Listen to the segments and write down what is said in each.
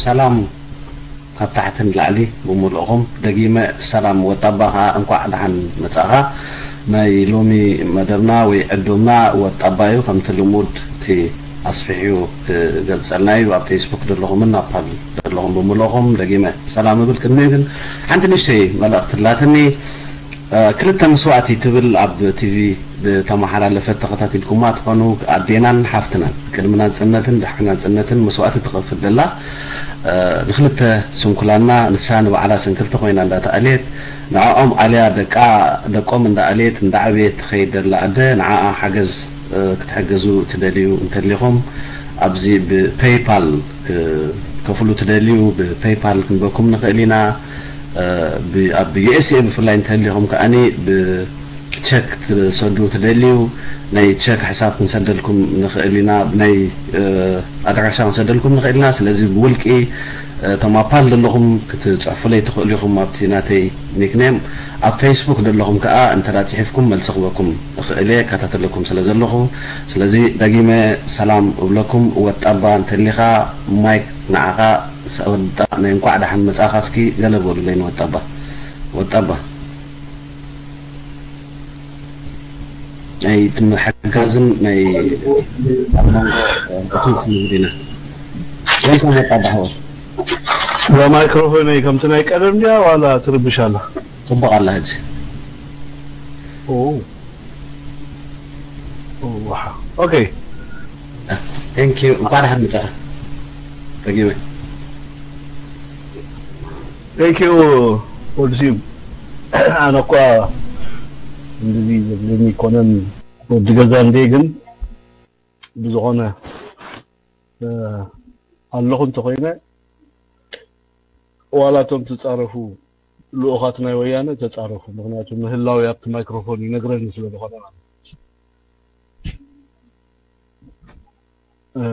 ሰላም ካብ ታሕቲ ንላዕሊ ብምልእኹም። ደጊመ ሰላም ወጣባ፣ ከዓ እንኳዕ ደሓን መጻእኻ። ናይ ሎሚ መደብና ወይ ዕዱምና ወጣባ እዩ። ከምቲ ልሙድ እቲ ኣስፊሕዩ ክገልጸልና እዩ። ኣብ ፌስቡክ ዘለኹምን ኣብ ፓል ዘለኹም ብምልእኹም ደጊመ ሰላም እብል። ቅድሚኡ ግን ሓንቲ ንእሽተይ መልእኽቲ ኣላትኒ። ክልተ መስዋእቲ ትብል ኣብ ቲቪ ዝተመሓላለፈት ተኸታቲልኩማ ትኾኑ። ኣዴናን ሓፍትናን ቅድሚ ናጽነትን ድሕሪ ናጽነትን መስዋእቲ ትኸፍል ዘላ፣ ንክልተ ስንኩላና፣ ንሳ ንባዕላ ስንክልቲ ኮይና እንዳተኣልየት፣ ንዕኦም ኣልያ ደቃ ደቆም እንዳኣልየት እንዳዕበየት ትኸይድ ዘላ ኣደ፣ ንዓኣ ሓገዝ ክትሕግዙ ትደልዩ እንተሊኹም፣ ኣብዚ ብፔይፓል ክትከፍሉ ትደልዩ፣ ብፔይፓል ክንበኩም ንኽእል ኢና። ኣብ ዩኤስኤ ብፍላይ እንተሊኹም ከኣኒ ብቸክ ትሰዱ ትደልዩ፣ ናይ ቸክ ሕሳብ ክንሰደልኩም ንኽእል ኢና፣ ናይ ኣድራሻ ክንሰደልኩም ንኽእል ኢና። ስለዚ ብውልቂ እቶም ኣብ ፓል ዘለኹም ክትጽሕፉለይ ትኽእሉ ኢኹም። ኣብቲ ናተይ ኒክኔም ኣብ ፌስቡክ ዘለኹም ከኣ እንተ ጽሒፍኩም መልሲ ክበኩም እኽእል እየ፣ እከታተለኩም ስለ ዘለኹ። ስለዚ ደጊመ ሰላም እብለኩም። ወጣባ እንተሊኻ ማይክ ንዓኻ። ወጣ ናይ እንኳዕ ደሓን መጻእኻ። እስኪ ገለ በሉለይ ንወጣባ። ወጣባ ናይ ትምሓጋዝን ናይ ኣብ መንጎ እቱ ንግዲና። ወልካም ወጣባ ሓወይ። እዛ ማይክሮፎነይ ከምቲ ናይ ቀደም ድያ ዋላ ትርብሽ ኣላ? ጽቡቕ ኣላ ሕጂ። ኦ። ኦ፣ ዋሓ። ኦኬ። Thank you። እንኳዕ ደሓን መጻኻ። ደጊመ። Thank you ወዲ ስዩም። ኣነ እኳ እንደዚ ዘብለኒ ይኮነን ወዲ ገዛ እንዴ፣ ግን ብዝኾነ፣ እ፣ ኣለኹ እንተኾይነ ዋላ እቶም ትጻረፉ ልኡኻት ናይ ወያነ ተጻረፉ። ምኽንያቱ ምህላው ኣብቲ ማይክሮፎን ይነግረኒ ስለ ዝኾነ ማለት እዩ። እ፣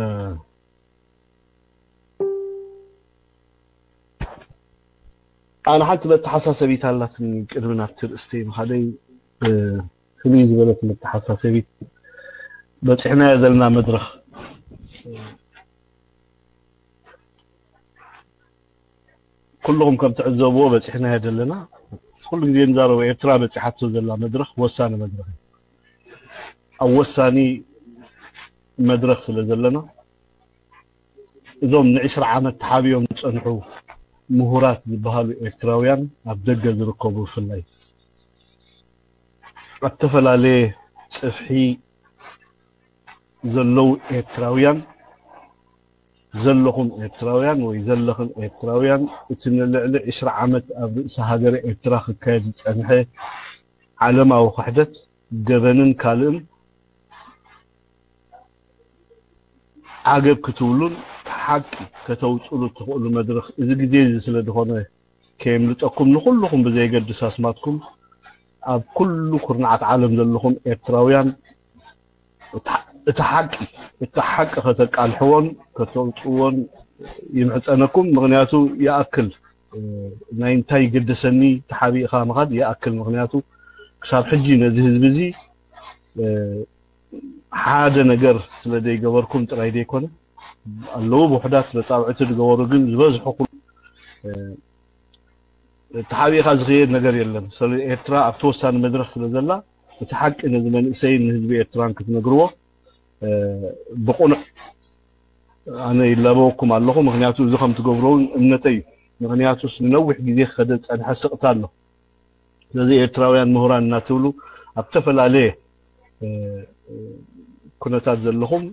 ኣነ ሓንቲ መተሓሳሰቢት ኣላትኒ ቅድሚ ናብቲ ርእስተይ ምኻደይ፣ እ፣ ፍልይ ዝበለት መተሓሳሰቢት በጺሕናዮ ዘለና መድረኽ ኩልኹም ከም ትዕዘብዎ በጺሕናዮ ዘለና። ኩሉ ግዜ ንዛረቦ ኤርትራ በጺሓቶ ዘላ መድረኽ ወሳኒ መድረኽ እዩ። ኣብ ወሳኒ መድረኽ ስለ ዘለና እዞም ንዕስራ ዓመት ተሓቢኦም ዝጸንሑ ምሁራት ዝበሃሉ ኤርትራውያን ኣብ ደገ ዝርከቡ ብፍላይ ኣብ ዝተፈላለየ ጽፍሒ ዘለዉ ኤርትራውያን ዘለኹም ኤርትራውያን ወይ ዘለኽን ኤርትራውያን እቲ ንልዕሊ ዕስራ ዓመት ኣብ ርእሲ ሃገረ ኤርትራ ክካየድ ዝጸንሐ ዓለማዊ ክሕደት ገበንን ካልእን ዓገብ ክትብሉን ሓቂ ከተውፅሉ እትኽእሉ መድረኽ እዚ ግዜ እዚ ስለ ዝኾነ ከየምልጠኩም ንኹልኹም ብዘየገድስ ኣስማትኩም ኣብ ኩሉ ኩርናዓት ዓለም ዘለኹም ኤርትራውያን እቲ ሓቂ እቲ ሓቂ ከተቃልሕዎን ከተውፅዎን ይምሕፀነኩም። ምኽንያቱ ይኣክል ናይ እንታይ ይገደሰኒ ተሓቢእኻ ምኻድ ይኣክል። ምኽንያቱ ክሳብ ሕጂ ነዚ ህዝቢ እዚ ሓደ ነገር ስለ ዘይገበርኩም ጥራይ ዘይኮነ ኣለዉ ብውሕዳት መጻውዕቲ ዝገበሩ ግን ዝበዝሑ ኩሉ ተሓቢእኻ ዝኽየድ ነገር የለን። ስለ ኤርትራ ኣብቲ ወሳኒ መድረኽ ስለ ዘላ እቲ ሓቂ ነዚ መንእሰይን ንህዝቢ ኤርትራን ክትነግርዎ ብቑኑዕ ኣነ ይላበወኩም ኣለኹ። ምኽንያቱ እዚ ከም ትገብሮ እውን እምነተይ እዩ። ምኽንያቱስ ንነዊሕ ግዜ ክኸደ ዝጸንሐ ስቕታ ኣሎ። ስለዚ ኤርትራውያን ምሁራን እናትብሉ ኣብ ዝተፈላለየ ኩነታት ዘለኹም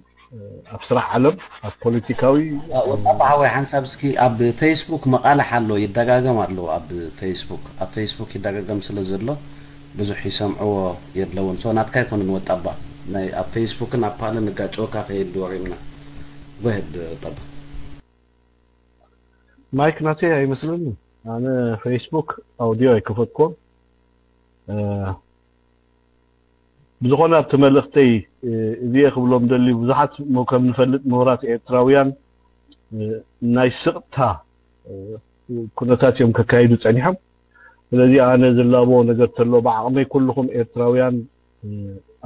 ኣብ ስራሕ ዓለም ኣብ ፖለቲካዊ ወጣ ሓወይ ሓንሳብ እስኪ ኣብ ፌስቡክ መቓልሕ ኣሎ ይደጋገም ኣሎ ኣብ ፌስቡክ ኣብ ፌስቡክ ይደጋገም ስለ ዘሎ ብዙሕ ይሰምዕዎ የለውን ሶ ናትካ ኣይኮነን ወጣባ ናይ ኣብ ፌስቡክን ኣብ ፓልን ንጋጨወካ ከየድወሪምና ጎሄድ ወጣባ ማይክ ናተይ ኣይመስለኒ ኣነ ፌስቡክ ኣውዲዮ ኣይከፈትኮን ብዝኾነ ኣብቲ መልእኽተይ እዚየ ክብሎም ደልዩ ብዙሓት ከም ንፈልጥ ምሁራት ኤርትራውያን ናይ ስቕታ ኩነታት እዮም ከካይዱ ጸኒሖም ስለዚ ኣነ ዝላቦ ነገር ተሎ ብዓቕመይ ኩልኹም ኤርትራውያን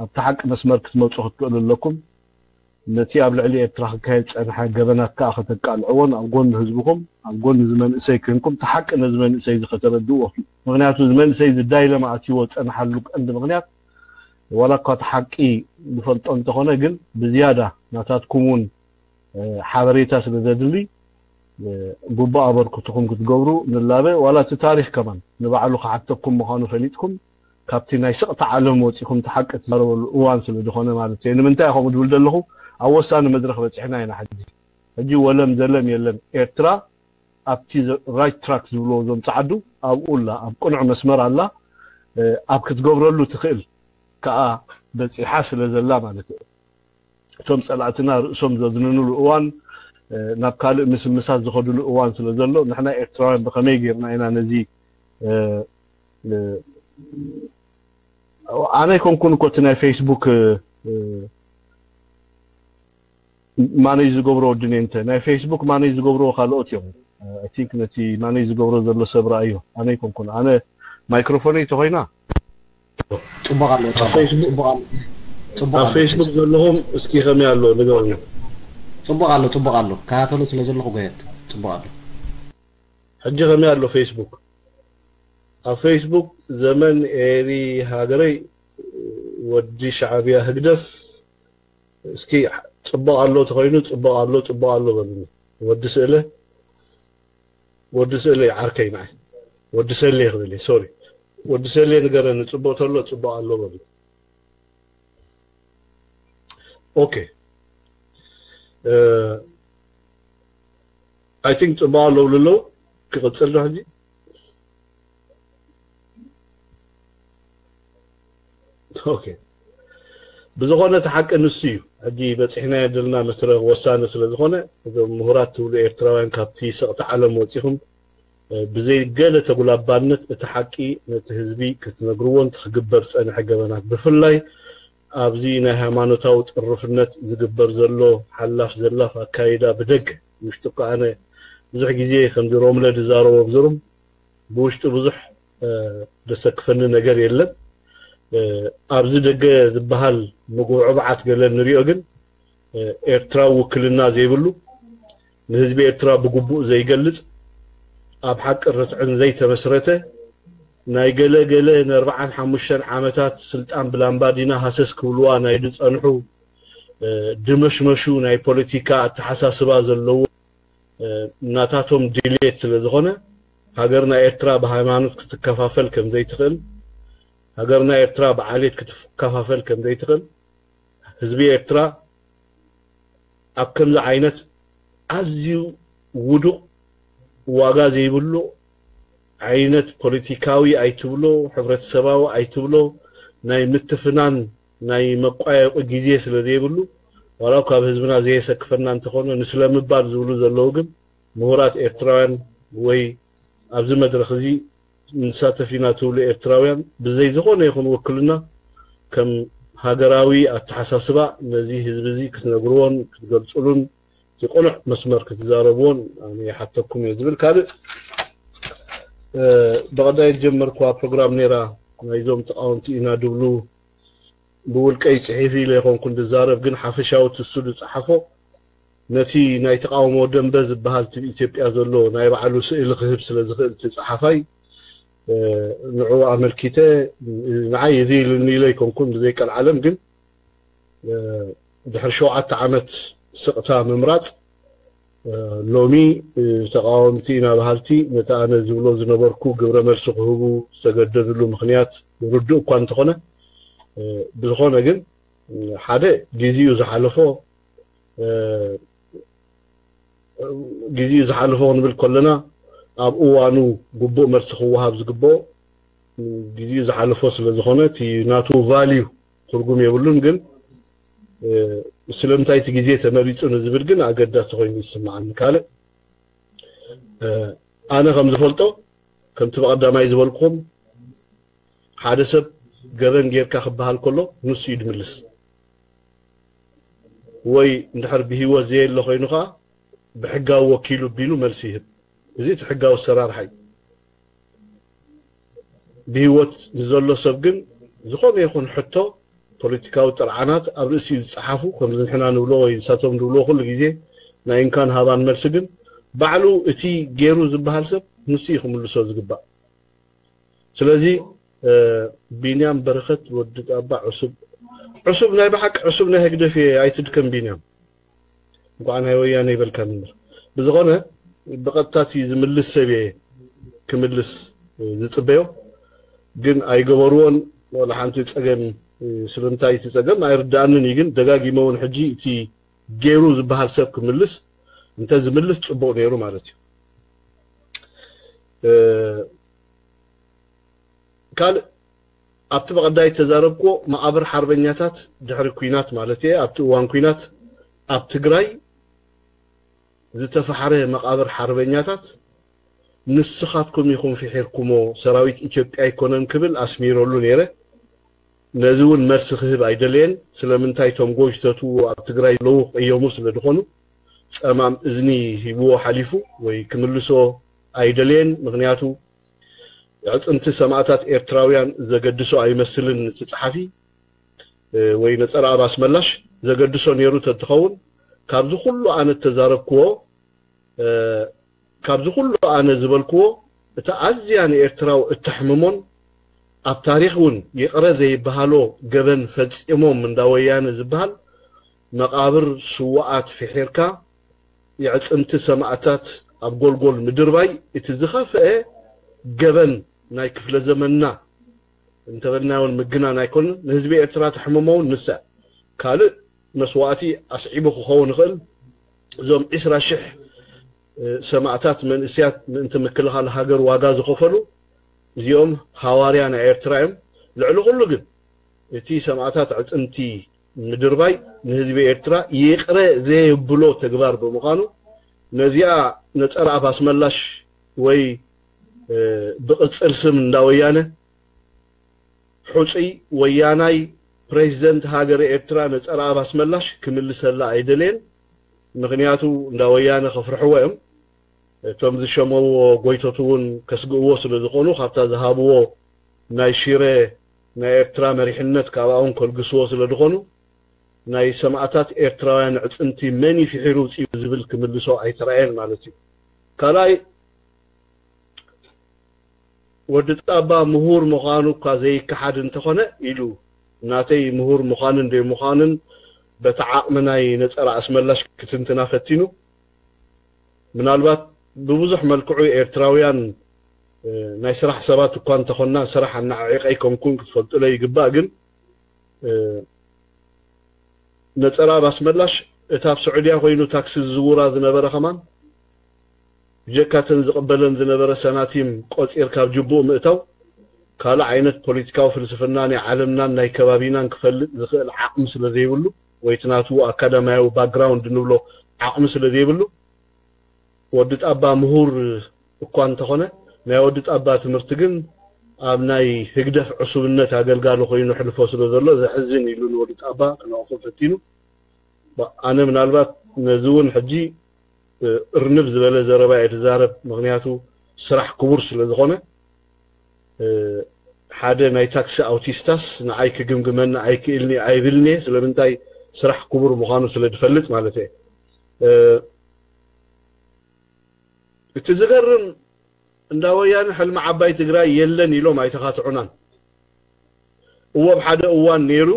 ኣብቲ ሓቂ መስመር ክትመፁ ክትክእሉ ኣለኩም ነቲ ኣብ ልዕሊ ኤርትራ ክካየድ ዝጸንሐ ገበናት ከኣ ከተቃልዕዎን ኣብ ጎኒ ህዝብኹም፣ ኣብ ጎኒ እዚ መንእሰይ ኮይንኩም፣ እቲ ሓቂ ነዚ መንእሰይ እዚ ከተረድእዎ። ምኽንያቱ እዚ መንእሰይ እዚ ዳይለማ ኣትይዎ ዝጸንሓሉ ቀንዲ ምኽንያት፣ ዋላ እኳ እቲ ሓቂ ዝፈልጦ እንተኾነ፣ ግን ብዝያዳ ናታትኩም እውን፣ እ፣ ሓበሬታ ስለ ዘድሊ፣ እ፣ ግቡእ ኣበርክትኹም ክትገብሩ ንላበ። ዋላ እቲ ታሪኽ ከማን ንባዕሉ ክሓተኩም ምዃኑ ፈሊጥኩም፣ ካብቲ ናይ ስቕታ ዓለም ወጺኹም እቲ ሓቂ ትዛረበሉ እዋን ስለ ዝኾነ ማለት እዩ። ንምንታይ ከምኡ ዝብል ዘለኹ፣ ኣብ ወሳኒ መድረኽ በጺሕና ኢና ሕጂ። ሕጂ ወለም ዘለም የለን። ኤርትራ ኣብቲ ዘ-፣ ራይት ትራክ ዝብልዎ እዞም ጸዓዱ ኣብኡ ኣላ፣ ኣብ ቅኑዕ መስመር ኣላ። እ፣ ኣብ ክትገብረሉ ትኽእል ከኣ በጺሓ ስለ ዘላ ማለት እዩ። እቶም ጸላእትና ርእሶም ዘድንንሉ እዋን፣ እ፣ ናብ ካልእ ምስምሳት ዝኸድሉ እዋን ስለ ዘሎ፣ ንሕና ኤርትራውያን ብኸመይ ጌርና ኢና ነዚ፣ እ፣ እ፣ ኣነ ኣይኮንኩን እኮ እቲ ናይ ፌስቡክ፣ እ፣ እ፣ ማኔጅ ዝገብሮ ወዲ ኔንተ፣ ናይ ፌስቡክ ማኔጅ ዝገብርዎ ካልኦት እዮም። I think ነቲ ማኔጅ ዝገብሮ ዘሎ ሰብ ረኣዮ፣ ኣነ ኣይኮንኩን። ኣነ ማይክሮፎነይ ተኾይና ጽቡቕ ኣሎ፣ ኣብ ጽቡቕ፣ ፌስቡክ፣ ጽቡቕ ኣሎ፣ ጽቡቕ ኣብ ኣሎ። ፌስቡክ ዘለኹም እስኪ ከመይ ኣሎ ንገሩኒ። ጽቡቕ ኣሎ፣ ጽቡቕ ኣሎ። ከታተሎ ስለ ዘለኹ ጎየት፣ ጽቡቕ ኣሎ። ሕጂ ከመይ ኣሎ ፌስቡክ? ኣብ ፌስቡክ ዘመን ኤሪ ሃገረይ ወዲ ሻዕብያ ህግደፍ እስኪ ጽቡቕ ኣሎ ተኾይኑ ጽቡቕ ኣሎ፣ ጽቡቕ ኣሎ በሉኒ። ወዲ ስእለ፣ ወዲ ስእለ ዓርከይ ንዓይ። ወዲ ሰሌ ክብል እየ፣ ሶሪ። ወዲ ሰሌ ንገረኒ፣ ጽቡቕ ተሎ ጽቡቕ ኣሎ በሉኒ። ኦኬ። እ፣ I think ጽቡቕ ኣለዉ ኣለዉ። ክቕጽል ዶ ሕጂ? ኦኬ። ብዝኾነ እቲ ሓቂ ንሱ እዩ። ሕጂ በጺሕናዮ ዘለና መስረ ወሳኒ ስለ ዝኾነ፣ እዞም ምሁራት ትብሉ ኤርትራውያን ካብቲ ስቕታ ዓለም ወጺኹም፣ እ፣ ብዘይ ገለ ተጉላባነት እቲ ሓቂ ነቲ ህዝቢ ክትነግርዎን እቲ ክግበር ዝጸንሐ ገበናት፣ ብፍላይ ኣብዚ ናይ ሃይማኖታዊ ጥርፍነት ዝግበር ዘሎ ሓላፍ ዘላፍ ኣካይዳ ብደገ፣ ውሽጢ እኮ ኣነ ብዙሕ ግዜ ከምዚ ሮምለ ዝዛረቦ ብዝሩም ብውሽጢ ብዙሕ፣ እ፣ ዘሰክፈኒ ነገር የለን። እ፣ ኣብዚ ደገ ዝበሃል ምጉብዕባዓት ገለ ንሪኦ ግን፣ እ፣ ኤርትራዊ ውክልና ዘይብሉ፣ ንህዝቢ ኤርትራ ብግቡእ ዘይገልጽ፣ ኣብ ሓቅን ርትዕን ዘይተመስረተ፣ ናይ ገለ ገለ ንኣርብዓን ሓሙሽተን ዓመታት ስልጣን ብላምባዲና ሃሰስ ክብልዋ ናይ ዝጸንሑ፣ እ፣ ድመሽመሹ ናይ ፖለቲካ ኣተሓሳስባ ዘለዎ፣ እ፣ ናታቶም ድሌት ስለ ዝኾነ፣ ሃገርና ኤርትራ ብሃይማኖት ክትከፋፈል ከም ዘይትኽእል፣ ሃገርና ኤርትራ ብዓሌት ክትከፋፈል ከም ዘይትኽእል፣ ህዝቢ ኤርትራ ኣብ ከምዚ ዓይነት ኣዝዩ ውዱቕ፣ ዋጋ ዘይብሉ ዓይነት ፖለቲካዊ ኣይትብሎ፣ ሕብረተሰባዊ ኣይትብሎ፣ ናይ ምትፍናን ናይ መቋየቂ ግዜ ስለ ዘይብሉ፣ ዋላ ካብ ህዝብና ዘየሰክፈና እንተኾነ፣ ንስለምባል ዝብሉ ዘለዉ ግን ምሁራት ኤርትራውያን ወይ ኣብዚ መድረኽ እዚ ንሳተፍ ኢና ትብሉ ኤርትራውያን ብዘይ ዝኾነ ይኹን ውክልና ከም ሃገራዊ ኣተሓሳስባ ነዚ ህዝቢ እዚ ክትነግርዎን ክትገልጽሉን እቲ ቅኑዕ መስመር ክትዛረብዎን ኣነ ይሓተኩም እየ ዝብል። ካልእ፣ እ፣ ብቐዳይ ዝጀመርኩዋ ፕሮግራም ነይራ፣ ናይዞም ተቓወምቲ ኢና ድብሉ ብውልቀይ ጽሒፍ ኢለ ኣይኮንኩን ዝዛረብ፣ ግን ሓፈሻዊ ትሱ ዝጸሓፎ ነቲ ናይ ተቃውሞ ደንበ ዝበሃል እቲ ኢትዮጵያ ዘሎ ናይ ባዕሉ ስእሊ ክህብ ስለ ዝኽእል እቲ ጸሓፋይ፣ እ፣ ንዕኡ ኣመልኪተ፣ ንዓይ እዚ ኢሉኒ ኢለ ኣይኮንኩን ብዘይ ቀልዓለም፣ ግን፣ እ፣ ድሕሪ ሸውዓተ ዓመት ስቕታ ምምራጽ፣ እ፣ ሎሚ፣ እ፣ ተቃወምቲ ኢና በሃልቲ ነቲ ኣነ ዝብሎ ዝነበርኩ ግብረ መልሲ ክህቡ ዝተገደድሉ ምኽንያት ርዱእ እኳ እንተኾነ፣ እ፣ ብዝኾነ ግን፣ እ፣ ሓደ ግዜኡ ዝሓለፎ፣ እ፣ ግዜኡ ዝሓለፎ ክንብል ከለና፣ ኣብ እዋኑ ግቡእ መልሲ ክወሃብ ዝግብኦ፣ ግዜኡ ዝሓለፎ ስለ ዝኾነ፣ እቲ ናቱ ቫልዩ ትርጉም የብሉን። ግን፣ እ፣ ስለምንታይ እቲ ግዜ ተመሪጹ ንዝብል ግን ኣገዳሲ ኮይኑ ይስምዓኒ። ካልእ፣ እ፣ ኣነ ከም ዝፈልጦ፣ ከምቲ ብቐዳማይ ዝበልኩኹም፣ ሓደ ሰብ ገበን ጌርካ ክበሃል ከሎ፣ ንሱ እዩ ድምልስ። ወይ እንድሕር ብህይወት ዘየለ ኮይኑ ኸዓ፣ ብሕጋዊ ወኪሉ ቢሉ መልሲ ይህብ። እዚ እቲ ሕጋዊ ኣሰራርሓ እዩ። ብህይወት ንዘሎ ሰብ ግን ዝኾነ ይኹን ሕቶ ፖለቲካዊ ጥርዓናት ኣብ ርእሲኡ ዝጸሓፉ፣ ከምዚ ንሕና ንብሎ ወይ ንሳቶም ዝብልዎ ኩሉ ግዜ ናይ እንካን ሃባን መልሲ፣ ግን ባዕሉ እቲ ገይሩ ዝበሃል ሰብ ንሱ እዩ ክምልሶ ዝግባእ። ስለዚ እ፣ ቢንያም በረኸት ወዲ ጣባ ዕሱብ፣ ዕሱብ ናይ ብሓቂ ዕሱብ ናይ ህግደፍ እየ፣ ኣይትድከም ቢንያም። እንኳዕ ናይ ወያነ ይበልካ ምንር። ብዝኾነ ብቐጥታ እቲ ዝምልስ ሰብ እየ ክምልስ ዝጽበዮ፣ ግን ኣይገበርዎን። ወላ ሓንቲ ጸገም፣ ስለምንታይ እቲ ጸገም ኣይርዳኣንን እዩ፣ ግን ደጋጊመ እውን ሕጂ እቲ ገይሩ ዝበሃል ሰብ ክምልስ፣ እንተ ዝምልስ ጽቡቕ ነይሩ ማለት እዩ። እ፣ ካልእ ኣብቲ ብቐዳይ ተዛረብክዎ መቓብር ሓርበኛታት ድሕሪ ኲናት ማለት እየ፣ ኣብቲ እዋን ኲናት ኣብ ትግራይ ዝተፋሕረ መቓብር ሓርበኛታት ንስኻትኩም ኢኹም ፍሒርኩሞ፣ ሰራዊት ኢትዮጵያ ኣይኮነን ክብል ኣስሚረሉ ነይረ። ነዚ እውን መልሲ ክህብ ኣይደለየን። ስለምንታይ እቶም ጎይተትዎ ኣብ ትግራይ ለዉ ቀየሙ ስለ ዝኾኑ ጸማም እዝኒ ሂብዎ ሓሊፉ ወይ ክምልሶ ኣይደለየን። ምኽንያቱ ኣዕፅምቲ ሰማእታት ኤርትራውያን ዘገድሶ ኣይመስልን። እቲ ጸሓፊ፣ እ፣ ወይ ነጸረ ኣብ ኣስመላሽ ዘገድሶ ነይሩ ተትኸውን ካብዚ ኩሉ ኣነ እተዛረብክዎ፣ እ፣ ካብዚ ኩሉ ኣነ ዝበልክዎ እቲ ኣዝያ ንኤርትራዊ እተሕምሞን ኣብ ታሪኽ እውን ይቕረ ዘይበሃሎ ገበን ፈጺሞም እንዳ ወያነ ዝበሃል መቓብር ስውኣት ፍሒርካ የዕጽምቲ ሰማእታት ኣብ ጎልጎል ምድርባይ እቲ ዝኸፍአ ገበን ናይ ክፍለ ዘመንና እንተበልናዮን ምግናን ኣይኮንን። ንህዝቢ ኤርትራ ተሕምሞ እውን ንሳ ካልእ መስዋእቲ ኣስዒቡ ክኸውን ይኽእል። እዞም ዕስራ ሽሕ ሰማእታት መንእስያት ምእንቲ ምክልኻል ሃገር ዋጋ ዝኸፈሉ እዚኦም ሃዋርያ ናይ ኤርትራ እዮም። ልዕሊ ኩሉ ግን እቲ ሰማእታት ኣዕጽምቲ ምድርባይ ንህዝቢ ኤርትራ ይቕረ ዘየብሎ ተግባር ብምዃኑ ነዚኣ ነጸረ ኣፍ ኣስመላሽ ወይ ብቕጽል ስም እንዳ ወያነ ሕጹይ ወያናይ ፕሬዚደንት ሃገረ ኤርትራ ነጸረ ኣፍ ኣስመላሽ ክምልሰላ ኣይደለየን። ምኽንያቱ እንዳ ወያነ ከፍርሕዎ እዮም። እቶም ዝሸመዎ ጎይቶት እውን ከስግእዎ ስለ ዝኾኑ ካብታ ዝሃብዎ ናይ ሽረ ናይ ኤርትራ መሪሕነት ካብኣውን ከልግስዎ ስለ ዝኾኑ ናይ ሰማእታት ኤርትራውያን ዕጽምቲ መን እዩ ፍሒሩ ውፅኡ ዝብል ክምልሶ ኣይተራእየን ማለት እዩ። ካልኣይ ወዲ ጣባ ምሁር ምዃኑ እኳ ዘይከሓድ እንተኾነ ኢሉ ናተይ ምሁር ምዃንን ዘይምዃንን በቲ ዓቕሚ ናይ ነጸረ ኣስመላሽ ክትንትና ፈቲኑ። ምናልባት ብብዙሕ መልክዑ ኤርትራውያን ናይ ስራሕ ሰባት እኳ እንተኾንና ስራሕ ኣናዓዒቐ ኣይኮንኩን ክትፈልጡለይ ይግባእ። ግን ነጸረ ኣፍ ኣስመላሽ እታ ኣብ ስዑድያ ኮይኑ ታክሲ ዝዝውራ ዝነበረ ከማን ብጀካ እተን ዝቕበለን ዝነበረ ሰናቲም ቆጺር ካብ ጅቡኡ ምእታው ካልእ ዓይነት ፖለቲካዊ ፍልስፍና ናይ ዓለምናን ናይ ከባቢናን ክፈልጥ ዝኽእል ዓቕሚ ስለ ዘይብሉ ወይ እቲ ናቱ ኣካዳማያዊ ባክግራውንድ ንብሎ ዓቕሚ ስለ ዘይብሉ ወዲ ጣባ ምሁር እኳ እንተኾነ ናይ ወዲ ጣባ ትምህርቲ ግን ኣብ ናይ ህግደፍ ዕሱብነት ኣገልጋሊ ኮይኑ ሕልፎ ስለ ዘሎ ዘሕዝን ኢሉ ንወዲ ጣባ ክነቕፎ ፈቲኑ። ኣነ ምናልባት ነዚ እውን ሕጂ እርንብ ዝበለ ዘረባ እየ ዝዛረብ፣ ምኽንያቱ ስራሕ ክቡር ስለ ዝኾነ። ሓደ ናይ ታክሲ ኣውቲስታስ ንዓይ ክግምግመኒ ኣይክእልኒ ኣይብልኒ እየ። ስለምንታይ? ስራሕ ክቡር ምዃኑ ስለ ዝፈልጥ ማለት እየ። እቲ ዝገርም እንዳ ወያነ ሕልሚ ዓባይ ትግራይ የለን ኢሎም ኣይተኻትዑናን። እዎ ኣብ ሓደ እዋን ነይሩ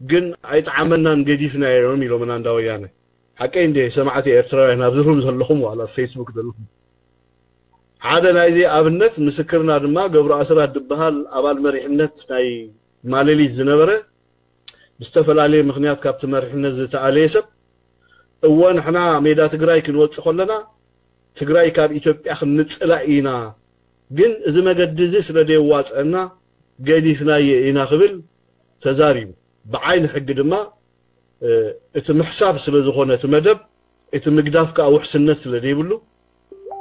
ግን ኣይጠዓመናን ገዲፍናዮ እዮም ኢሎምና እንዳ ወያነ። ሓቀይ እንደ ሰማዕቲ ኤርትራውያን ኣብዚ ሩም ዘለኹም ዋላ ኣብ ፌስቡክ ዘለኹም ሓደ ናይዚ ኣብነት ምስክርና ድማ ገብሩ ኣስራት ዝበሃል ኣባል መሪሕነት ናይ ማለሊት ዝነበረ ብዝተፈላለየ ምኽንያት ካብቲ መሪሕነት ዝተኣለየ ሰብ እወ ንሕና ሜዳ ትግራይ ክንወፅእ ከለና ትግራይ ካብ ኢትዮጵያ ክንፅላእ ኢና፣ ግን እዚ መገዲ እዚ ስለ ዘየዋፀአና ገዲፍናዮ ኢና ክብል ተዛሪቡ። ብዓይኒ ሕጊ ድማ እቲ ምሕሳብ ስለ ዝኾነ እቲ መደብ እቲ ምግዳፍ ከዓ ውሕስነት ስለ ዘይብሉ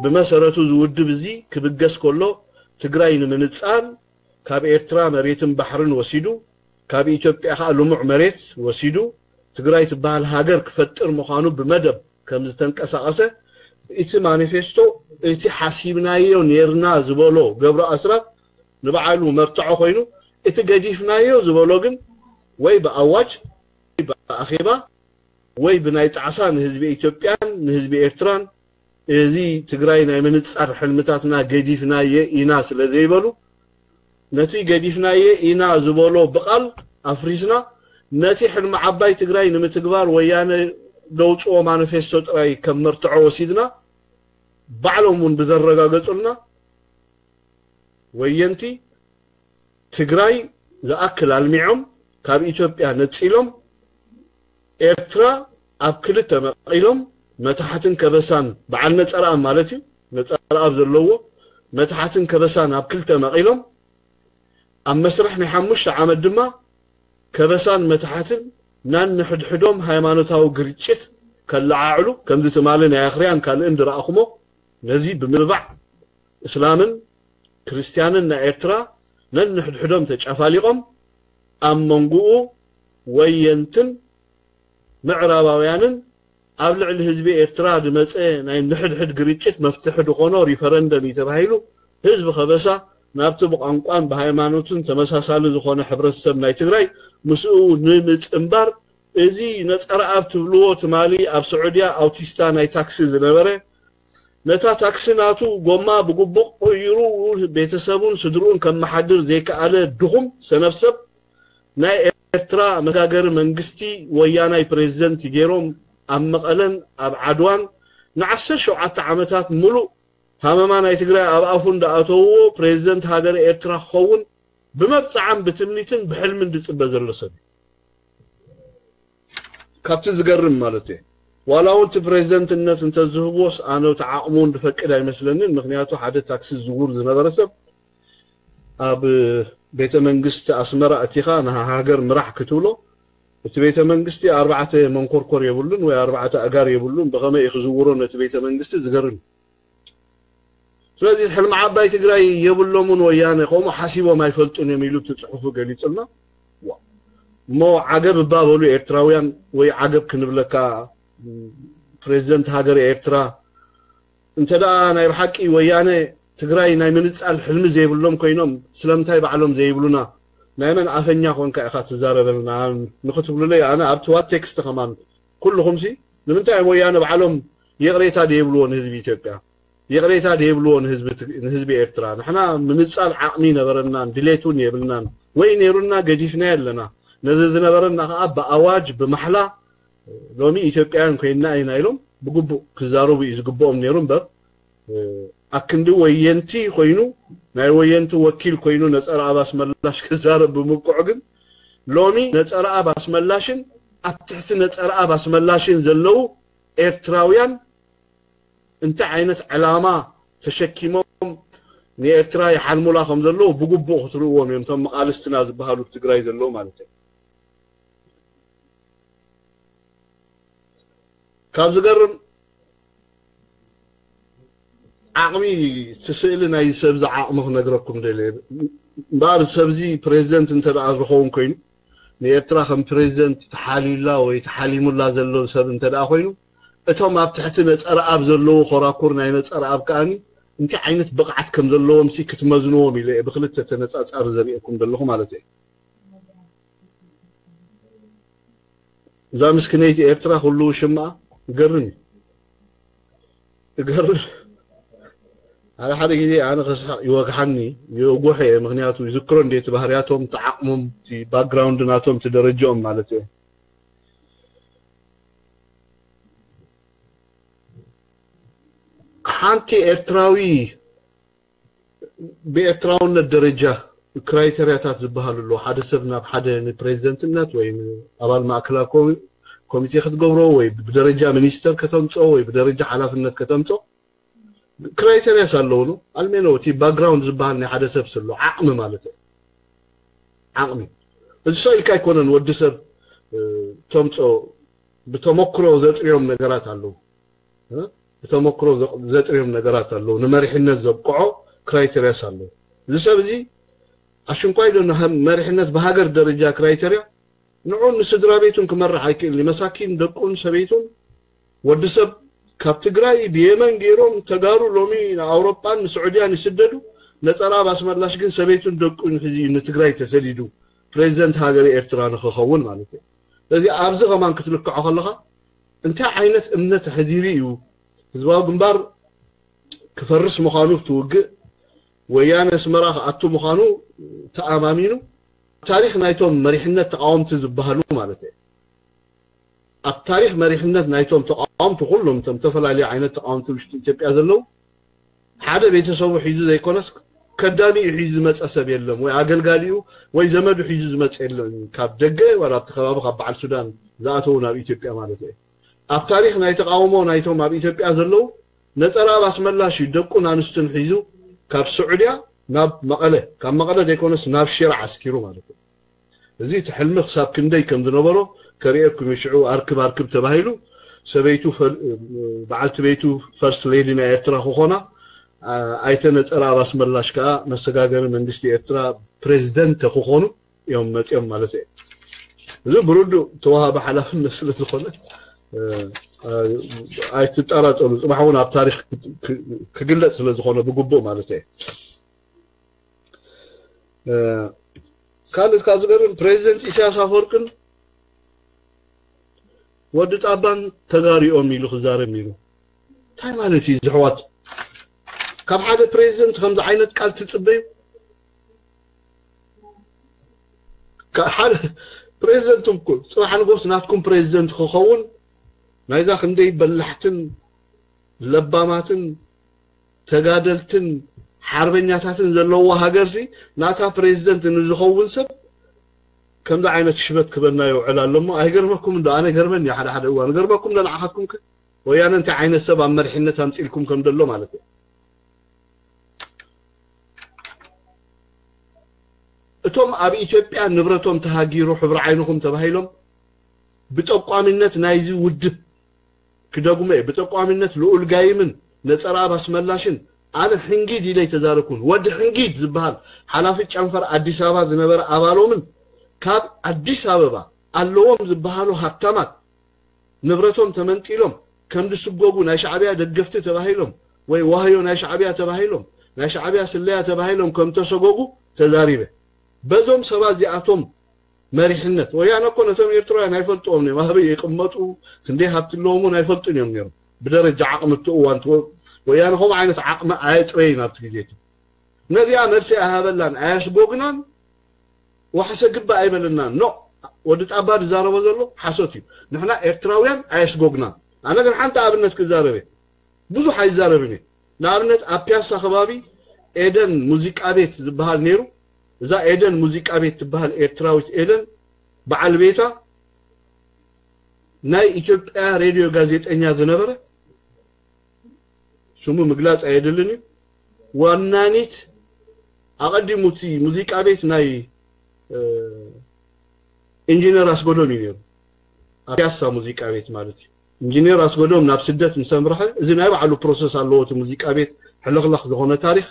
ብመሰረቱ እዚ ውድብ እዚ ክብገስ ከሎ ትግራይ ንምንፃል ካብ ኤርትራ መሬትን ባሕርን ወሲዱ ካብ ኢትዮጵያ ከዓ ልሙዕ መሬት ወሲዱ ትግራይ ትበሃል ሃገር ክፈጥር ምዃኑ ብመደብ ከም ዝተንቀሳቐሰ እቲ ማኒፌስቶ እቲ ሓሲብናዮ ኔርና ዝበሎ ገብሩ ኣስራት ንበዓሉ መርትዖ ኮይኑ እቲ ገዲፍናዮ ዝበሎ ግን ወይ ብኣዋጅ፣ ወይ ብኣኼባ፣ ወይ ብናይ ጣዕሳ ንህዝቢ ኢትዮጵያን ንህዝቢ ኤርትራን፣ እዚ ትግራይ ናይ ምንጻር ሕልምታትና ገዲፍናየ ኢና ስለ ዘይበሉ፣ ነቲ ገዲፍናየ ኢና ዝበሎ ብቓል ኣፍሪስና፣ ነቲ ሕልሚ ዓባይ ትግራይ ንምትግባር ወያነ ደውፅኦ ማኒፌስቶ ጥራይ ከም መርትዖ ወሲድና፣ ባዕሎም እውን ብዘረጋገፁልና፣ ወየንቲ ትግራይ ዝኣክል ኣልሚዖም፣ ካብ ኢትዮጵያ ነፂሎም፣ ኤርትራ ኣብ ክልተ መቒሎም፣ መታሕትን ከበሳን፣ በዓል ነፀረኣብ ማለት እዩ፣ ነፀረኣብ ዘለዎ መታሕትን ከበሳን ኣብ ክልተ መቒሎም፣ ኣብ መስርሕ ናይ ሓሙሽተ ዓመት ድማ ከበሳን መታሕትን ናንሕድሕዶም ሃይማኖታዊ ግርጭት ከለዓዕሉ፣ ከምዚ ትማሊ ናይ ኣኽርያን ካልእን ዝረኣኹሞ፣ ነዚ ብምባዕ እስላምን ክርስትያንን ናይ ኤርትራ ነንሕድሕዶም ተጨፋሊቖም፣ ኣብ መንጎኡ ወየንትን ምዕራባውያንን ኣብ ልዕሊ ህዝቢ ኤርትራ ዝመጸ ናይ ንሕድሕድ ግርጭት መፍትሒ ዝኾኖ ሪፈረንደም እዩ ተባሂሉ፣ ህዝቢ ከበሳ ናብቲ ብቋንቋን ብሃይማኖትን ተመሳሳሊ ዝኾነ ሕብረተሰብ ናይ ትግራይ ምስኡ ንምጽንባር፣ እዚ ነጸረኣብ ትብልዎ ትማሊ ኣብ ስዑድያ ኣውቲስታ ናይ ታክሲ ዝነበረ፣ ነታ ታክሲ ናቱ ጎማ ብግቡእ ቀይሩ ቤተሰቡን ስድርኡን ከመሓድር ዘይከኣለ ድኹም ሰነፍ ሰብ፣ ናይ ኤርትራ መጋገሪ መንግስቲ ወያናይ ፕሬዝደንት ገይሮም ኣብ መቐለን ኣብ ዓድዋን ንዓሰርተ ሸውዓተ ዓመታት ሙሉእ ሃመማ ናይ ትግራይ ኣብ ኣፉ እንዳኣተውዎ ፕሬዝደንት ሃገረ ኤርትራ ክኸውን ብመብፅዓን ብትምኒትን ብሕልምን ዝፅበ ዘሎ ሰብ እዩ። ካብቲ ዝገርም ማለት እየ። ዋላ እውን እቲ ፕሬዝደንትነት እንተዝህብዎስ ኣነ እቲ ዓቕሙ እውን ዝፈቅድ ኣይመስለንን። ምክንያቱ ሓደ ታክሲ ዝዝውር ዝነበረ ሰብ ኣብ ቤተ መንግስቲ ኣስመራ እቲኻ ንሃገር ምራሕ ክትብሎ፣ እቲ ቤተ መንግስቲ ኣርባዕተ መንኮርኮር የብሉን ወይ ኣርባዕተ ኣጋር የብሉን። ብኸመይ እዩ ክዝውሮ ነቲ ቤተ መንግስቲ? ዝገርም እዩ። ስለዚ ሕልሚ ዓባይ ትግራይ የብሎምን፣ ወያነ ከምኡ ሓሲቦም ኣይፈልጡን እዮም ኢሉ እቲ ፅሑፉ ገሊፁልና። ዋ። እሞ ዓገብ እባ በሉ ኤርትራውያን፣ ወይ ዓገብ ክንብለካ፣ ፕሬዝደንት ሃገር ኤርትራ፣ እንተ ደኣ ናይ ብሓቂ ወያነ ትግራይ ናይ ምንጻል ሕልሚ ዘይብሎም ኮይኖም ስለምንታይ ባዕሎም ዘይብሉና? ናይ መን ኣፈኛ ኮንካ ኢኻ ትዛረበልና? ንኽትብሉለይ ኣነ ኣብቲ ዋት ቴክስት ከማን ኩልኹምሲ ንምንታይ እዮም ወያነ ባዕሎም ይቕሬታ ዘይብልዎ ንህዝቢ ኢትዮጵያ? ይቕሬታ ዘይብልዎ ንህዝቢ ትግ-፣ ንህዝቢ ኤርትራ? ንሕና ምንጻል ዓቕሚ ነበረናን ድሌት እውን የብልናን። ወይ ነይሩና ገዲፍናዮ ኣለና። ነዚ ዝነበረና ከኣ ብኣዋጅ ብማሕላ ሎሚ ኢትዮጵያውያን ኮይንና ኢና ኢሎም ብግቡእ ክዛረቡ እዩ ዝግብኦም ነይሩ እምበር፣ ኣክንዲ ወየንቲ ኮይኑ ናይ ወየንቲ ወኪል ኮይኑ ነጸረኣብ ኣስመላሽ ክዛረብ ብምብቅዑ ግን ሎሚ ነጸረኣብ ኣስመላሽን ኣብ ትሕቲ ነጸረኣብ ኣስመላሽን ዘለዉ ኤርትራውያን እንታይ ዓይነት ዕላማ ተሸኪሞም ንኤርትራ ይሓልሙላ ከም ዘለዉ ብግቡእ ክትርእዎም እዮም፣ እቶም መቓልስትና ዝበሃሉ ኣብ ትግራይ ዘለዉ ማለት እዩ። ካብ ዝገርም ዓቕሚ እቲ ስእሊ ናይ ሰብዚ ዓቕሚ ክነግረኩም ደልየ። እምበኣር ሰብዚ ፕሬዚደንት እንተ ደኣ ዝኸውን ኮይኑ ንኤርትራ ከም ፕሬዚደንት ተሓልዩላ ወይ ተሓሊሙላ ዘሎ ሰብ እንተ ደኣ ኮይኑ እቶም ኣብ ትሕቲ ነጸረኣብ ዘለዉ ኮራኩር ናይ ነጸረኣብ ከኣኒ እንታይ ዓይነት ብቕዓት ከም ዘለዎም ሲ ክትመዝንዎም ኢለ እየ ብክልተ ተነጻጻሪ ዘርእየኩም ዘለኹ ማለት እየ። እዛ ምስክነይቲ ኤርትራ ኩሉ ሽማ ይገርም እዩ። ይገርም። ሓደ ሓደ ግዜ ኣነ ከስሕቕ ይወግሓኒ፣ ይወግሖ እየ። ምክንያቱ ይዝክሮ እንዴ እቲ ባህርያቶም፣ እቲ ዓቕሞም፣ እቲ ባክግራውንድ ናቶም፣ እቲ ደረጃኦም ማለት እየ። ሓንቲ ኤርትራዊ ብኤርትራውነት ደረጃ ክራይተርያታት ዝበሃሉ ኣለዉ። ሓደ ሰብ ናብ ሓደ ንፕሬዚደንትነት ወይ ንኣባል ማእከላዊ ኮሚ-፣ ኮሚቴ ክትገብሮ ወይ ብደረጃ ሚኒስተር ከተምፅኦ ወይ ብደረጃ ሓላፍነት ከተምፅኦ ክራይተርያስ ኣለዉ። ኣልሜኖ እቲ ባክግራውንድ ዝበሃል ናይ ሓደ ሰብ ስሎ ዓቕሚ ማለት እዩ። ዓቕሚ እዚ ሰው ኢልካ ኣይኮነን ወዲ ሰብ፣ እ፣ ተምፅኦ ብተመክሮ ዘጥርዮም ነገራት ኣለዉ። እ? ብተመክሮ ዘ-፣ ዘጥርዮም ነገራት ኣለዉ። ንመሪሕነት ዘብቅዖ ክራይተርያስ ኣለዉ። እዚ ሰብ እዚ ኣሽንኳይ ዶ ንሃ-፣ መሪሕነት ብሃገር ደረጃ ክራይተርያ ንዑን ንስድራ ቤቱን ክመርሕ ኣይክእልን እዩ። መሳኪን ደቁን ሰበይቱን ወዲ ሰብ ካብ ትግራይ ብየመን ገይሮም ተጋሩ ሎሚ ንኣውሮጳን ንስዑድያን ይስደዱ። ነጸረኣብ ኣስመላሽ ግን ሰበይቱን ደቁን ሒዙ እዩ ንትግራይ ተሰዲዱ። ፕሬዚደንት ሃገር ኤርትራ ንክኸውን ማለት እዩ። ስለዚ ኣብዚ ከማን ክትልክዖ ከለኻ እንታይ ዓይነት እምነት ኣሕዲሩ እዩ ህዝባዊ ግንባር ክፈርስ ምዃኑ እቲ ውግእ፣ ወያነ ኣስመራ ክኣቱ ምዃኑ ተኣማሚኑ፣ ታሪኽ ናይቶም መሪሕነት ተቃወምቲ ዝበሃሉ ማለት እዩ። ኣብ ታሪኽ መሪሕነት ናይቶም ተቃወምቲ ኩሎም እቶም ዝተፈላለዩ ዓይነት ተቃወምቲ ውሽጢ ኢትዮጵያ ዘለዉ ሓደ ቤተሰቡ ሒዙ ዘይኮነስ ከዳሚኡ ሒዙ ዝመፀ ሰብ የለም፣ ወይ ኣገልጋሊኡ ወይ ዘመዱ ሒዙ ዝመፀ የለን። ካብ ደገ ዋላ ኣብቲ ከባቢ ካብ በዓል ሱዳን ዝኣተዉ ናብ ኢትዮጵያ ማለት እዩ። ኣብ ታሪኽ ናይ ተቃውሞ ናይቶም ኣብ ኢትዮጵያ ዘለዉ ነፀራ ኣብ ኣስመላሽ እዩ ደቁን ኣንስትን ሒዙ ካብ ስዑድያ ናብ መቐለ፣ ካብ መቐለ ዘይኮነስ ናብ ሽረ ዓስኪሩ ማለት እዩ። እዚ እቲ ሕልሚ ክሳብ ክንደይ ከም ዝነበሮ ከርእየኩም እዩ። ሽዑ ኣርክብ ኣርክብ ተባሂሉ ሰበይቱ ፈል- በዓልቲ ቤቱ ፈርስት ሌዲ ናይ ኤርትራ ክኾና፣ ኣ- ኣይተ ነፀራ ኣብ ኣስመላሽ ከዓ መሰጋገሪ መንግስቲ ኤርትራ ፕሬዚደንት ክኾኑ እዮም መፅኦም ማለት እዩ። እዚ ብርዱእ ተዋሃቢ ሓላፍነት ስለ ዝኾነ እ፣ እ፣ ኣይትጠራጠሩ። ፅባሕ እውን ኣብ ታሪኽ ክ- ክ- ክግለፅ ስለ ዝኾነ ብግቡእ ማለት እዩ። እ፣ ካልእ ካብ ዝገርም ፕሬዚደንት ኢሳያስ ኣፈወርቅን ወዲ ጣባን ተጋሪኦም ኢሉ ክዛረብ ነይሩ። እንታይ ማለት እዩ ዝሕዋት? ካብ ሓደ ፕሬዚደንት ከምዚ ዓይነት ቃል ትፅበዩ? ካብ ሓደ ፕሬዚደንት እኮ ፅባሕ ንጎስ ናትኩም ፕሬዚደንት ክኸውን ናይዛ ክንደይ በላሕትን ለባማትን ተጋደልትን ሓርበኛታትን ዘለዎ ሃገርሲ ናታ ፕሬዚደንት ንዝኸውን ሰብ ከምዚ ዓይነት ሽበት ክበና ይውዕል ኣሎ እሞ ኣይገርመኩም እንዶ ኣነ ገርመኒ ሓደ ሓደ እዋን ገርመኩም ዶ ንዓኻትኩም ከ ወያነ እንታይ ዓይነት ሰብ ኣብ መሪሕነት ኣምፂልኩም ከም ዘሎ ማለት እዩ። እቶም ኣብ ኢትዮጵያ ንብረቶም ተሃጊሩ ሕብሪ ዓይንኹም ተባሂሎም ብጠቋሚነት ናይዚ ውድብ ክደግሞ እየ። ብጠቋሚነት ልኡል ጋይምን ነፀራ ኣብ ኣስመላሽን ኣነ ሕንጊድ ኢለ ኣይተዛረብኩን። ወዲ ሕንጊድ ዝበሃል ሓላፊ ጨንፈር ኣዲስ ኣበባ ዝነበረ ኣባሎምን ካብ ኣዲስ ኣበባ ኣለዎም ዝበሃሉ ሃብታማት ንብረቶም ተመንጢሎም ከም ዝስጎጉ ናይ ሻዕብያ ደገፍቲ ተባሂሎም ወይ ዋህዮ ናይ ሻዕብያ ተባሂሎም ናይ ሻዕብያ ስለያ ተባሂሎም ከም ተሰጎጉ ተዛሪበ። በዞም ሰባት እዚኣቶም መሪሕነት ወያነ እኮ ነቶም ኤርትራውያን ኣይፈልጥዎም እዮም። ኣበይ ይቕመጡ ክንደይ ሃብቲ ኣለዎም እውን ኣይፈልጡን እዮም ነይሮም። ብደረጃ ዓቕሚ እቲ እዋን እቲ ወ- ወያነ ከምኡ ዓይነት ዓቕሚ ኣየጥረይን ኣብቲ ግዜ እቲ። ነዚኣ መልሲ ኣይሃበላን ኣየስጎግናን ዋሕሰ ግባ ኣይበለናን። ኖ ወዲ ጣባ ዝዛረቦ ዘሎ ሓሶት እዩ። ንሕና ኤርትራውያን ኣየስጎግናን። ኣነ ግን ሓንቲ ኣብነት ክዛረብ እየ። ብዙሕ ኣይዛረብን እየ። ንኣብነት ኣብ ፒያሳ ከባቢ ኤደን ሙዚቃ ቤት ዝበሃል ነይሩ። እዛ ኤደን ሙዚቃ ቤት ትበሃል ኤርትራዊት ኤደን በዓል ቤታ ናይ ኢትዮጵያ ሬድዮ ጋዜጠኛ ዝነበረ ስሙ ምግላፅ ኣየድልን እዩ። ዋናኒት ኣቐዲሙ እቲ ሙዚቃ ቤት ናይ እ፣ ኢንጂነር ኣስጎዶም እዩ ነይሩ። ኣብ ፒያሳ ሙዚቃ ቤት ማለት እዩ። ኢንጂነር ኣስጎዶም ናብ ስደት ምስ ኣምርሐ እዚ ናይ ባዕሉ ፕሮሰስ ኣለዎ። እቲ ሙዚቃ ቤት ሕልኽላኽ ዝኾነ ታሪኽ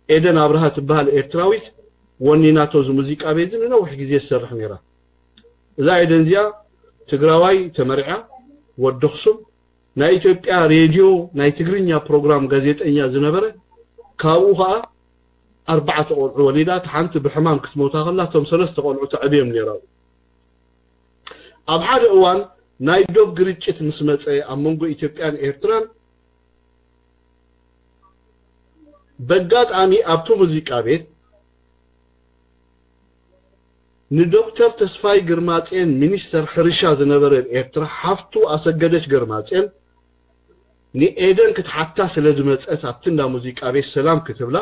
ኤደን ኣብርሃ ትበሃል ኤርትራዊት ወኒናቶ እዚ ሙዚቃ ቤት እዚ ንነዊሕ ግዜ ትሰርሕ ነይራ። እዛ ኤደን እዚኣ ትግራዋይ ተመርዕያ ወዲ ኣኽሱም ናይ ኢትዮጵያ ሬድዮ ናይ ትግርኛ ፕሮግራም ጋዜጠኛ ዝነበረ ካብኡ ከዓ ኣርባዕተ ቆልዑ ወሊዳ እቲ ሓንቲ ብሕማም ክትሞታ ከላ እቶም ሰለስተ ቆልዑ ተዕብዮም ነይራ። ኣብ ሓደ እዋን ናይ ዶብ ግርጭት ምስ መፀ ኣብ መንጎ ኢትዮጵያን ኤርትራን በጋጣሚ ኣብቲ ሙዚቃ ቤት ንዶክተር ተስፋይ ግርማጼን ሚኒስተር ሕርሻ ዝነበረ ኤርትራ ሓፍቱ ኣሰገደች ግርማጼን ንኤደን ክትሓታ ስለ ዝመጸት ኣብቲ እንዳ ሙዚቃ ቤት ሰላም ክትብላ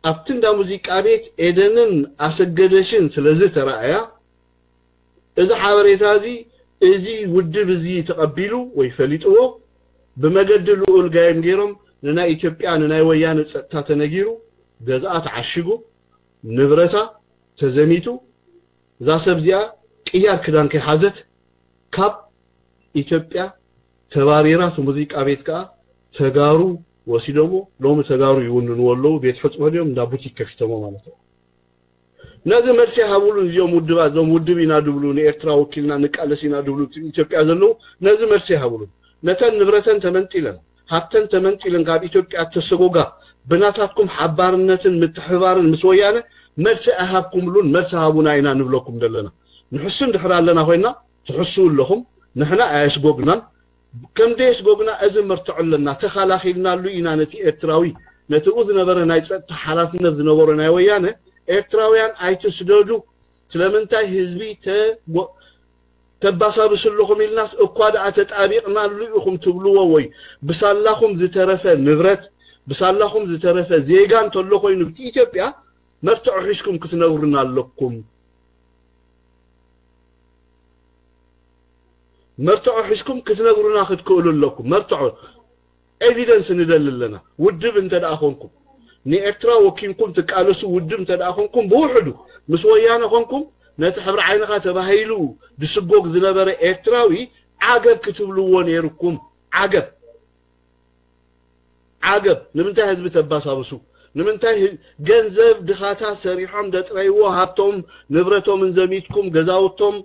ኣብቲ እንዳ ሙዚቃ ቤት ኤደንን ኣሰገደችን ስለ ዝተራእያ እዚ ሓበሬታ እዚ እዚ ውድብ እዚ ተቐቢሉ ወይ ፈሊጥዎ ብመገዲ ልኡል ጋይም ገይሮም ንናይ ኢትዮጵያ ንናይ ወያነ ጸጥታ ተነጊሩ ገዝኣ ተዓሽጉ ንብረታ ተዘሚቱ እዛ ሰብ እዚኣ ቅያር ክዳን ከይሓዘት ካብ ኢትዮጵያ ተባሪራ እቲ ሙዚቃ ቤት ከዓ ተጋሩ ወሲዶሞ ሎሚ ተጋሩ ይውንንዎ ኣለዉ ቤት ሕፅቦ ድዮም እንዳ ቡቲክ ከፊቶሞ ማለት እዩ ነዚ መልሲ ሃብሉ እዚኦም ውድባት እዞም ውድብ ኢና ድብሉ ንኤርትራ ወኪልና ንቃለስ ኢና ድብሉ ኢትዮጵያ ዘለዉ ነዚ መልሲ ሃብሉ ነተን ንብረተን ተመንጢለን ሃብተን ተመንጢለን ካብ ኢትዮጵያ ተሰጎጋ ብናታትኩም ሓባርነትን ምትሕባርን ምስ ወያነ መልሲ ኣይሃብኩምሉን። መልሲ ሃቡና ኢና ንብለኩም ዘለና። ንሕሱ እንድሕር ኣለና ኮይና ትሕስው ኣለኹም። ንሕና ኣየስጎግናን። ከም ደየስጎግና እዚ መርትዖ ኣለና። ተኸላኺልናሉ ኢና ነቲ ኤርትራዊ፣ ነቲ ኡ ዝነበረ ናይ ጸጥታ ሓላፍነት ዝነበሮ ናይ ወያነ፣ ኤርትራውያን ኣይትስደዱ፣ ስለምንታይ ህዝቢ ተጎ- ተባሳብሱ ኣለኹም ኢልናስ እኳ ደኣ ተጣቢቕናሉ ኢኹም ትብልዎ ወይ ብሳላኹም ዝተረፈ ንብረት፣ ብሳላኹም ዝተረፈ ዜጋ እንተሎ ኮይኑ ብቲ ኢትዮጵያ መርትዖ ሒዝኩም ክትነግሩና ኣለኩም። መርትዖ ሒዝኩም ክትነግሩና ክትክእሉ ኣለኩም። መርትዖ ኤቪደንስ ንደሊ ኣለና። ውድብ እንተ ደኣ ኾንኩም፣ ንኤርትራ ወኪንኩም ትቃለሱ ውድብ እንተ ደኣ ኾንኩም፣ ብውሕዱ ምስ ወያነ ኾንኩም ነቲ ሕብሪ ዓይንኻ ተባሂሉ ድስጎግ ዝነበረ ኤርትራዊ ዓገብ ክትብልዎ ነይርኩም። ዓገብ። ዓገብ። ንምንታይ ህዝቢ ተባሳብሱ? ንምንታይ ህ- ገንዘብ ድኻታት ሰሪሖም ደጥረይዎ ሃብቶም ንብረቶምን ዘሚትኩም ገዛውቶም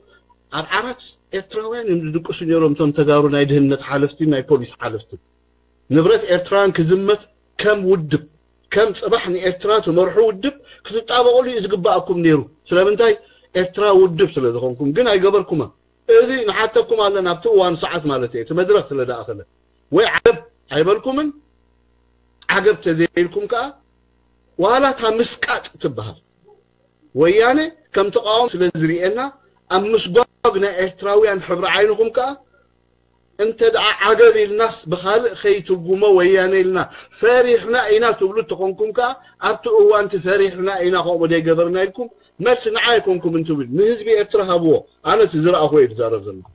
ኣብ ዓራት ኤርትራውያን እዮም ዝድቅሱ ነይሮም። እቶም ተጋሩ ናይ ድህነት ሓለፍቲ ናይ ፖሊስ ሓለፍቲ ንብረት ኤርትራውያን ክዝመት ከም ውድብ ከም ጽባሕ ንኤርትራ ትመርሑ ውድብ ክትጣበቕሉ እዩ ዝግባኣኩም ነይሩ። ስለምንታይ? ኤርትራ ውድብ ስለ ዝኾንኩም። ግን ኣይገበርኩማ። እዚ ንሓተኩም ኣለና ኣብቲ እዋን ሰዓት ማለት እዩ። እቲ መድረኽ ስለ ደኣኸለ ወይ ዓገብ ኣይበልኩምን። ዓገብ ተዘይልኩም ከኣ ዋላ እታ ምስቃጥ ትበሃል ወያነ ከም ተቃዋሚ ስለ ዝርእየና ኣብ ምስጓግ ናይ ኤርትራውያን ሕብሪ ዓይንኹም ከኣ እንተ ደኣ ዓገብ ኢልናስ ብኻልእ ከይትርጉሞ ወያነ ኢልና ፈሪሕና ኢና ትብሉ ተኾንኩም ከኣ ኣብቲ እዋንቲ ፈሪሕና ኢና ከምኡ ደይገበርና ኢልኩም መልሲ ንዓ ኣይኮንኩም እንትብል ንህዝቢ ኤርትራ ሃብዎ። ኣነ እቲ ዝረኣኹ እየ ዝዛረብ ዘለኹ።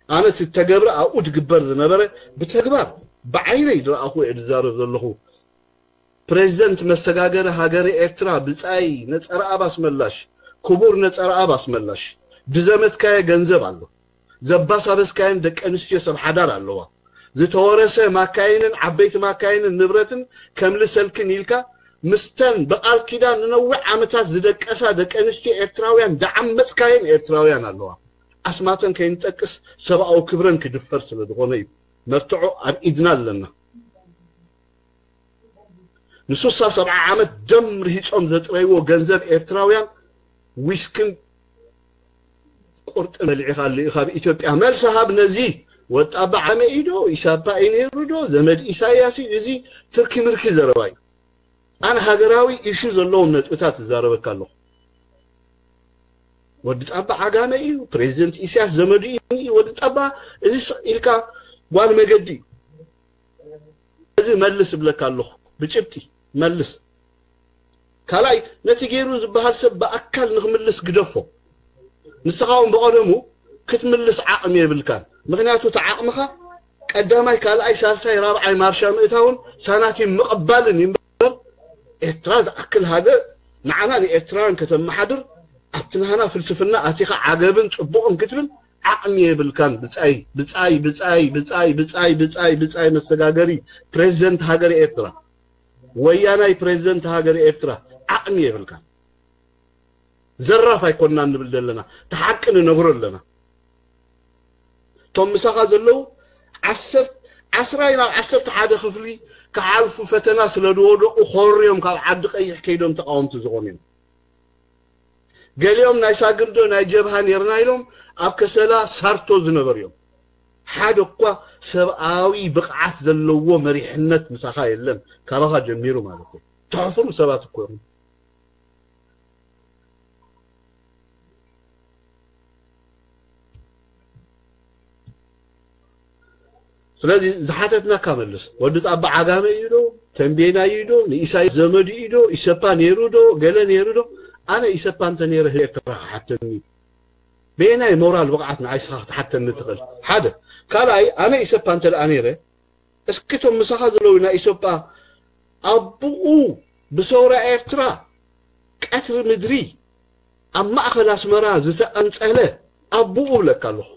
ኣነ እቲ ተገብረ ኣብኡ ድግበር ዝነበረ ብተግባር ብዓይነይ ዝረኣኹ እየ ዝዛረብ ዘለኹ። ፕሬዚደንት መሰጋገሪ ሃገረ ኤርትራ ብጻይ ነጸረኣብ ኣስመላሽ፣ ክቡር ነጸረኣብ ኣስመላሽ፣ ድዘመትካየ ገንዘብ ኣሎ። ዘባሳበስካየን ደቂ ኣንስትዮ ሰብ ሓዳር ኣለዋ። ዝተወረሰ ማካይንን ዓበይቲ ማካይንን ንብረትን ከምልሰልክን ኢልካ ምስተን ብቓል ኪዳን ንነዊሕ ዓመታት ዝደቀሳ ደቂ ኣንስትዮ ኤርትራውያን ደዓመጽካየን ኤርትራውያን ኣለዋ። ኣስማተን ከይንጠቅስ ሰብኣዊ ክብረን ክድፈር ስለ ዝኾነ እዩ። መርትዖ ኣብ ኢድና ኣለና። ንሱሳ ሰብዓ ዓመት ደም ርሂጾም ዘጥረይዎ ገንዘብ ኤርትራውያን ዊስክን ቁርጥን በሊዕኻ ኣሎ ኢኻ ኣብ ኢትዮጵያ። መልሲ ሃብ ነዚ ወጣባ ዓመ እዩ ዶ? ኢሳፓ እዩ ነይሩ ዶ? ዘመድ ኢሳያስ እዩ? እዚ ትርኪ ምርኪ ዘረባ እዩ። ኣነ ሃገራዊ ኢሹ ዘለዎም ነጥብታት እዛረበካ ኣለኹ። ወዲ ጻባ ዓጋመ እዩ፣ ፕሬዚደንት ኢሳያስ ዘመዱ እዩ። ወዲ ጻባ እዚ ስቕ ኢልካ ጓል መገዲ እዩ። እዚ መልስ እብለካ ኣለኹ ብጭብጢ መልስ። ካልኣይ ነቲ ገይሩ ዝበሃል ሰብ ብኣካል ንክምልስ ግደፎ። ንስኻ እውን ብቐደሙ ክትምልስ ዓቕሚ የብልካን። ምኽንያቱ እቲ ዓቕምኻ ቀዳማይ፣ ካልኣይ፣ ሳልሳይ፣ ራብዓይ ማርሻ ምእታውን ሳናቲም ምቕባልን እዩ እምበር ኤርትራ ዝኣክል ሃገር ንዓና ንኤርትራውያን ከተመሓድር ኣብቲ ናህና ፍልስፍና ኣቲኻ ዓገብን ጽቡቕን ክትብል ዓቕሚ የብልካን። ብጻይ ብጻይ ብጻይ ብጻይ ብጻይ ብጻይ ብጻይ መሰጋገሪ ፕሬዚደንት ሃገር ኤርትራ ወያናይ ፕሬዚደንት ሃገር ኤርትራ ዓቕሚ የብልካን። ዘራፍ ኣይኮንና ንብል ዘለና፣ እቲ ሓቂ ንነግሮ ኣለና። እቶም ምሳኻ ዘለዉ ዓሰርተ ዓስራ ናብ ዓሰርተ ሓደ ክፍሊ ክሓልፉ ፈተና ስለ ዝወደቑ ኮርዮም ካብ ዓዲ ቀይሕ ከይዶም ተቃወምቲ ዝኾኑ እዮም። ገሊኦም ናይ ሳግርዶ ናይ ጀብሃ ኔርና ኢሎም ኣብ ከሰላ ሳርቶ ዝነበሩ እዮም። ሓደ እኳ ሰብኣዊ ብቕዓት ዘለዎ መሪሕነት ምሳኻ የለን፣ ካባኻ ጀሚሩ ማለት እዩ። ተሕፍሩ ሰባት እኮ እዮም። ስለዚ ዝሓተትናካ መልስ። ወዲ ጻባ ዓጋመ እዩ ዶ? ተንቤና እዩ ዶ? ንኢሳያስ ዘመዱ እዩ ዶ? ኢሰፓ ነይሩ ዶ? ገለ ነይሩ ዶ? ኣነ ኢሰፓ እንተ ነይረ ህዝቢ ኤርትራ ክሓተኒ እዩ። በየናይ ሞራል ብቕዓት ንዓይ ስኻ ክትሓተኒ ትኽእል? ሓደ። ካልኣይ፣ ኣነ ኢሰፓ እንተ ደኣ ነይረ፣ እስኪ እቶም ምሳኻ ዘለዉ ናይ ኢሰፓ ኣቦኡ ብሰውራ ኤርትራ ቀትሪ ምድሪ ኣብ ማእከል ኣስመራ ዝተቐንጸለ ኣቦኡ እብለካ ኣለኹ።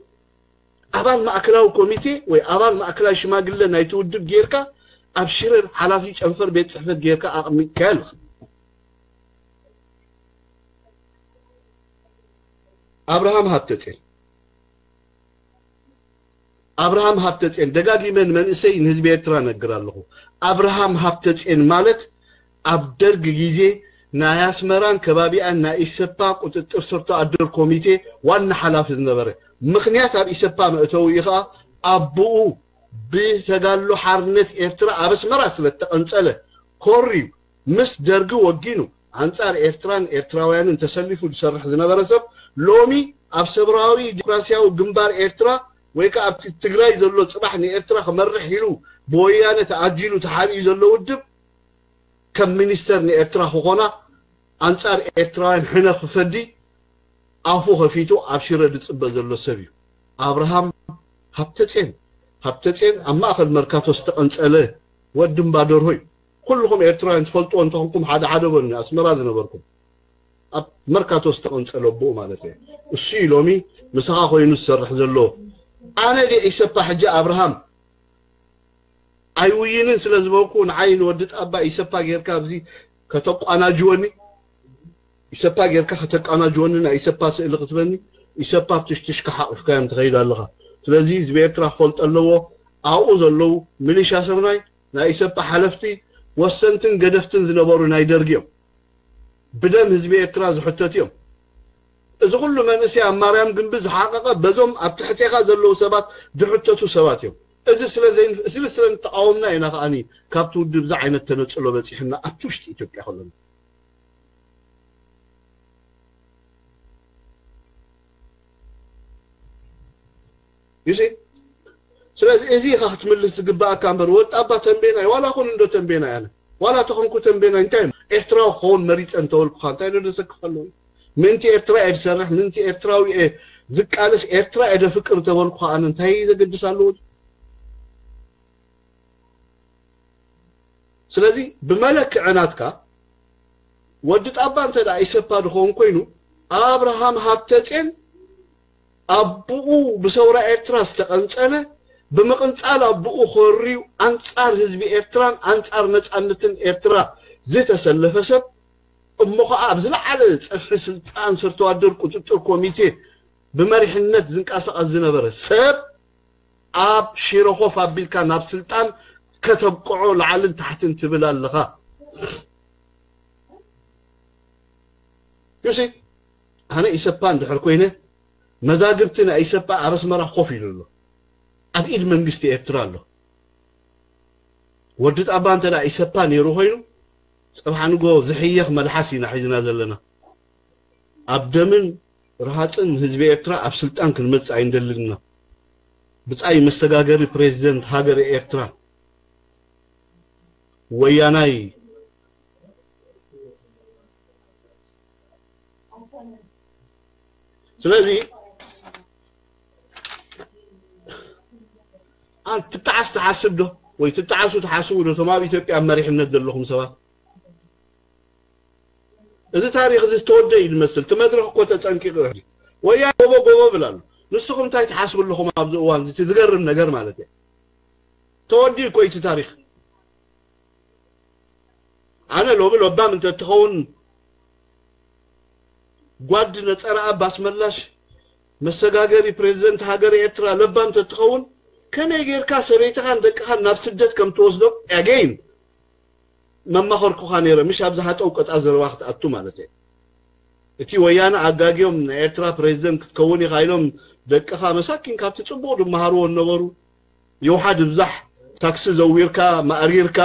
ኣባል ማእከላዊ ኮሚቴ ወይ ኣባል ማእከላዊ ሽማግለ ናይቲ ውድብ ጌርካ ኣብ ሽረ ሓላፊ ጨንፈር ቤት ጽሕፈት ጌርካ ኣቕሚጥካዮ ኣለኻ። ኣብርሃም ሃብተጼን ኣብርሃም ሃብተጼን ደጋጊመ ንመንእሰይ ንህዝቢ ኤርትራ ነግር ኣለኹ። ኣብርሃም ሃብተጼን ማለት ኣብ ደርግ ግዜ ናይ ኣስመራን ከባቢኣን ናይ ኢሰፓ ቁጥጥር ስር ተኣድር ኮሚቴ ዋና ሓላፊ ዝነበረ። ምኽንያት ኣብ ኢሰፓ መእተዊ ከዓ ኣቦኡ ብተጋድሎ ሓርነት ኤርትራ ኣብ ኣስመራ ስለ እተቐንጸለ ኮርዩ ምስ ደርጊ ወጊኑ ኣንጻር ኤርትራን ኤርትራውያንን ተሰሊፉ ዝሰርሕ ዝነበረ ሰብ ሎሚ ኣብ ሰብራዊ ዲሞክራሲያዊ ግንባር ኤርትራ ወይ ከዓ ኣብቲ ትግራይ ዘሎ ጽባሕ ንኤርትራ ክመርሕ ኢሉ ብወያነ ተኣጂሉ ተሓቢኡ ዘሎ ውድብ ከም ሚኒስተር ንኤርትራ ክኾና ኣንጻር ኤርትራውያን ሕነ ክፈዲ ኣፉ ከፊቱ ኣብ ሽረ ዝጽበ ዘሎ ሰብ እዩ። ኣብርሃም ሃብተጼን፣ ሃብተጼን ኣብ ማእከል መርካቶ ዝተቐንጸለ ወዲ እምባ ደርሆ እዩ። ኩልኹም ኤርትራውያን ትፈልጥዎ እንተኾንኩም ሓደ ሓደ በሉኒ፣ ኣስመራ ዝነበርኩም። ኣብ መርካቶ ዝተቐንጸለ ኣቦኡ ማለት እየ። እሱ እዩ ሎሚ ምሳኻ ኮይኑ ዝሰርሕ ዘሎ። ኣነ ድየ ኢሰፓ ሕጂ ኣብርሃም ኣይውይንን ስለ ዝበልኩ ንዓይ ንወዲ ጣባ ኢሰፓ ጌርካ ኣብዚ ከተቋናጅወኒ? ኢሰፓ ጌርካ ከተቃናጅወኒ ናይ ኢሰፓ ስእሊ ክትበኒ ኢሰፓ ኣብ ትሽትሽካ ሓቑፍካዮም ትኸይድ ኣለኻ። ስለዚ ህዝቢ ኤርትራ ክፈልጦ ኣለዎ። ኣብኡ ዘለዉ ሚሊሻ ሰምናይ ናይ ኢሰፓ ሓለፍቲ ወሰንትን ገደፍትን ዝነበሩ ናይ ደርጊ እዮም። ብደም ህዝቢ ኤርትራ ዝሕተቱ እዮም። እዚ ኩሉ መንእሰይ ኣብ ማርያም ግንቢ ዝሓቐቐ በዞም ኣብ ትሕቴኻ ዘለዉ ሰባት ዝሕተቱ ሰባት እዮም። እዚ ስለ ዘይን- እዚ ስለ እንተቃወምና ኢና ከዓኒ ካብቲ ውድብ እዚ ዓይነት ተነጽሎ በጺሕና ኣብቲ ውሽጢ ኢትዮጵያ ከለና። You see? ስለዚ እዚ ኢኻ ክትምልስ ዝግባኣካ እምበር ወጣባ ተንቤናይ ዋላ ኩን እንዶ ተንቤናይ ኣነ ዋላ ተኾንኩ ተንቤናይ እንታይ እዩ? ኤርትራዊ ክኸውን መሪጸ እንተበልኩኻ እንታይ ዶ ዘሰክፍ ኣለዎ? ምንቲ ኤርትራ እየ ዝሰርሕ ምንቲ ኤርትራዊ እየ ዝቃለስ ኤርትራ እየ ደፍቅር እንተበልኩኻ ኣነ እንታይ ዘገድስ ኣለዎ? ስለዚ ብመለክዒ ናትካ ወዲ ጣባ እንተ ደኣ ኢሰፓ ድኸውን ኮይኑ ኣብርሃም ሃብተጼን ኣቦኡ ብሰውራ ኤርትራ ዝተቐንጸለ ብምቕንጻል ኣቦኡ ኮርዩ ኣንጻር ህዝቢ ኤርትራን ኣንጻር ነጻነትን ኤርትራ ዝተሰለፈ ሰብ እሞ ኸዓ ኣብ ዝለዓለ ጸፍሒ ስልጣን ስርተዋደር ቁጽጥር ኮሚቴ ብመሪሕነት ዝንቀሳቐስ ዝነበረ ሰብ ኣብ ሽረ ኮፍ ኣቢልካ ናብ ስልጣን ከተብቅዖ ላዕልን ታሕትን ትብል ኣለኻ። You see? ኣነ ኢሰፓ እንድሕር ኮይነ መዛግብቲ ናይ ኢሰፓ ኣብ ኣስመራ ኮፍ ኢሉ ኣሎ። ኣብ ኢድ መንግስቲ ኤርትራ ኣሎ። ወዲ ጣባ እንተ ደኣ ኢሰፓ ነይሩ ኮይኑ ጽባሕ ንጎ ዝሕየኽ መልሓስ ኢና ሒዝና ዘለና። ኣብ ደምን ርሃጽን ህዝቢ ኤርትራ ኣብ ስልጣን ክንመጽእ ኣይንደልን ኢና። ብጻይ መሰጋገሪ ፕሬዚደንት ሃገር ኤርትራ ወያናይ። ስለዚ ኣን ትጣዓስ ትሓስብ ዶ ወይ ትጣዓሱ ትሓስቡ ዶ እቶም ኣብ ኢትዮጵያ ኣብ መሪሕነት ዘለኹም ሰባት? እዚ ታሪኽ እዚ ዝተወደ እዩ ዝመስል። እቲ መድረኽ እኮ ተጸንቂቑ እዩ። ወያነ ጎቦ ጎቦ ብል ኣሎ። ንስኹም እንታይ ትሓስቡ ኣለኹም ኣብዚ እዋን እዚ? እቲ ዝገርም ነገር ማለት እዩ። ተወዲኡ እኮ እዩ እቲ ታሪኽ። ኣነ ሎሚ ለባም እንተ ትኸውን ጓድ ነጸረ ኣባስ መላሽ መሰጋገሪ ፕሬዚደንት ሃገር ኤርትራ ለባም እንተ ትኸውን ከመይ ጌርካ ሰበይትኻን ደቅኻን ናብ ስደት ከም ትወስዶም ኣገይን መማኸርኩኻ ነይረ፣ ምሽ ኣብ ዝሃጠው ቀጻ ዘረባ ክትኣቱ ማለት እየ። እቲ ወያነ ኣጋግዮም ናይ ኤርትራ ፕሬዚደንት ክትከውን ኢኻ ኢሎም ደቅኻ መሳኪን ካብቲ ጽቡቕ ድመሃርዎ ነበሩ። የውሓ ድብዛሕ ታክሲ ዘዊርካ ማእሪርካ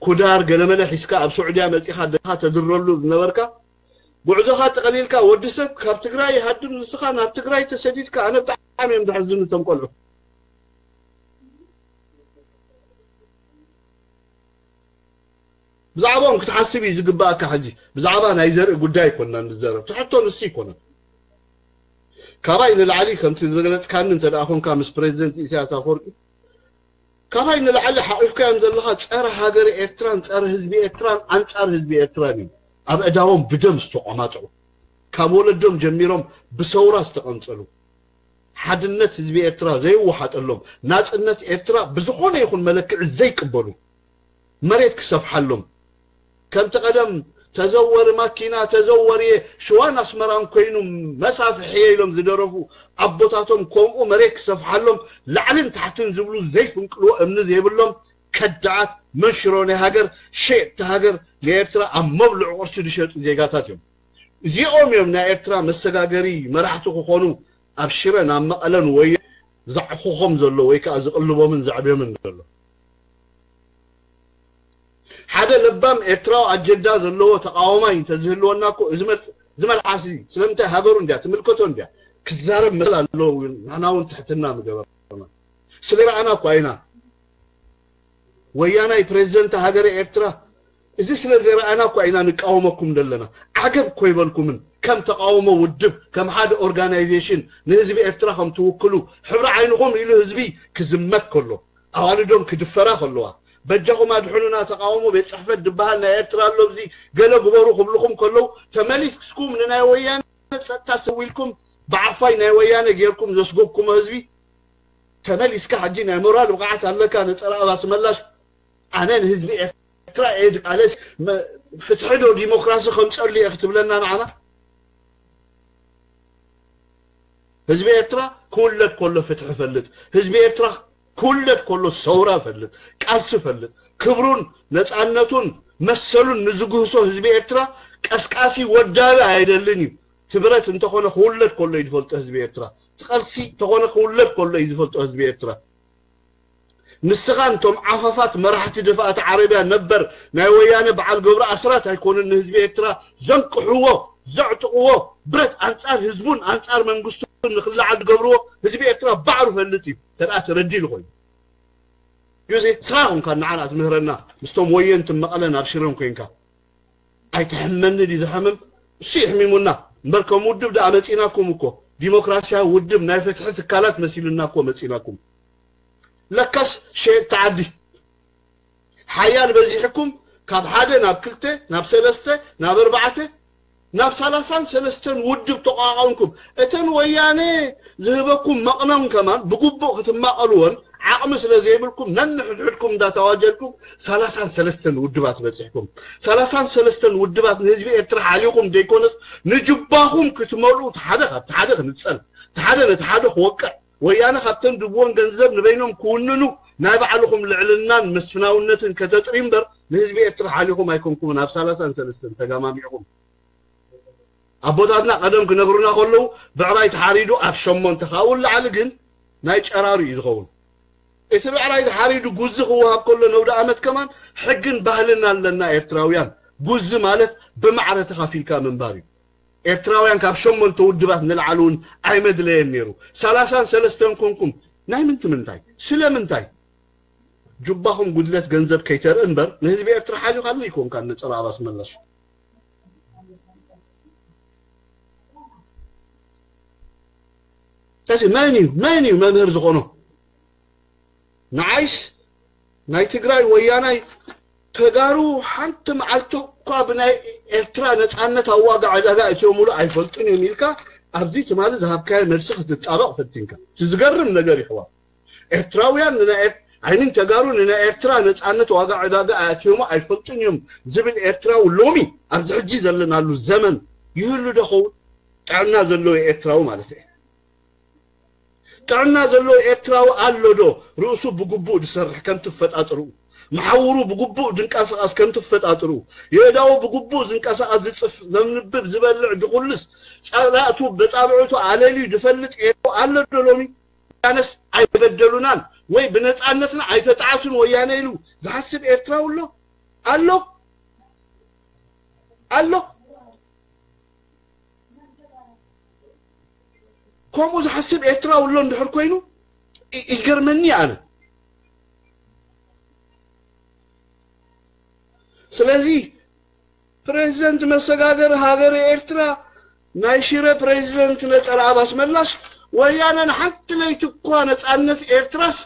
ኩዳር ገለመለ ሒዝካ ኣብ ሱዑድያ መጺኻ ደቅኻ ተድረሉ ዝነበርካ ጉዕዞኻ ጠቕሊልካ ወዲ ሰብ ካብ ትግራይ ይሃድም ንስኻ ናብ ትግራይ ተሰዲድካ ኣነ ብጣዕሚ እዮም ዘሕዝኑ እቶም ቆልዑ። ብዛዕባኦም ክትሓስብ እዩ ዝግባኣካ። ሕጂ ብዛዕባ ናይ ዘርኢ ጉዳይ ኣይኮንና ንዘረብ፣ ትሕቶ ንሱ ኣይኮነን። ካባይ ንላዕሊ ከምቲ ዝገለጽካኒ እንተ ደኣ ኮንካ ምስ ፕሬዚደንት ኢሳያስ ኣፈወርቂ ካባይ ንላዕሊ ሓቂፍካዮም ዘለኻ ጸረ ሃገር ኤርትራን ጸረ ህዝቢ ኤርትራን ኣንጻር ህዝቢ ኤርትራን እዩ። ኣብ እዳዎም ብደም ዝተቆማጥዑ ካብ ወለዶም ጀሚሮም ብሰውራ ዝተቐንጸሉ ሓድነት ህዝቢ ኤርትራ ዘይወሓጠሎም ናጽነት ኤርትራ ብዝኾነ ይኹን መለክዒ ዘይቅበሉ መሬት ክሰፍሓሎም ከምቲ ቀደም ተዘወሪ ማኪና ተዘወሪ ሽዋን ኣስመራን ኮይኑ መሳፍሕየ ኢሎም ዝደረፉ ኣቦታቶም ከምኡ መሬት ክሰፍሓሎም ላዕልን ታሕትን ዝብሉ ዘይፍንቅልዎ እምኒ ዘይብሎም ከዳዓት መንሽሮ ናይ ሃገር ሸየጥቲ ሃገር ንኤርትራ ኣብ መብልዑ ቅርሺ ዝሸጡ ዜጋታት እዮም። እዚኦም እዮም ናይ ኤርትራ መሰጋገሪ መራሕቲ ክኾኑ ኣብ ሽረን ኣብ መቐለን ወይ ዘዕኹኾም ዘሎ ወይ ከዓ ዝቕልቦምን ዘዕብዮምን ዘሎ። ሓደ ለባም ኤርትራዊ ኣጀንዳ ዘለዎ ተቃዋማይ እንተዝህልወና እኮ እዚ መል- እዚ መልሓሲ ስለምንታይ ሃገሩ እንድያ ትምልከቶ እንድያ ክዛረብ መል ኣለዎ። ንሕና እውን ትሕትና ምገበርና ስለ ረኣና እኳ ኢና ወያናይ ፕሬዚደንት ሃገረ ኤርትራ እዚ ስለ ዘረኣና እኳ ኢና ንቃወመኩም ዘለና። ዓገብ እኮ ይበልኩምን ከም ተቃውሞ ውድብ ከም ሓደ ኦርጋናይዜሽን ንህዝቢ ኤርትራ ከም ትውክሉ ሕብሪ ዓይንኹም ኢሉ ህዝቢ ክዝመት ከሎ ኣዋልዶም ክድፈራ ከለዋ በጃኹም ኣድሕኑና ተቃውሞ ቤት ጽሕፈት ዝበሃል ናይ ኤርትራ ኣሎ እዚ ገለ ግበሩ ክብልኹም ከለዉ ተመሊስኩም ንናይ ወያነ ጸጥታ ሰዊልኩም ብዓፋይ ናይ ወያነ ጌርኩም ዘስጎግኩሞ ህዝቢ ተመሊስካ ሕጂ ናይ ሞራል ብቕዓት ኣለካ ነጸረ ኣባስ መላሽ ኣነ ንህዝቢ ኤርትራ እየ ድቃለስ ፍትሒ ዶ ዲሞክራሲ ከምፀሉ እየ ክትብለና ንዓና ህዝቢ ኤርትራ ክውለድ ከሎ ፍትሒ ፈልጥ ህዝቢ ኤርትራ ክውለድ ከሎ ሰውራ ፈልጥ ቃልሲ ፈልጥ ክብሩን ነፃነቱን መሰሉን ንዝግህሶ ህዝቢ ኤርትራ ቀስቃሲ ወዳቢ ኣይደልን እዩ ትብረት እንተኾነ ክውለድ ከሎ እዩ ዝፈልጦ ህዝቢ ኤርትራ ትቐልሲ እንተኾነ ክውለድ ከሎ እዩ ዝፈልጦ ህዝቢ ኤርትራ ንስኻ እንቶም ዓፋፋት መራሕቲ ደፋእቲ ዓረብያ ነበር ናይ ወያነ በዓል ገብሩ ኣስራት ኣይኮኑን ንህዝቢ ኤርትራ ዘንቅሕዎ ዘዕጥቕዎ ብረት ኣንጻር ህዝቡን ኣንጻር መንግስቱን ንክለዓል ዝገብርዎ ህዝቢ ኤርትራ ባዕሩ ፈልጥ እዩ ተደኣ ተረዲሉ ኮይኑ ዩዚ ስኻ ኮንካ ንዓና ትምህረና ምስቶም ወየንቲ መቐለን ኣብ ሽረን ኮንካ ኣይትሕመኒ ድዩ ዝሓምም እሱ ይሕሚሙና እምበር ከም ውድብ ደኣ መፂናኩም እኮ ዲሞክራሲያዊ ውድብ ናይ ፍትሒ ትካላት መሲሉና እኮ መፂናኩም ለካስ ሸየጥቲ ዓዲ ሓያል በዚሕኩም ካብ ሓደ ናብ ክልተ ናብ ሰለስተ ናብ ኣርባዕተ ናብ ሰላሳን ሰለስተን ውድብ ተቋቋምኩም እተን ወያነ ዝህበኩም መቕነን ከማን ብግቡእ ክትማቐልወን ዓቕሚ ስለ ዘይብልኩም ነንሕድሕድኩም እንዳተዋጀልኩም ሰላሳን ሰለስተን ውድባት በፂሕኩም ሰላሳን ሰለስተን ውድባት ንህዝቢ ኤርትራ ሓሊኹም ዘይኮነስ ንጅባኹም ክትመልኡ ሓደ ካብቲ ሓደ ክንፀል እቲ ሓደ ነቲ ሓደ ክወቅዕ ወያነ ካብተን ድብወን ገንዘብ ንበይኖም ክውንኑ ናይ ባዕልኹም ልዕልናን መስፍናውነትን ከተጥሪ እምበር ንህዝቢ ኤርትራ ሓሊኹም ኣይኮንኩምን ኣብ ሰላሳን ሰለስተን ተጋማሚዕኹም ኣቦታትና ቀደም ክነግሩና ከለዉ ብዕራይ ተሓሪዱ ኣብ ሸሞንተ ካብኡ ንላዕሊ ግን ናይ ጨራሩ እዩ ዝኸውን እቲ ብዕራይ ተሓሪዱ ጉዚ ክወሃብ ከሎ ነውዲ ኣመት ከማን ሕግን ባህልን ኣለና ኤርትራውያን ጉዚ ማለት ብማዕረ ተኻፊልካ ምንባር እዩ ኤርትራውያን ካብ ሸሞንተ ውድባት ንላዕሊ እውን ኣይመድለየን ነይሩ ሰላሳን ሰለስተን ኮንኩም ናይ ምንቲ ምንታይ ስለ ምንታይ ጁባኹም ጉድለት ገንዘብ ከይተርኢ እምበር ንህዝቢ ኤርትራ ሓሊኻሉ ይኮንካ ንፀረ ኣባስ መላሽ ስለዚ መን እዩ መን እዩ መምህር ዝኾኖ ንዓይስ ናይ ትግራይ ወያናይ ተጋሩ ሓንቲ መዓልቲ እኳ ብናይ ኤርትራ ነፃነት ኣብ ዋጋ ዕዳጋ እትዮምሉ ኣይፈልጡን እዮም ኢልካ ኣብዚ ትማሊ ዝሃብካዮ መልሲ ክትጣበቕ ፈቲንካ እቲ ዝገርም ነገር ይሕዋ ኤርትራውያን ንናይ ኤር- ኣይሚን ተጋሩ ንናይ ኤርትራ ነፃነት ዋጋ ዕዳጋ ኣእትዮሞ ኣይፈልጡን እዮም ዝብል ኤርትራዊ ሎሚ ኣብዚ ሕጂ ዘለናሉ ዘመን ይህሉ ዶ ኸውን ጥዕና ዘለዎ ኤርትራዊ ማለት እየ ጥዕና ዘለዎ ኤርትራዊ ኣሎ ዶ ርእሱ ብግቡእ ዝሰርሕ ከም ትፈጣጥርኡ መሓውሩ ብግቡእ ዝንቀሳቐስ ከም ትፈጣጥርኡ የእዳዉ ብግቡእ ዝንቀሳቐስ ዝፅፍ ዘንብብ ዝበልዕ ዝኹልስ ጸላእቱ በጻብዕቱ ኣለልዩ ዝፈልጥ ኤርትራዊ ኣሎ ዶ ሎሚ ወያነስ ኣይበደሉናን ወይ ብነጻነትና ኣይተጣዕሱን ወያነ ኢሉ ዝሓስብ ኤርትራዊ ኣሎ ኣሎ ኣሎ ከምኡ ዝሓስብ ኤርትራዊ ኣሎ እንድሕር ኮይኑ ይገርመኒ ኣነ ስለዚ ፕሬዚደንት መሰጋገሪ ሃገረ ኤርትራ ናይ ሽረ ፕሬዚደንት ነጸረ ኣባስ መላሽ ወያነ ንሓንቲ ለይቲ እኳ ነጻነት ኤርትራስ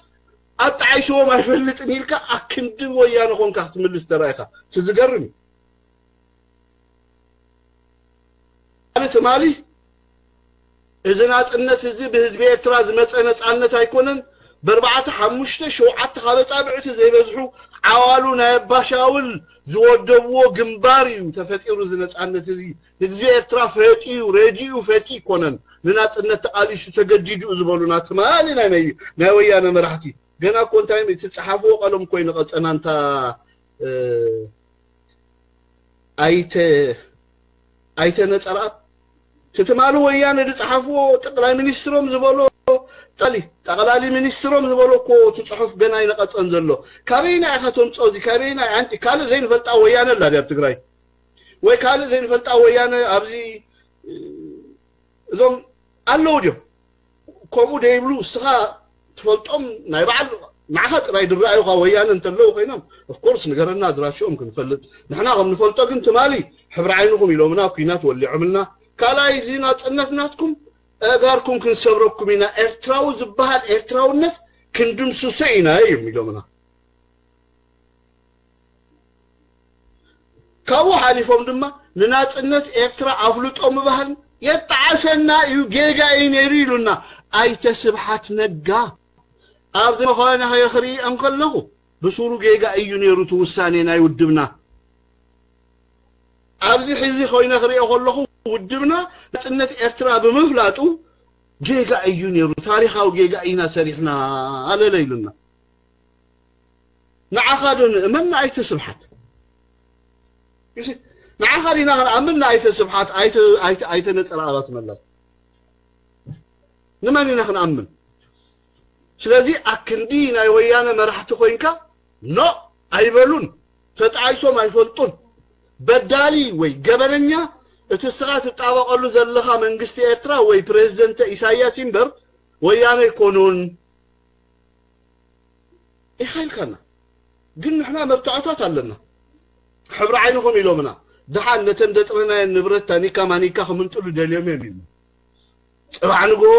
ኣጣዓይሽዎም ኣይፈልጥን ኢልካ ኣክንዲ ወያነ ኮንካ ክትምልስ ተራኢኻ እቲ ዝገርም እዩ ትማሊ እዚ ናጽነት እዚ ብህዝቢ ኤርትራ ዝመጸ ነጻነት ኣይኮነን ብኣርባዕተ ሓሙሽተ ሸውዓተ ካብ ኣጻብዕቲ ዘይበዝሑ ዓዋሉ ናይ ኣባሻውል ዝወደብዎ ግንባር እዩ ተፈጢሩ እዚ ነጻነት እዚ ህዝቢ ኤርትራ ፈጢዩ ረዲኡ ፈቲ ይኮነን ንናጽነት ተቃሊሱ ተገዲዱ ዝበሉና ትማሊ ናይ ናይ ወያነ መራሕቲ ገና እኮ እንታይ እቲ ጸሓፍዎ ቀለም እኮ ይነቐጸና እንታ ኣይተ ኣይተ ነጸርኣብ ትትማሉ ወያነ ዝጸሓፍዎ ጠቅላይ ሚኒስትሮም ዝበሎ ጠሊ ጠቅላሊ ሚኒስትሮም ዝበሎ እኮ እቲ ጽሑፍ ገና ይነቐጸን ዘሎ። ካበይና ኢኻ ተምጽኦ እዚ? ካበይና ኣንቲ ካልእ ዘይንፈልጣ ወያነ ኣላ ድያ ኣብ ትግራይ? ወይ ካልእ ዘይንፈልጣ ወያነ ኣብዚ እዞም ኣለዉ ድዮም? ከምኡ ደይብሉ እስኻ ትፈልጦም ናይ በዓል ንዓኻ ጥራይ ዝረኣዩኻ ወያነ እንተለዉ ኮይኖም of course ንገረና ኣድራሽኦም ክንፈልጥ ንሕና ከም ንፈልጦ ግን ትማሊ ሕብሪ ዓይንኹም ኢሎምና ኩናት ወሊዖምልና ካልኣይ እዚ ናጽነት ናትኩም ኣእጋርኩም ክንሰብረኩም ኢና ኤርትራዊ ዝበሃል ኤርትራውነት ክንድምስሶ ኢና እዮም ኢሎምና ካብኡ ሓሊፎም ድማ ንናጽነት ኤርትራ ኣፍልጦ ምባህል የጣዓሰና እዩ ጌጋ እዩ ነይሩ ኢሉና ኣይተ ስብሓት ነጋ ኣብዚ መኾነ ክርኢ እንከለኹ ብሱሩ ጌጋ እዩ ነይሩ እቲ ውሳኔ ናይ ውድብና ኣብዚ ሕዚ ኮይነ ክሪኦ ከለኹ ውድብና ናጽነት ኤርትራ ብምፍላጡ ጌጋ እዩ ነይሩ ታሪኻዊ ጌጋ ኢና ሰሪሕና ኣለለ ኢሉና ንዓኻ ዶ ንእመን ንኣይተ ስብሓት ንዓኻ ዲና ክንኣምን ንኣይተ ስብሓት ኣይተ ነጸረ ኣባት መላል ንመን ኢና ክንኣምን ስለዚ ኣክንዲ ናይ ወያነ መራሕቲ ኮይንካ ኖ ኣይበሉን ተጣይሶም ኣይፈልጡን በዳሊ ወይ ገበነኛ እቲ ስኻ ትጣበቀሉ ዘለኻ መንግስቲ ኤርትራ ወይ ፕሬዝደንተ ኢሳያስ ይንበር ወያነ ኣይኮኑን ኢኻ ኢልካና ግን ንሕና መርትዖታት ኣለና ሕብሪ ዓይንኹም ኢሎምና ድሓን ነተን ዘጥረናየን ንብረት ታኒካ ማኒካ ክምንጥሉ ደልዮም እዮም ኢሉ ጽባሕ ንግሆ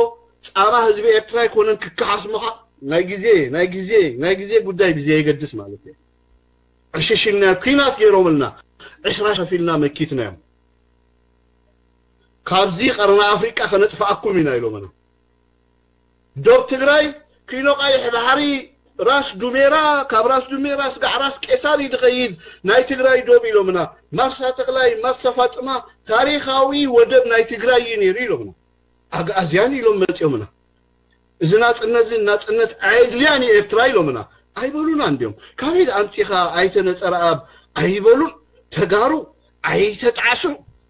ጻማ ህዝቢ ኤርትራ ኣይኮነን ክከሓስ ምኻ ናይ ግዜ ናይ ግዜ ናይ ግዜ ጉዳይ ብዘየገድስ ማለት እዩ ዕሽሽ ኢልና ኩናት ገይሮምልና ዕስራ ሸፊልና መኪትናዮም ካብዚ ቀርኒ ኣፍሪቃ ከነጥፍኣኩም ኢና ኢሎምና ዶብ ትግራይ ኪኖ ቀይሕ ባሕሪ ራስ ዱሜራ ካብ ራስ ዱሜራ ስጋዕ ራስ ቄሳር እዩ ዝኸይድ ናይ ትግራይ ዶብ ኢሎምና ማርሳ ተክላይ ማርሳ ፋጥማ ታሪኻዊ ወደብ ናይ ትግራይ እዩ ነይሩ ኢሎምና ኣግኣዝያን ኢሎም መፂኦምና እዚ ናፅነት እዚ ናፅነት ኣየድልያን እዩ ኤርትራ ኢሎምና ኣይበሉና እንዲዮም ካበይ ኣምፂኻ ኣይተነፀረኣብ ኣይበሉን ተጋሩ ኣይተጣዕሱ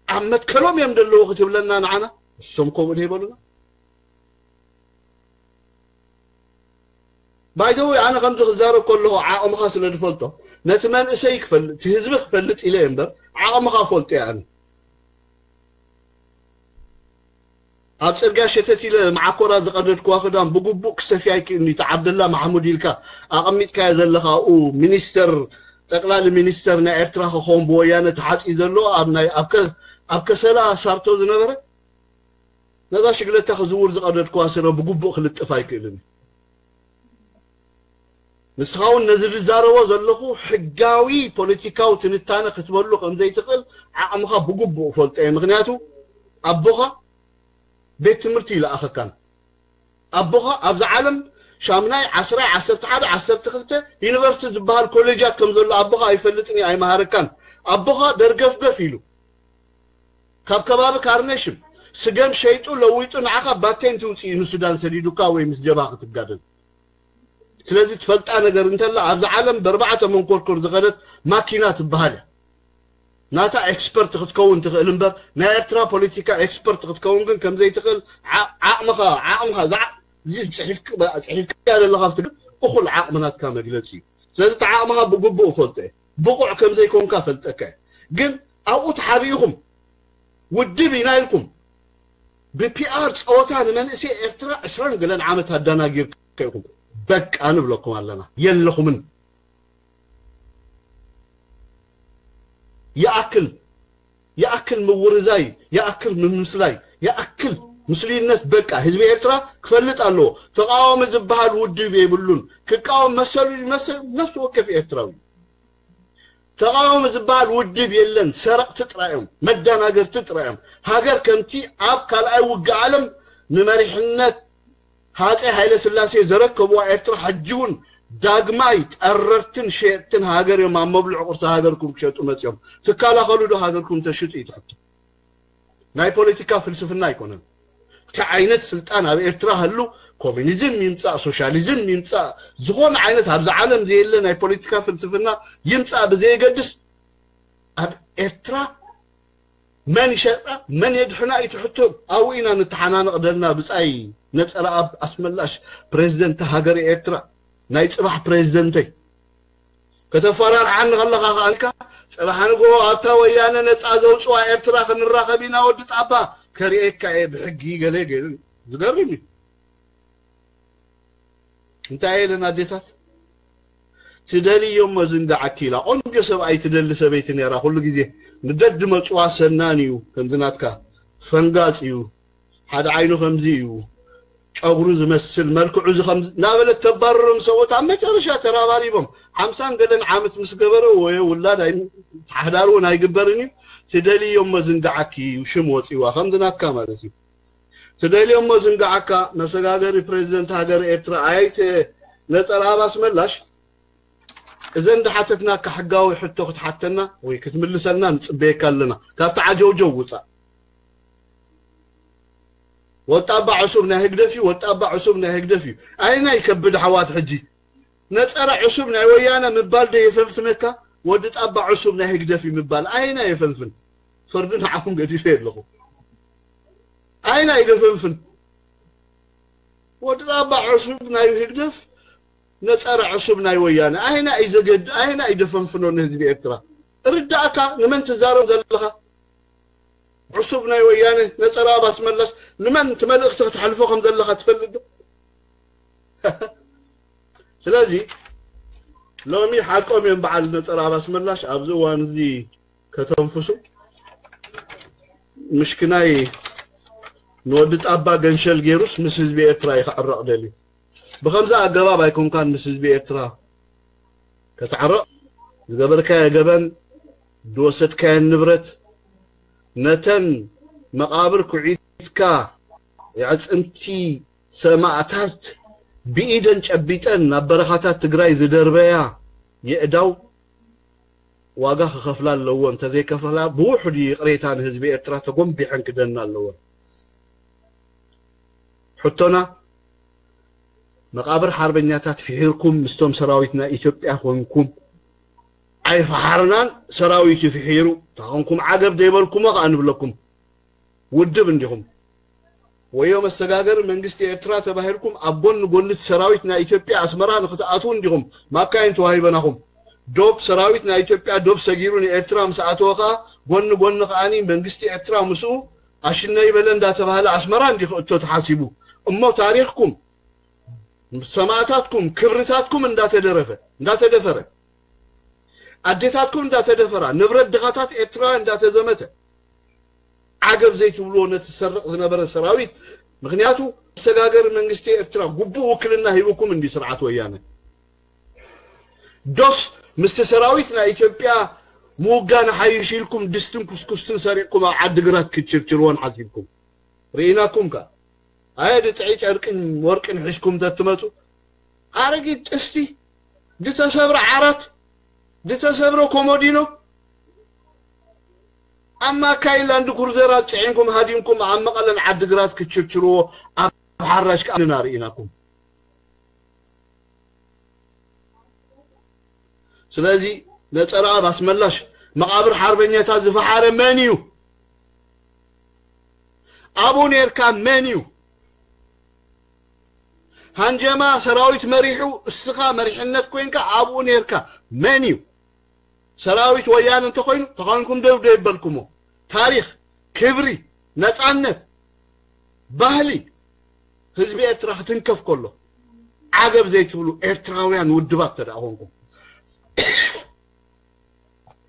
ኣብ መትከሎም እዮም ዘለዉ ክትብለና ንዓና እሶም ከምኡ ዶ ይበሉና ባይዘዊ ኣነ ከምዚ ክዛረብ ከለኹ ዓቕምኻ ስለ ዝፈልጦ ነቲ መንእሰይ ክፈልጥ እቲ ህዝቢ ክፈልጥ ኢለ እየ እምበር ዓቕምኻ ፈልጦ እየ ኣነ ኣብ ጽርግያ ሸተት ኢለ መዓኮራ ዝቐደድክዋ ክዳን ብግቡእ ክሰፍያ ይክእልኒ እቲ ዓብደላ ማሕሙድ ኢልካ ኣቐሚጥካዮ ዘለኻ ኣብኡ ሚኒስተር ጠቅላሊ ሚኒስተር ናይ ኤርትራ ክኸውን ብወያነ ተሓጺ ዘሎ ኣብ ናይ ኣብ ከ- ኣብ ከሰላ ሳርቶ ዝነበረ ነዛ ሽግለታ ክዝውር ዝቐደድክዋ ስረ ብግቡእ ክልጥፍ ኣይክእልን እዩ። ንስኻ እውን ነዚ ዝዛረቦ ዘለኹ ሕጋዊ ፖለቲካዊ ትንታነ ክትበሉ ከም ዘይትኽእል ዓቕምኻ ብግቡእ እፈልጦ እየ። ምኽንያቱ ኣቦኻ ቤት ትምህርቲ ይለኣኸካን። ኣቦኻ ኣብዛ ዓለም ሻምናይ፣ ዓስራይ፣ ዓሰርተ ሓደ፣ ዓሰርተ ክልተ ዩኒቨርሲቲ ዝበሃል ኮሌጃት ከም ዘሎ ኣቦኻ ኣይፈልጥን እዩ ኣይመሃረካን። ኣቦኻ ደርገፍገፍ ኢሉ ካብ ከባቢ ካርነሽም ስገም ሸይጡ ለዊጡ ንዓኻ ባቴንቲ ውፅኡ ንሱዳን ሰዲዱካ ወይ ምስ ጀብሃ ክትጋደል ስለዚ ትፈልጣ ነገር እንተላ ኣብዚ ዓለም በርባዕተ መንኮርኮር ዝኸደት ማኪና ትበሃል እያ ናታ ኤክስፐርት ክትከውን ትኽእል እምበር ናይ ኤርትራ ፖለቲካ ኤክስፐርት ክትከውን ግን ከምዘይትኽእል ዓቕምኻ ዓቕምኻ ዝዓ- እዚ ፅሒፍካ ዘለኻ እኩል ዓቕሚ ናትካ መግለፂ እዩ ስለዚ እቲ ዓቕምኻ ብግቡእ እፈልጦ እየ ብቑዕ ከም ዘይኮንካ እፈልጠካ እየ ግን ኣብኡ ተሓቢእኹም ውድብ ኢና ኢልኩም ብፒኣር ፀወታ ንመንእሰይ ኤርትራ ዕስራን ገለን ዓመት ኣዳናጊርካ ኢኹም በቃ ንብለኩም ኣለና የለኹምን ይኣክል ይኣክል ምውርዛይ ይኣክል ምምስላይ ይኣክል ምስሉይነት በቃ ህዝቢ ኤርትራ ክፈልጥ ኣለዎ ተቃዋሚ ዝበሃል ውድብ የብሉን ክቃወም መሰሉ ይመስል ነፍሲ ወከፍ ኤርትራዊ ተቃዋሚ ዝበሃል ውድብ የለን ሰረቅቲ ጥራዮም መዳናገርቲ ጥራዮም ሃገር ከምቲ ኣብ ካልኣይ ውግእ ዓለም ንመሪሕነት ሃፀይ ሃይለስላሴ ዘረከብዋ ኤርትራ ሕጂ እውን ዳግማይ ጠረርትን ሸየጥትን ሃገር እዮም ኣብ መብልዕ ቁርሲ ሃገርኩም ክሸጡ መፅኦም ትከላኸሉ ዶ ሃገርኩም ተሽጡ እዩ ትሕቶ ናይ ፖለቲካ ፍልስፍና ኣይኮነን እንታይ ዓይነት ስልጣን ኣብ ኤርትራ ህሉ፣ ኮሚኒዝም ይምጻእ፣ ሶሻሊዝም ይምጻእ፣ ዝኾነ ዓይነት ኣብዚ ዓለም ዘየለ ናይ ፖለቲካ ፍልስፍና ይምጻእ ብዘየገድስ፣ ኣብ ኤርትራ መን ይሸጣ መን የድሕና እዩ ትሕቶ። ኣብኡ ኢና ንተሓናነቕ ደልና ብጻይ ነጸረኣብ ኣስመላሽ፣ ፕሬዚደንት ሃገር ኤርትራ፣ ናይ ጽባሕ ፕሬዚደንተይ። ከተፈራርሓኒ ከለኻ ከኣልካ፣ ጽባሕ ንግሆ ኣብታ ወያነ ነጻ ዘውጽዋ ኤርትራ ክንራኸብ ኢና ወዲ ጣባ፣ ከርእየካ እየ ብሕጊ ገለ ገይሩ። ዝገርም እዩ። እንታይ ኢለን ኣዴታት? ትደልዮ እሞ ዝንጋዓኪ ኢላ። ቆንጆ ሰብኣይ ትደሊ ሰበይቲ ነይራ። ኩሉ ግዜ ንደድ መጽዋ ሰናን እዩ፣ ከምዚ ናትካ ፈንጋጽ እዩ፣ ሓደ ዓይኑ ከምዚ እዩ፣ ጨጉሩ ዝመስል፣ መልክዑ እዚ ከምዚ እናበለት ተባርሮም ሰብኡት። ኣብ መጨረሻ ተራባሪቦም ሓምሳን ገለን ዓመት ምስ ገበረ፣ ወይ ውላድ ኣይ-፣ ሓዳር እውን ኣይግበርን እዩ። ትደልዮ እሞ ዝንጋዓኪ እዩ፣ ሽም ወጺዋ፣ ከምዚ ናትካ ማለት እዩ። ትደልዮ እሞ ዝንጋዓካ መሰጋገሪ ፕሬዚደንት ሃገር ኤርትራ ኣይተ ነጸረኣብ ኣስመላሽ፣ እዘን ዝሓተትናካ ሕጋዊ ሕቶ ክትሓተና ወይ ክትምልሰልና ንጽበየካ ኣለና። ካብቲ ዓጀውጀው ውጻእ። ወጣባ ዕሱብ ናይ ህግደፍ እዩ፣ ወጣባ ዕሱብ ናይ ህግደፍ እዩ። ኣይና ይከብድ ኣሕዋት ሕጂ። ነጸረ ዕሱብ ናይ ወያነ ምባል ዶ የፈንፍነካ? ወዲ ጣባ ዕሱብ ናይ ህግደፍ እዩ ምባል ኣይና የፈንፍን? ፍርዲ ንዓኹም ገዲፈ ኣለኹ። ኣይና ይደፈንፍን? ወዲ ጣባ ዕሱብ ናይ ህግደፍ፣ ነጸረ ዕሱብ ናይ ወያነ። ኣይና እዩ ዘገድ-፣ ኣይና እዩ ደፈንፍኖ ንህዝቢ ኤርትራ? ርዳእካ ንመን ትዛረብ ዘለኻ? ዕሱብ ናይ ወያነ፣ ነጸረ ኣባስ መላሽ፣ ንመን እቲ መልእኽቲ ክትሕልፎ ከም ዘለኻ ትፈልጥ ዶ? ስለዚ ሎሚ ሓቆም እዮም በዓል ነጸረ ኣባስ መላሽ ኣብዚ እዋን እዚ ከተንፍሱ። ምሽክናይ ንወዲ ጣባ ገንሸል ገይሩስ ምስ ህዝቢ ኤርትራ እዩ ክዕረቕ ደልዩ። ብኸምዚ ኣገባብ ኣይኮንካን ምስ ህዝቢ ኤርትራ ከተዕረቕ። ዝገበርካዮ ገበን፣ ዝወሰድካየን ንብረት፣ ነተን መቓብር ኩዒትካ የዕጽምቲ ሰማእታት ብኢደን ጨቢጠን ናብ በረኻታት ትግራይ ዝደርበያ የእዳው ዋጋ ክኸፍላ ኣለዎ። እንተዘይከፈላ ብውሑድ ይቕሬታ ንህዝቢ ኤርትራ ተጎንቢሐን ክደና ኣለወን። ሕቶና፣ መቓብር ሓርበኛታት ፍሒርኩም ምስቶም ሰራዊት ናይ ኢትዮጵያ ኮንኩም ኣይፈሓርናን፣ ሰራዊት ይፍሒሩ። ተኾንኩም ዓገብ ዘይበልኩሞ ከኣ ንብለኩም። ውድብ እንዲኹም። ወዮ መሰጋገሪ መንግስቲ ኤርትራ ተባሂልኩም ኣብ ጎኒ ጎኒ እቲ ሰራዊት ናይ ኢትዮጵያ ኣስመራ ንክትኣትዉ እንዲኹም ማካይን ተዋሂበናኹም። ዶብ ሰራዊት ናይ ኢትዮጵያ ዶብ ሰጊሩ ንኤርትራ ምስ ኣተወ ከኣ ጎኒ ጎኒ ከኣኒ መንግስቲ ኤርትራ ምስኡ ኣሽነይ በለ እንዳተባህለ ኣስመራ እንዲ ክእቶ ተሓሲቡ። እሞ ታሪኽኩም፣ ሰማእታትኩም፣ ክብርታትኩም እንዳተደረፈ፣ እንዳተደፈረ፣ ኣዴታትኩም እንዳተደፈራ፣ ንብረት ድኻታት ኤርትራውያን እንዳተዘመተ፣ ዓገብ ዘይትብልዎ ነቲ ዝሰርቕ ዝነበረ ሰራዊት። ምኽንያቱ መሰጋገሪ መንግስቲ ኤርትራ ግቡእ ውክልና ሂብኩም እንዲ ስርዓት ወያነ። ዶስ ምስቲ ሰራዊት ናይ ኢትዮጵያ ምውጋን ሓይሽ ኢልኩም ድስትን ኩስኩስትን ሰሪቕኩም ኣብ ዓዲግራት ክትችርችርዎን ሓሲብኩም? ርኢናኩም ከ። ኣየ ድጥዒ ጨርቅን ወርቅን ሒዝኩም ተትመጹ፣ ኣረጊት ጥስቲ፣ ዝተሰብረ ዓራት፣ ዝተሰብረ ኮሞዲኖ፣ ኣብ ማካይን ላንድ ክሩዘራት ጽዒንኩም ሃዲምኩም ኣብ መቐለን ዓዲግራት ክትችርችርዎ ኣብ ሓራሽ ከኣ ንና ርኢናኩም። ስለዚ ነጸረኣብ ኣስመላሽ መቓብር ሓርበኛታት ዝፈሓረ መን እዩ? ኣብኡ ኔርካ መን እዩ? ሃንጀማ ሰራዊት መሪሑ እስኻ መሪሕነት ኮይንካ ኣብኡ ኔርካ መን እዩ? ሰራዊት ወያነ እንተኾይኑ ተኾይንኩም ደው ደይበልኩሞ። ታሪኽ፣ ክብሪ፣ ነጻነት፣ ባህሊ ህዝቢ ኤርትራ ክትንከፍ ከሎ ዓገብ ዘይትብሉ ኤርትራውያን ውድባት ተደኣ ኮንኩም፣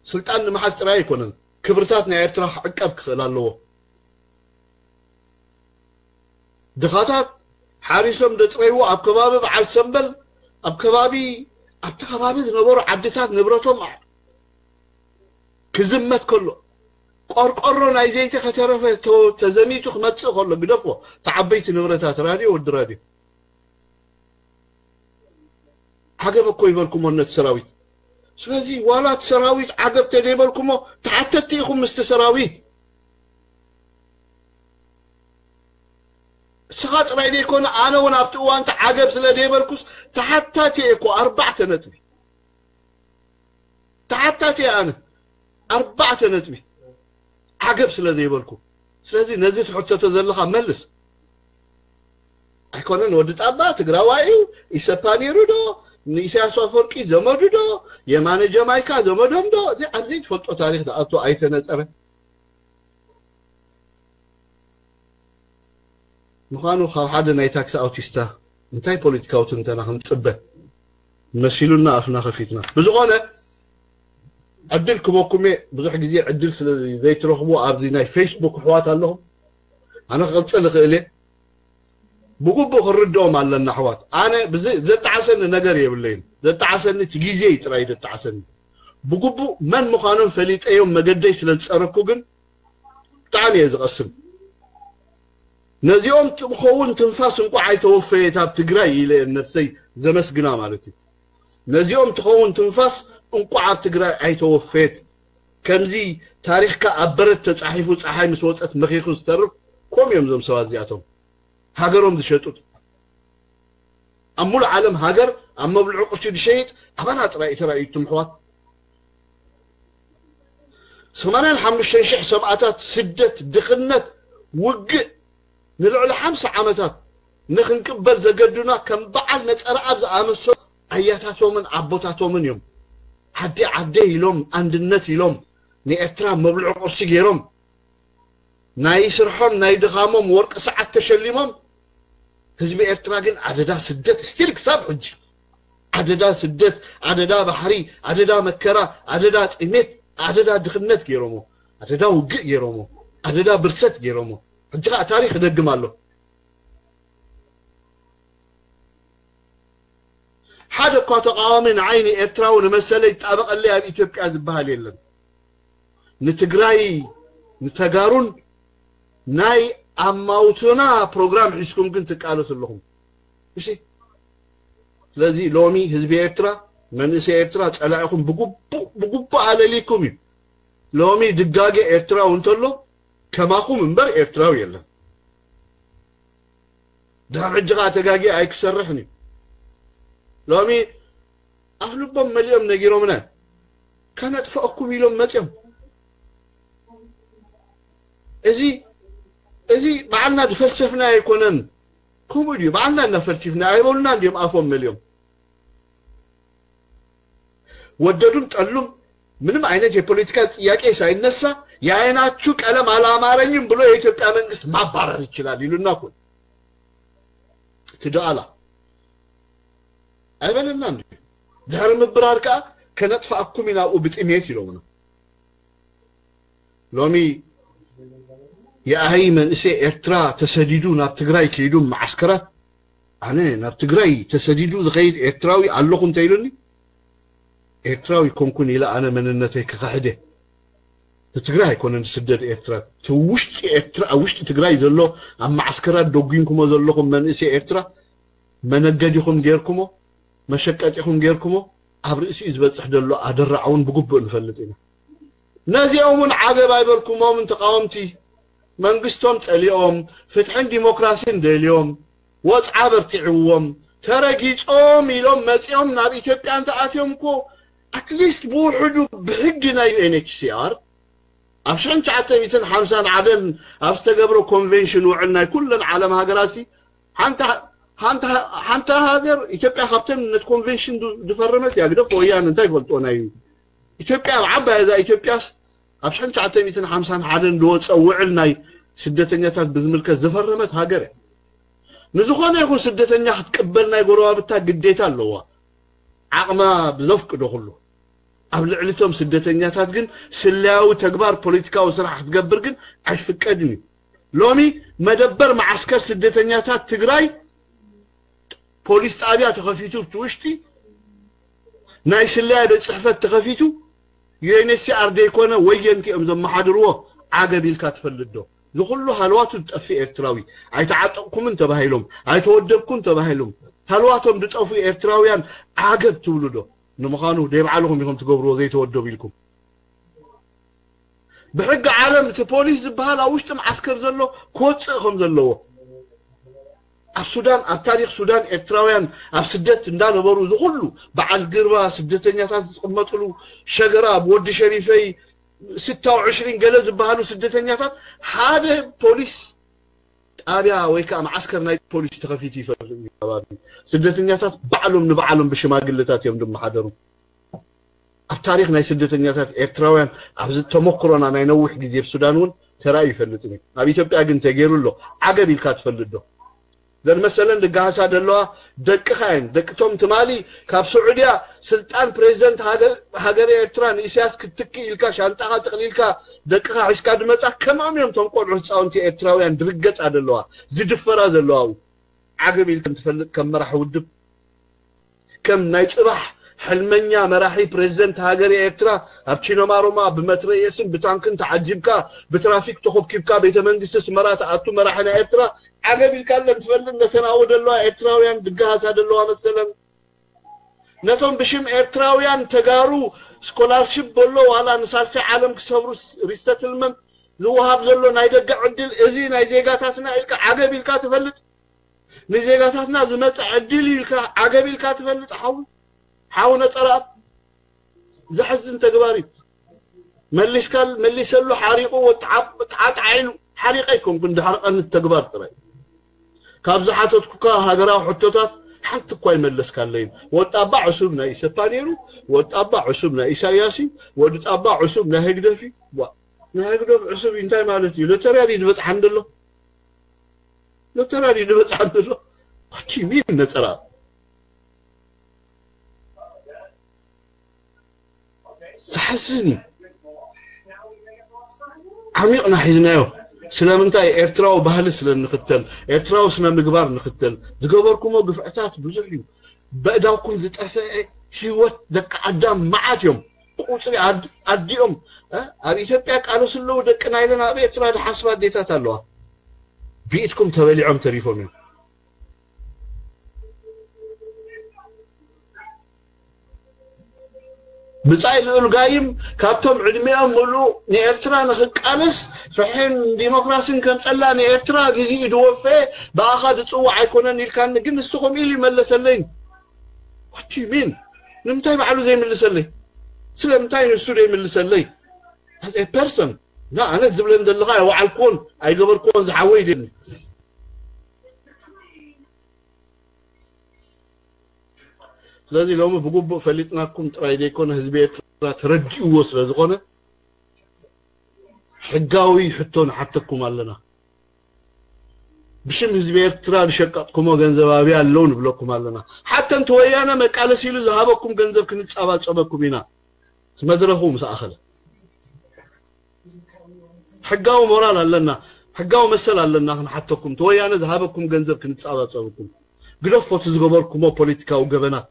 ስልጣን ንምሓዝ ጥራይ ኣይኮነን፣ ክብርታት ናይ ኤርትራ ክዕቀብ ክኽእል ኣለዎ። ድኻታት ሓሪሶም ደጥረይዎ ኣብ ከባቢ በዓል ሰምበል፣ ኣብ ከባቢ፣ ኣብቲ ከባቢ ዝነበሩ ዓድታት ንብረቶም ክዝመት ከሎ፣ ቆርቆሮ ናይ ዘይቲ ከተረፈ ተ-፣ ተዘሚቱ ክመጽእ ከሎ፣ ግደፎ፣ እቲ ዓበይቲ ንብረታት፣ ራድዮ፣ ወዲ ራድዮ። ዓገብ እኮ ይበልኩሞ ነቲ ሰራዊት። ስለዚ ዋላ እቲ ሰራዊት ዓገብ ተደይበልኩሞ፣ ተሓተትቲ ኢኹም ምስቲ ሰራዊት። ስኻ ጥራይ ዘይኮነ ኣነ እውን ኣብቲ እዋንቲ ዓገብ ስለ ዘይበልኩስ ተሓታቲ እየ እኮ ኣርባዕተ ነጥቢ ተሓታቲ እየ ኣነ ኣርባዕተ ነጥቢ ዓገብ ስለ ዘይበልኩ ስለዚ ነዚ ትሕተቶ ዘለኻ መልስ ኣይኮነን ወዲ ጣባ ትግራዋይ እዩ ኢሰፓ ነይሩ ዶ ንኢሳያስ ኣፈወርቂ ዘመዱ ዶ የማነ ጀማይካ ዘመዶም ዶ እዚ ኣብ ዘይትፈልጦ ታሪክ ዝኣቱ ኣይተነፀረ ምዃኑ ካብ ሓደ ናይ ታክሲ ኣውቲስታ እንታይ ፖለቲካዊ ትንተና ክንፅበ መሲሉና ኣፍና ከፊትና ብዝኾነ ዕድል ክበኩሜ ብዙሕ ግዜ ዕድል ስለ ዘይትረኽቡ ኣብዚ ናይ ፌስቡክ ኣሕዋት ኣለኹም ኣነ ክቕፅል እኽእል እየ ብግቡእ ክንርድኦም ኣለና ኣሕዋት ኣነ ዘጣዓሰኒ ነገር የብለይን ዘጣዓሰኒ እቲ ግዜ እዩ ጥራይ ዘጣዓሰኒ ብግቡእ መን ምዃኖም ፈሊጠዮም መገደይ ስለ ዝፀረኩ ግን ብጣዕሚ እየ ዝቐስን ነዚኦም ትኸውን ትንፋስ እንቋዕ ኣይተወፈየት ኣብ ትግራይ ኢለ ነብሰይ ዘመስግና ማለት እዩ ነዚኦም ትኸውን ትንፋስ እንቋዕ ኣብ ትግራይ ኣይተወፈየት ከምዚ ታሪኽካ ኣብ በረት ተጻሒፉ ጸሓይ ምስ ወጸት መኺኹ ዝተርፍ ኮም እዮም ዞም ሰባት እዚኣቶም ሃገሮም ዝሸጡት ኣብ ሙሉ ዓለም ሃገር ኣብ መብልዑ ቅርሺ ዝሸይጥ ኣባና ጥራይ ተራእዩ ትምሕዋት ሰማንያን ሓሙሽተን ሽሕ ሰብኣታት ስደት ድኽነት ውግእ ንልዕሊ ሓምሳ ዓመታት ንኽንቅበል ዘገዱና ከም በዓል ነጸረኣብ ዝኣመሰሉ ኣያታቶምን ኣቦታቶምን እዮም። ዓዲ ዓደይ ኢሎም ኣንድነት ኢሎም ንኤርትራ መብልዒ ቁርሲ ገይሮም ናይ ስርሖም ናይ ድኻሞም ወርቂ ሰዓት ተሸሊሞም ህዝቢ ኤርትራ ግን ኣደዳ ስደት ስቲል ክሳብ ሕጂ ኣደዳ ስደት ኣደዳ ባሕሪ ኣደዳ መከራ ኣደዳ ጥሜት ኣደዳ ድኽነት ገይሮሞ ኣደዳ ውግእ ገይሮሞ ኣደዳ ብርሰት ገይሮሞ ሕጂ ከዓ ታሪክ ይደግም ኣሎ ሓደ እኳ ተቃዋሚ ንዓይ ንኤርትራዊ ንመሰለይ ይጣበቀለይ ኣብ ኢትዮጵያ ዝበሃል የለን ንትግራይ ንተጋሩን ናይ ኣማውትና ፕሮግራም ሒዝኩም ግን ትቃለሱ ኣለኹም እሺ ስለዚ ሎሚ ህዝቢ ኤርትራ መንእሰይ ኤርትራ ጸላኢኹም ብግቡእ ኣለሊኩም እዩ ሎሚ ድጋገ ኤርትራዊ እንተሎ ከማኹም እምበር ኤርትራዊ የለን ድሕር ሕጂ ከዓ ተጋጊ ኣይክሰርሕን እዩ ሎሚ ኣፍ ልቦም መሊኦም ነጊሮምና ከነጥፈአኩም ኢሎም መፅኦም እዚ እዚ በዓልና ዝፈልሰፍና ኣይኮነን ከምኡ ድዩ በዓልና እናፈልሲፍና ኣይበሉና እንዲዮም ኣፎም መሊኦም ወደዱም ጠሉም ምንም አይነት የፖለቲካ ጥያቄ ሳይነሳ የአይናችሁ ቀለም አላማረኝም ብሎ የኢትዮጵያ መንግስት ማባረር ይችላል ይሉና እኮ ትደኣላ ኣይበለና እንዲ ድሕሪ ምብራር ከዓ ከነጥፋኣኩም ኢና ኣብኡ ብጥሜት ኢሎምና ሎሚ የኣይ መንእሰይ ኤርትራ ተሰዲዱ ናብ ትግራይ ከይዱ መዓስከራት ኣነ ናብ ትግራይ ተሰዲዱ ዝኸይድ ኤርትራዊ ኣለኹ እንተኢሉኒ ኤርትራዊ ኮንኩን ኢለ ኣነ መንነተይ ክኽሕደ ንትግራይ ኣይኮነን ዝስደድ ኤርትራ እቲ ውሽጢ ኤርትራ ኣብ ውሽጢ ትግራይ ዘሎ ኣብ ማዓስከራት ደጒንኩሞ ዘለኹም መንእሰይ ኤርትራ መነገዲኹም ጌርኩሞ መሸቀጢኹም ጌርኩሞ ኣብ ርእሲኡ ዝበፅሕ ዘሎ ኣደራዕ እውን ብግቡእ ንፈልጥ ኢና ነዚኦም እውን ዓገብ ኣይበልኩሞምን ተቃወምቲ መንግስቶም ፀሊኦም ፍትሕን ዲሞክራሲን ደልዮም ወፅዓ በርቲዕዎም ተረጊፆም ኢሎም መፂኦም ናብ ኢትዮጵያ እንተኣትዮም እኮ ኣትሊስት ብውሕዱ ብሕጊ ናይ ዩኤንኤችሲኣር ኣብ ሽሕን ትሽዓተ ሚእትን ሓምሳን ዓደን ኣብ ዝተገብረ ኮንቬንሽን ውዕል ናይ ኩለን ዓለም ሃገራት ሓንቲ ሃገር ኢትዮጵያ ካብተን ነት ኮንቬንሽን ዝፈረመት እያ ግደፍ ወያን እንታይ ይፈልጦ ናይ ኢትዮጵያ ኣብ ዓባይ እዛ ኢትዮጵያስ ኣብ ሽሕን ትሽዓተ ሚእትን ሓምሳን ሓደን ዝወፀ ውዕል ናይ ስደተኛታት ብዝምልከት ዝፈረመት ሃገር እያ ንዝኾነ ይኹን ስደተኛ ክትቅበል ናይ ጎረባብታ ግዴታ ኣለዋ ዓቕማ ብዘፍቅዶ ኩሉ ኣብ ልዕሊ እቶም ስደተኛታት ግን ስለያዊ ተግባር ፖለቲካዊ ስራሕ ክትገብር ግን ኣይፍቀድን እዩ ሎሚ መደበር መዓስከር ስደተኛታት ትግራይ ፖሊስ ጣብያ ተኸፊቱ ብቲ ውሽጢ ናይ ስለያ ቤት ፅሕፈት ተኸፊቱ ዩኤንኤችሲኣር ዘይኮነ ወየንቲ እዮም ዘመሓድርዎ ዓገብ ኢልካ ትፈልጥ ዶ ዝኩሉ ሃልዋቱ ዝጠፍእ ኤርትራዊ ኣይተዓጠቅኩምን ተባሂሎም ኣይተወደብኩን ተባሂሎም ሃልዋቶም ዝጠፍኡ ኤርትራውያን ዓገብ ትብሉ ዶ ንምዃኑ ደይ ባዕልኹም ኢኹም ትገብርዎ ዘይተወደቡ ኢልኩም ብሕጊ ዓለም እቲ ፖሊስ ዝበሃል ኣብ ውሽጢ መዓስከር ዘሎ ክወፅእ ከም ዘለዎ ኣብ ሱዳን፣ ኣብ ታሪኽ ሱዳን ኤርትራውያን ኣብ ስደት እንዳነበሩ፣ ዝኹሉ በዓል ግርባ፣ ስደተኛታት ዝቕመጥሉ ሸገራ፣ ወዲ ሸሪፈይ፣ ስታው ዕሽሪን ገለ ዝበሃሉ ስደተኛታት ሓደ ፖሊስ ጣብያ ወይ ከዓ መዓስከር ናይ ፖሊስ ተኸፊቱ ይፈልጥ እዩ። ከባቢ ስደተኛታት ባዕሎም ንባዕሎም ብሽማግለታት እዮም ዝመሓደሩ። ኣብ ታሪኽ ናይ ስደተኛታት ኤርትራውያን ኣብዚ ተመክሮና ናይ ነዊሕ ግዜ ኣብ ሱዳን እውን ተራእዩ ይፈልጥን እዩ። ኣብ ኢትዮጵያ ግን ተገይሩ ኣሎ። ዓገብ ኢልካ ትፈልጥ ዶ? ዘን መሰለን ድጋሃሳ ደለዋ ደቅኻ እየን። ደቅቶም ትማሊ ካብ ስዑድያ ስልጣን ፕሬዚደንት ሃገር፣ ሃገረ ኤርትራ ንኢሳያስ ክትትኪ ኢልካ ሻንጣኻ ጥቕሊልካ ደቅኻ ሒዝካ ድመጻ ከምኦም እዮም። ቶም ቆልዑ ህፃውንቲ ኤርትራውያን ድርገጻ ደለዋ ዝድፈራ ዘለዋ። ዓገብ ኢልክን ትፈልጥ ከም መራሒ ውድብ፣ ከም ናይ ጽባሕ ሕልመኛ መራሒ ፕሬዚደንት ሃገር ኤርትራ፣ ኣብ ቺኖማሮማ ብመትረየስን ብታንክን ተዓጂብካ፣ ብትራፊክ ተኾብኪብካ ቤተ መንግስቲ ስመራ ትኣቱ መራሒ ናይ ኤርትራ ዓገብ ኢልካ ለን ትፈልጥ? ነተን ኣብኡ ዘለዋ ኤርትራውያን ድጋሃሳ ዘለዋ መሰለን፣ ነቶም ብሽም ኤርትራውያን ተጋሩ ስኮላርሽፕ በሎ ዋላ ንሳልሳይ ዓለም ክሰብሩ ሪሰትልመንት ዝወሃብ ዘሎ ናይ ደገ ዕድል፣ እዚ ናይ ዜጋታትና ኢልካ ዓገብ ኢልካ ትፈልጥ? ንዜጋታትና ዝመጽእ ዕድል ኢልካ ዓገብ ኢልካ ትፈልጥ? ሓው ሓው ነጸራኣብ ዘሕዝን ተግባር እዩ። መሊስካ መሊሰሉ ሓሪቑ ወጣዓጣዓ ኢሉ ሓሪቐ ኣይኮንኩን ድሕሪ ቀንት ተግባር ጥራይ። ካብ ዝሓተትኩካ ሃገራዊ ሕቶታት ሓንቲ እኳ ይመለስካለይን። ወጣባ ዕሱብ ናይ ኢሰፓ ነይሩ፣ ወጣባ ዕሱብ ናይ ኢሳያስ እዩ፣ ወዲ ጣባ ዕሱብ ናይ ህግደፍ እዩ። ዋ፣ ናይ ህግደፍ ዕሱብ እዩ እንታይ ማለት እዩ? ሎተርያ ድዩ ዝበጽሓን ዘሎ? ሎተርያ ድዩ ዝበጽሓን ዘሎ? What do you mean ነጸራ? ዘሕዝን እዩ። ዓሚቕና ሒዝናዮ። ስለምንታይ? ኤርትራዊ ባህሊ ስለ ንኽተል፣ ኤርትራዊ ስነ ምግባር ንኽተል ዝገበርኩሞ ግፍዕታት ብዙሕ እዩ። በእዳውኩም ዝጠፈአ ህይወት ደቂ ኣዳም መዓት እዮም። ቁጽሪ ኣድ-፣ ኣዲኦም፣ እ፣ ኣብ ኢትዮጵያ ቃለሱ ኣለዉ ደቅና ኢለን ኣብ ኤርትራ ዝሓስባ ኣዴታት ኣለዋ። ብኢድኩም ተበሊዖም ተሪፎም እዮም። ብጻይ ልኡል ጋይም ካብቶም ዕድሚኦም ምሉእ ንኤርትራ ንኽቃለስ ፍሕን ዲሞክራሲን ከምጸላ ንኤርትራ ግዜኡ ዝወፈየ ብኣኻ ዝጽዋዕ ኣይኮነን ኢልካኒ፣ ግን ንሱ ከምኡ ኢሉ ይመለሰለይ። What do you mean? ንምንታይ ባዕሉ ዘይምልሰለይ? ስለምንታይ ንሱ ዘይምልሰለይ? As a person፣ ና፣ ኣነ ዝብለን ዘለኻ ኣይወዓልኩዎን ኣይገበርኩዎን፣ ዝሓወይ ደኒ። ስለዚ ሎሚ ብግቡእ ፈሊጥናኩም ጥራይ ዘይኮነ ህዝቢ ኤርትራ ተረዲእዎ ስለ ዝኾነ ሕጋዊ ሕቶ ንሓተኩም ኣለና። ብሽም ህዝቢ ኤርትራ ዝሸቀጥኩሞ ገንዘብ ኣበይ ኣለዉ ንብለኩም ኣለና። ሓታ እንተ ወያነ መቃለሲ ኢሉ ዝሃበኩም ገንዘብ ክንጻባጸበኩም ኢና። እቲ መድረኹ ምስ ኣኸለ። ሕጋዊ ሞራል ኣለና፣ ሕጋዊ መሰል ኣለና ክንሓተኩም። እቲ ወያነ ዝሃበኩም ገንዘብ ክንጻባጸበኩም። ግደፎ እቲ ዝገበርኩሞ ፖለቲካዊ ገበናት።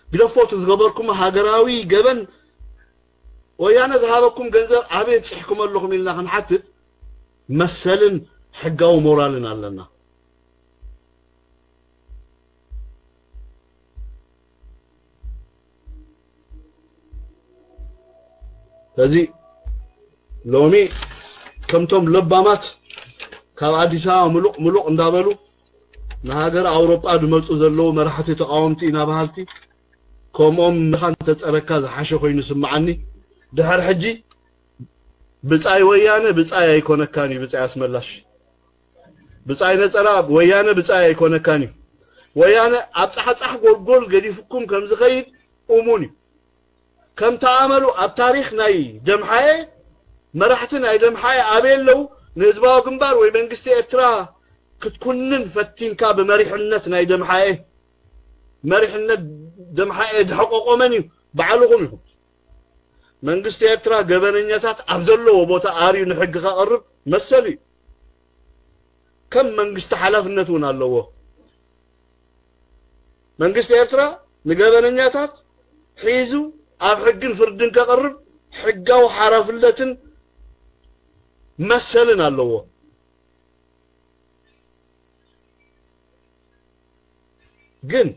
ግደፎ እቲ ዝገበርኩሞ ሃገራዊ ገበን። ወያነ ዝሃበኩም ገንዘብ ኣበይ ኣብጺሕኩም ኣለኹም ኢልና ክንሓትት መሰልን ሕጋዊ ሞራልን ኣለና። ስለዚ ሎሚ ከምቶም ለባማት ካብ ኣዲስ ኣበባ ምሉቕ ምሉቕ እንዳበሉ ንሃገር ኣውሮጳ ዝመጹ ዘለዉ መራሕቲ ተቃወምቲ ኢና በሃልቲ፣ ከምኦም ምኻን ተጸረካ ዝሓሸ ኮይኑ ስምዓኒ። ድሕር ሕጂ ብጻይ ወያነ ብጻይ ኣይኮነካን እዩ፣ ብጻይ ኣስመላሽ። ብጻይ ነጸራ ወያነ ብጻይ ኣይኮነካን እዩ። ወያነ ኣብ ጻሕጻሕ ጎልጎል ገዲፍኩም ከም ዝኸይድ እሙን እዩ። ከም ተኣመሉ ኣብ ታሪኽ ናይ ደምሓኤ፣ መራሕቲ ናይ ደምሓኤ ኣበይ ኣለዉ? ንህዝባዊ ግንባር ወይ መንግስቲ ኤርትራ ክትኩንን ፈቲንካ ብመሪሕነት ናይ ደምሓኤ፣ መሪሕነት ደምሓኤ ድሕቆቆ መን እዩ? ባዕልኹም ኢኹም። መንግስቲ ኤርትራ ገበነኛታት ኣብ ዘለዎ ቦታ ኣርዩ ንሕጊ ከቕርብ መሰል እዩ። ከም መንግስቲ ሓላፍነት እውን ኣለዎ። መንግስቲ ኤርትራ ንገበነኛታት ሒዙ ኣብ ሕግን ፍርድን ከቕርብ ሕጋዊ ሓላፍነትን መሰልን ኣለዎ። ግን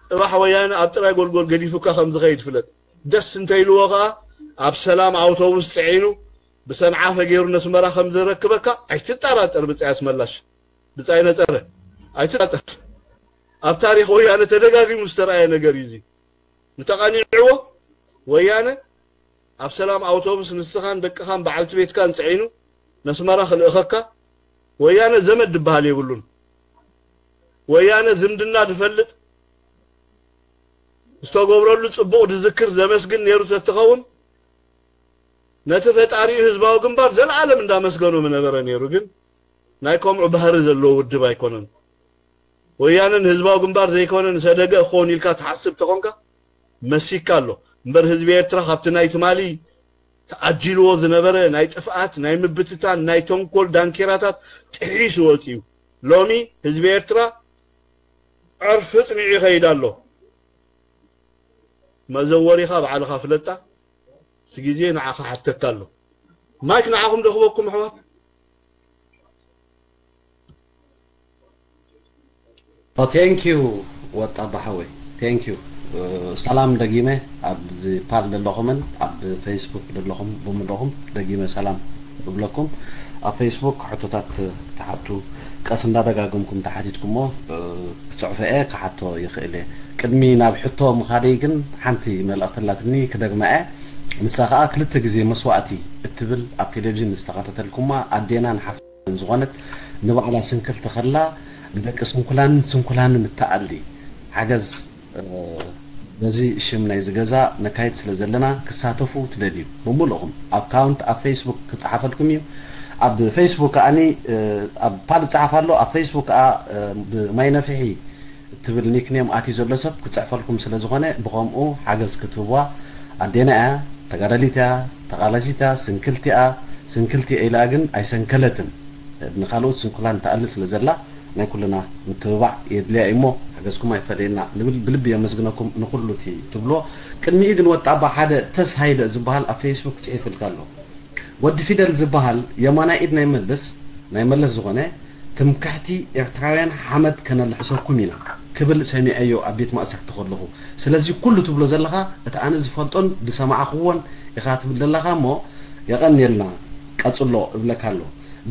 ጽባሕ ወያነ ኣብ ጥራይ ጎልጎል ገዲፉካ ከም ዝኸይድ ፍለጥ። ደስ እንተኢልዎ ከኣ ኣብ ሰላም ኣውቶቡስ ጽዒኑ ብሰንዓፈ ገይሩ ነስመራ ከም ዘረክበካ ኣይትጠራጠር። ብጻይ ኣስመላሽ፣ ብጻይ ነጸረ፣ ኣይትጠራጠር። ኣብ ታሪኽ ወያነ ተደጋጊሙ ዝተረኣየ ነገር እዩ እዚ። ምተቓኒዕዎ፣ ወያነ ኣብ ሰላም ኣውቶቡስ ንስኻን ደቅኻን በዓልቲ ቤትካን ጽዒኑ ነስመራ ክልእኸካ። ወያነ ዘመድ ድበሃል የብሉን። ወያነ ዝምድና ድፈልጥ፣ ዝተገብረሉ ጽቡቕ ድዝክር ዘመስግን ነይሩ ተትኸውን፣ ነቲ ፈጣሪኡ ህዝባዊ ግንባር ዘለኣለም እንዳመስገኖ ምነበረ ነይሩ። ግን ናይ ከምኡ ባህሪ ዘለዎ ውድብ ኣይኮነን። ወያነ ንህዝባዊ ግንባር ዘይኮነ ንሰደገ ክኸውን ኢልካ ትሓስብ ተኾንካ መሲካ ኣሎ። እምበር ህዝቢ ኤርትራ ካብቲ ናይ ትማሊ ተኣጂልዎ ዝነበረ ናይ ጥፍኣት፣ ናይ ምብትታን፣ ናይ ተንኮል ዳንኬራታት ጥሒሱ ወጺኡ። ሎሚ ህዝቢ ኤርትራ ዕርፊ ጽኒዑ ይኸይድ ኣሎ። መዘወሪኻ ባዕልኻ ፍለጣ። እቲ ግዜ ንዓኻ ሓተካ ኣሎ። ማይክ ንዓኹም ደኽበኩም ኣሕዋት። ኦ ቴንክ ዩ ወጣ ባሓወይ ቴንክ ዩ። ሰላም ደጊመ ኣብዚ ፓል ዘለኹምን ኣብ ፌስቡክ ዘለኹም ብምለኹም ደጊመ ሰላም እብለኩም። ኣብ ፌስቡክ ሕቶታት ትሓቱ ቀስ እንዳደጋገምኩም ተሓቲትኩሞ ክፅዕፎ እየ ክሓቶ ይኽእል እየ። ቅድሚ ናብ ሕቶ ምኻደይ ግን ሓንቲ መልእኽቲ ኣላትኒ ክደግማ እየ። ንሳ ከዓ ክልተ ግዜ መስዋእቲ እትብል ኣብ ቴሌቪዥን ዝተኸታተልኩማ ኣዴናን ሓፍትን ዝኾነት ንባዕላ ስንክልቲ ከላ ንደቂ ስንኩላንን ስንኩላንን እትኣሊ ሓገዝ በዚ ሽም ናይዚ ገዛ ነካይድ ስለ ዘለና ክሳተፉ ትደልዩ ብምልእኹም ኣካውንት ኣብ ፌስቡክ ክፀሓፈልኩም እዩ። ኣብ ፌስቡክ ከዓኒ ኣብ ፓል ይፀሓፍ ኣሎ ኣብ ፌስቡክ ከዓ ብማይ ነፍሒ እትብል ኒክኔም ኣትዩ ዘሎ ሰብ ክፅሕፈልኩም ስለ ዝኾነ ብኸምኡ ሓገዝ ክትህብዋ ኣዴና እያ ተጋዳሊት እያ ተቓላሲት እያ ስንክልቲ እያ ስንክልቲ እያ ኢላ ግን ኣይሰንከለትን ንኻልኦት ስንኩላን ትኣሊ ስለ ዘላ ናይ ኩልና ምትብባዕ የድልያ እሞ ሓገዝኩም ኣይፈለየና ንብል ብልቢ የመስግነኩም ንኩሉ እቲ ትብሎ ቅድሚኡ ግን ወጣባ ሓደ ተስ ሃይለ ዝበሃል ኣብ ፌስቡክ ፅሒፍልካ ኣሎ ወዲ ፊደል ዝበሃል የማናይ ኢድ ናይ መልስ ናይ መለስ ዝኾነ ትምክሕቲ ኤርትራውያን ሓመድ ከነልሕሰኩም ኢና ክብል ሰሚዐዮ ኣብ ቤት ማእሰርቲ ከለኹ ስለዚ ኩሉ ትብሎ ዘለኻ እቲ ኣነ ዝፈልጦን ዝሰማዕኽዎን ኢኻ ትብል ዘለኻ እሞ የቐንየልና ቀጽሎ እብለካ ኣሎ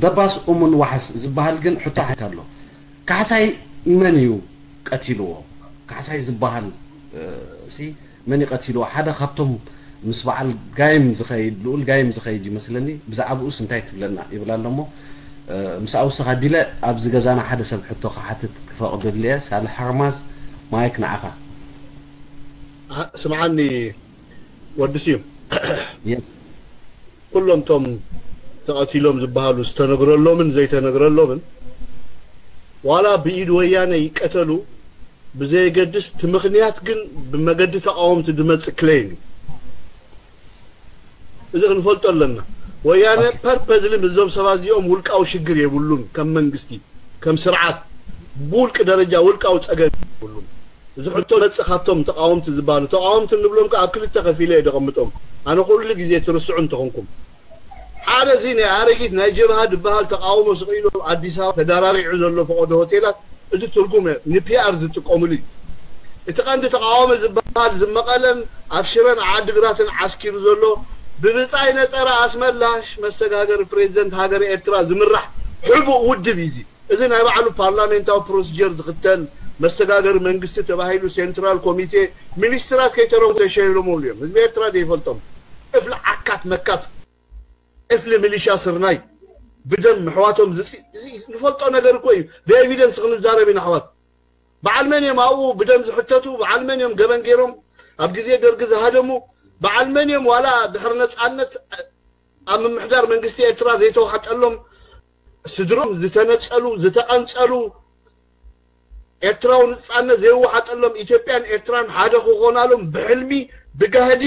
ደባስ እሙን ዋሕስ ዝበሃል ግን ሕቶ ሓካ ኣሎ ካሕሳይ መን እዩ ቀቲልዎ ካሕሳይ ዝበሃል ሲ መን ይቐቲልዎ ሓደ ካብቶም ምስ በዓል ጋይም ዝኸይድ ልኡል ጋይም ዝኸይድ ይመስለኒ ብዛዕባኡስ እንታይ ትብለና ይብል ኣሎ እሞ ምስ ኣውስኽ ኣቢለ ኣብዚ ገዛና ሓደ ሰብ ሕቶ ክሓትት ክፈቕደሉ እየ ሳልሕ ሓርማዝ ማይክ ንዓኻ ስምዓኒ ወዲ ስዩም ኩሎም ቶም ተቐቲሎም ዝበሃሉ ዝተነግረሎምን ዘይተነግረሎምን ዋላ ብኢድ ወያነ ይቀተሉ ብዘየገድስ እቲ ምኽንያት ግን ብመገዲ ተቃወምቲ ዝመፅእ ክሌም እዩ። እዚ ክንፈልጦ ኣለና። ወያነ ፐርፐዝሊ ምስዞም ሰባት እዚኦም ውልቃዊ ሽግር የብሉን። ከም መንግስቲ ከም ስርዓት ብውልቂ ደረጃ ውልቃዊ ፀገም የብሉን። እዚ ሕቶ መፅእ ካብቶም ተቃወምቲ ዝበሃሉ ተቃወምቲ እንብሎም ከዓ ኣብ ክልተ ከፊለ እየ ደቐምጦም። ኣነ ኩሉ ግዜ ትርስዑ እንተኾንኩም ሓደ እዚ ናይ ኣረጊት ናይ ጀብሃ ዝበሃል ተቃውሞ ስቕ ኢሉ ኣብ ኣዲስ ኣበባ ተዳራሪዑ ዘሎ ፈቐዶ ሆቴላት እቲ ትርጉም ንፒኣር ዝጥቀሙሉ እዩ። እቲ ቀንዲ ተቃዋሚ ዝበሃል ዝመቐለን ኣብ ሽረን ዓድግራትን ዓስኪሩ ዘሎ ብብፃይ ነፀረ ኣስመላሽ መሰጋገሪ ፕሬዚደንት ሃገረ ኤርትራ ዝምራሕ ሕቡእ ውድብ እዩ። እዚ ናይ ባዕሉ ፓርላሜንታዊ ፕሮሲጀር ዝኽተል መሰጋገሪ መንግስቲ ተባሂሉ ሴንትራል ኮሚቴ ሚኒስትራት ከይተረፉ ተሸይሎምሉ እዮም። ህዝቢ ኤርትራ ዘይፈልጦም እፍሊ ዓካት መካት እፍሊ ሚሊሻ ስርናይ ብደም ኣሕዋቶም ዝፅ- እዚ ንፈልጦ ነገር እኮ እዩ። ብኤቪደንስ ክንዛረብ ኢና ኣሕዋት። በዓል መን እዮም ኣብኡ ብደም ዝሕተቱ? በዓል መን እዮም ገበን ገይሮም? ኣብ ግዜ ደርጊ ዝሃደሙ በዓል መን እዮም? ዋላ ድሕሪ ነፃነት ኣብ ምምሕዳር መንግስቲ ኤርትራ ዘይተዋሕጠሎም ስድሮም ዝተነፀሉ ዝተቐንፀሉ ኤርትራዊ ንፃነት ዘይወሓጠሎም ኢትዮጵያን ኤርትራን ሓደ ክኾናሎም ብሕልሚ ብጋህዲ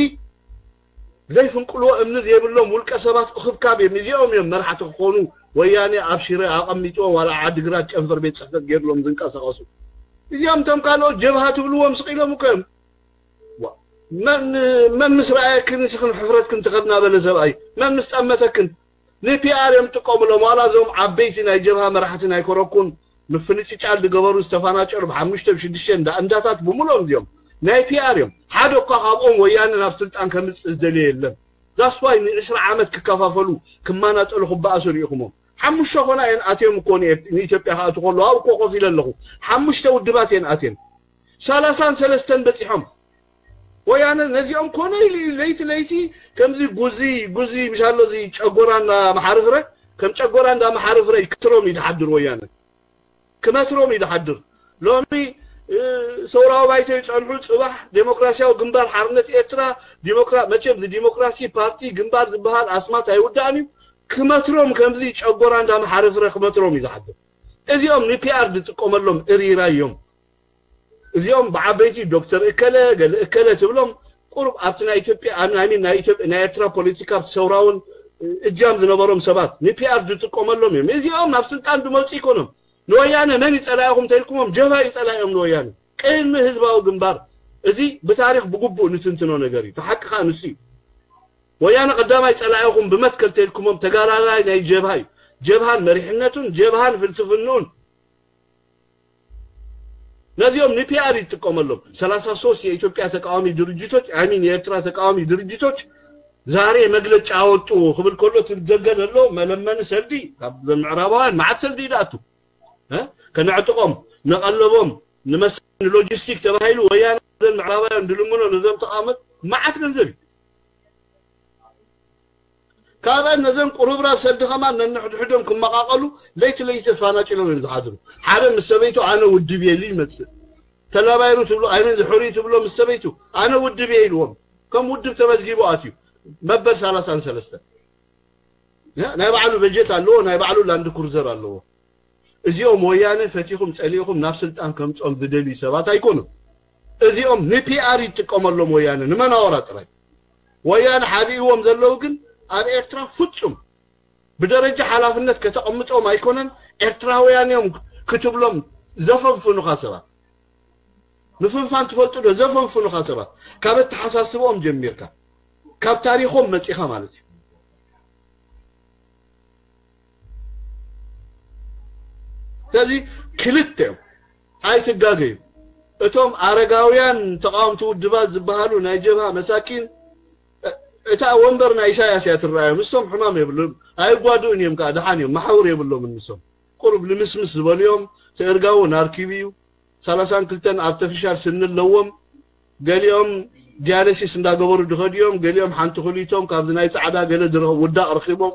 ዘይፍንቅልዎ እምኒ ዘይብሎም ውልቀ ሰባት እኽብካብ እዮም። እዚኦም እዮም መራሕቲ ክኾኑ ወያኔ ኣብ ሽረ ኣቐሚጥዎም ዋላ ዓድግራት ጨንፈር ቤት ፅሕፈት ገይርሎም ዝንቀሳቐሱ። እዚኦም እቶም ካልኦት ጀብሃ ትብልዎም ስቕ ኢሎም እኮ እዮም። መን ምስ ረኣየክን ንስኽን ሕፍረትክን ትኸድ እናበለ ሰብኣይ መን ምስ ጠመተክን ንፒኣር እዮም ዝጥቀሙሎም ዋላ እዞም ዓበይቲ ናይ ጀብሃ መራሕቲ ናይ ኮረኩን ምፍንጭጫል ዝገበሩ ዝተፈናጨሉ ብሓሙሽተ ብሽዱሽተ እንዳ እንዳታት ብምሎም እዚኦም ናይ ፒኣር እዮም ሓደ እኳ ካብኦም ወያነ ናብ ስልጣን ከምፅእ ዝደልየ የለን That's why ንዕስራ ዓመት ክከፋፈሉ ክማናጠሉ ክበኣሱ ርኢኹሞም። ሓሙሽተ ኮና እየን ኣትዮም እኮ ንኤርት- ንኢትዮጵያ ክኣቱ ከለዉ ኣብኡ እኮ ኮፍ ኢለ ኣለኹ። ሓሙሽተ ውድባት እየን ኣትየን። ሰላሳን ሰለስተን በፂሖም። ወያነ ነዚኦም ኮነ ኢሉ እዩ ለይቲ ለይቲ ከምዚ ጉዚ ጉዚ ምሻሎ እዚ ጨጎራ እንዳመሓርፍረ ከም ጨጎራ እንዳመሓርፍረ ይክትሮም እዩ ዝሓድር ወያነ። ክመትሮም እዩ ዝሓድር። ሎሚ ሰውራዊ ባይቶ ይፀንሑ፣ ፅባሕ ዴሞክራሲያዊ ግንባር ሓርነት ኤርትራ፣ ዲሞክራ መቸም እዚ ዲሞክራሲ ፓርቲ ግንባር ዝበሃል ኣስማት ኣይውዳእን እዩ። ክመትሮም ከምዚ ጨጎራ እንዳመሓረፍረ ክመትሮም እዩ ዝሓድር። እዚኦም ንፒኣር ዝጥቀመሎም እሪራ እዮም። እዚኦም ብዓበይቲ ዶክተር እከለ ገለ እከለ ትብሎም ቁሩብ ኣብቲ ናይ ኢትዮጵያ ኣሚን ናይ ኢትዮጵያ ናይ ኤርትራ ፖለቲካ ኣብቲ ሰውራውን እጃም ዝነበሮም ሰባት ንፒኣር ዝጥቀመሎም እዮም። እዚኦም ናብ ስልጣን ዝመፁ ይኮኖም። ንወያነ መን ይፀላኢኹም ተልኩሞም ጀብሃ ይፀላኢኦም ንወያነ ቅድሚ ህዝባዊ ግንባር። እዚ ብታሪክ ብግቡእ ንትንትኖ ነገር እዩ። ተሓቂ ከዓ ንሱ እዩ። ወያነ ቀዳማይ ፀላኢኹም ብመትከል ተልኩሞም ተጋዳላይ ናይ ጀብሃ እዩ። ጀብሃን መሪሕነቱን ጀብሃን ፍልስፍንኡን ነዚኦም ንፒኣር ይጥቀመሎም። ሰላሳ ሶስት የኢትዮጵያ ተቃዋሚ ድርጅቶች አይ ሚን የኤርትራ ተቃዋሚ ድርጅቶች ዛሬ መግለጫ አወጡ ክብል ከሎ እቲ ደገ ዘሎ መለመኒ ሰልዲ ካብ ምዕራባውያን መዓት ሰልዲ ይድኣቱ እ? ከነዕጥቆም ንቀለቦም ንመስ ንሎጂስቲክ ተባሂሉ ወያነ ዘን ምዕራባውያን ድልምኖ ነዞም ተቃመጥ መዓት ገንዘብ እዩ። ካብአን ነዘን ቁርብራብ ሰልዲ ከማን ነንሕድሕዶም ክመቃቀሉ ለይቲ ለይቲ ተፋናጭሎም እዮም ዝሓድሩ። ሓደ ምስ ሰበይቱ ኣነ ውድብ የሉ ይመፅእ ተላባይሩ ትብሎ ኣይመን ዝሕሩይ ትብሎ ምስ ሰበይቱ ኣነ ውድብ እየ ኢልዎም። ከም ውድብ ተመዝጊቡ ኣትዩ መበል ሰላሳን ሰለስተን ናይ ባዕሉ በጀት ኣለዎ፣ ናይ ባዕሉ ላንድ ክሩዘር ኣለዎ። እዚኦም ወያነ ፈቲኹም ጸሊእኹም ናብ ስልጣን ከምጾም ዝደልዩ ሰባት ኣይኮኑን። እዚኦም ንፒኣር ይጥቀመሎም ወያነ ንመናወራ ጥራይ። ወያነ ሓቢእዎም ዘለዉ ግን ኣብ ኤርትራ ፍጹም ብደረጃ ሓላፍነት ከተቐምጦም ኣይኮነን። ኤርትራውያን እዮም ክትብሎም ዘፈንፍኑኻ ሰባት ምፍንፋን ትፈልጡ ዶ? ዘፈንፍኑኻ ሰባት ካብ ኣተሓሳስብኦም ጀሚርካ ካብ ታሪኾም መጺኻ ማለት እዩ። ስለዚ ክልተ እዮም፣ ኣይትጋገዩ። እቶም ኣረጋውያን ተቃወምቲ ውድባት ዝበሃሉ ናይ ጀብሃ መሳኪን እ- እታ ወንበር ናይ ኢሳያስ እያ ትረኣዮም። ንሶም ሕማም የብሎም ኣይጓድኡን እዮም፣ ከዓ ደሓን እዮም፣ መሓውር የብሎምን ንሶም። ቁሩብ ልምስምስ ዝበሉ እዮም። እቲ እርጋውን ኣርኪቡ እዩ። ሰላሳን ክልተን ኣርተፊሻል ስኒ ኣለዎም። ገሊኦም ዲያለሲስ እንዳገበሩ ድኸዱ እዮም። ገሊኦም ሓንቲ ክልቶም ካብዚ ናይ ጻዕዳ ገለ ዝረኸቡ ውዳቕ ረኺቦም።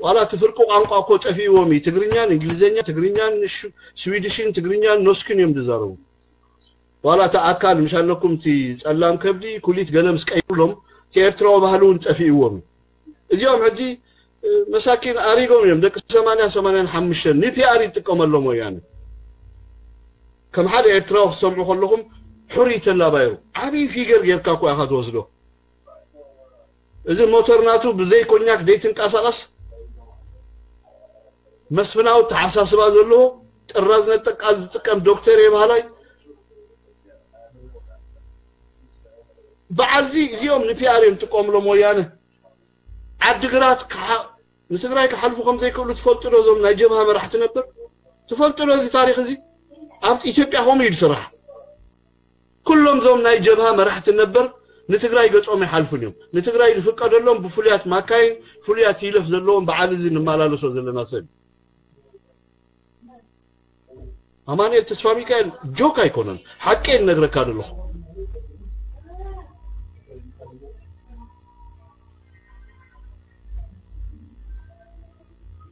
ዋላ እቲ ፍርቂ ቋንቋ እኮ ጠፊእዎም እዩ። ትግርኛን እንግሊዝኛን ትግርኛን ሽ- ስዊድሽን ትግርኛን ኖስክን እዮም ዝዛረቡ። ዋላ እቲ ኣካል ምሽ ኣለኩም እቲ ጸላም ከብዲ ኩሊት ገለ ምስ ቀይሩሎም እቲ ኤርትራዊ ባህሊ እውን ጠፊእዎም እዩ። እዚኦም ሕጂ እ፣ መሳኪን ኣሪጎም እዮም ደቂ ሰማንያ ሰማንያን ሓሙሽተን ንፒኣር ይጥቀመሎም ወያነ። ከም ሓደ ኤርትራዊ ክትሰምዑ ከለኹም ሕሩይ ተላባዩ ዓብዪ ፊገር ጌርካ እኮ ኢኻ ትወስዶ። እዚ ሞተር ናቱ ብዘይ ኮኛክ ዘይትንቀሳቐስ መስፍናዊ ተሓሳስባ ዘለዎ ጥራዝ ነጠቃ ዝጥቀም ዶክተር የባህላይ በዓልዚ እዚኦም ንፒኣር እዮም ጥቀምሎም ወያነ ዓድግራት ንትግራይ ክሓልፉ ከም ዘይክእሉ ትፈልጡ ዶ? እዞም ናይ ጀብሃ መራሕቲ ነበር ትፈልጡ ዶ? እዚ ታሪክ እዚ ኣብ ኢትዮጵያ ከምኡ እዩ ዝስራሕ። ኩሎም እዞም ናይ ጀብሃ መራሕቲ ነበር ንትግራይ ገጾም ይሓልፉን እዮም። ንትግራይ ዝፍቀደሎም ብፍሉያት ማካይን ፍሉያት ይለፍ ዘለዎም በዓል እዚ ንመላለሶ ዘለና ሰብ እዩ። ኣማኑኤል ተስፋ ሚካኤል ጆክ ኣይኮነን፣ ሓቂ እነግረካ ዘለኹ።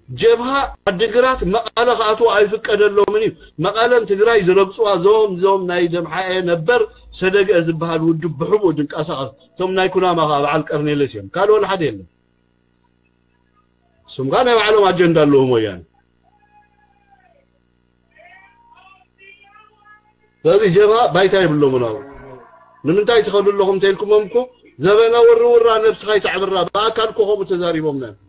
ጀብሃ ዓድግራት መቐለ ክኣትዉ ኣይፍቀደሎምን እዩ። መቐለን ትግራይ ዝረግፅዋ ዞም ዞም ናይ ደምሓኤ ነበር ሰደግአ ዝበሃል ውድብ ብሕቡእ ድንቀሳቐስ። እቶም ናይ ኩናማ ከዓ በዓል ቀርኔለስ እዮም። ካልእ ወላ ሓደ የለን። እሱም ከዓ ናይ ባዕሎም ኣጀንዳ ኣለዎም ወያነ። ስለዚ ጀብሃ ባይታ የብሎምን ኣብኡ። ንምንታይ ትኸዱ ኣለኹም እንተኢልኩሞም እኮ ዘበነ ውርውራ ነብስኻ ይተዕብራ ብኣካል እኮ ከምኡ ተዛሪቦምና እዮም።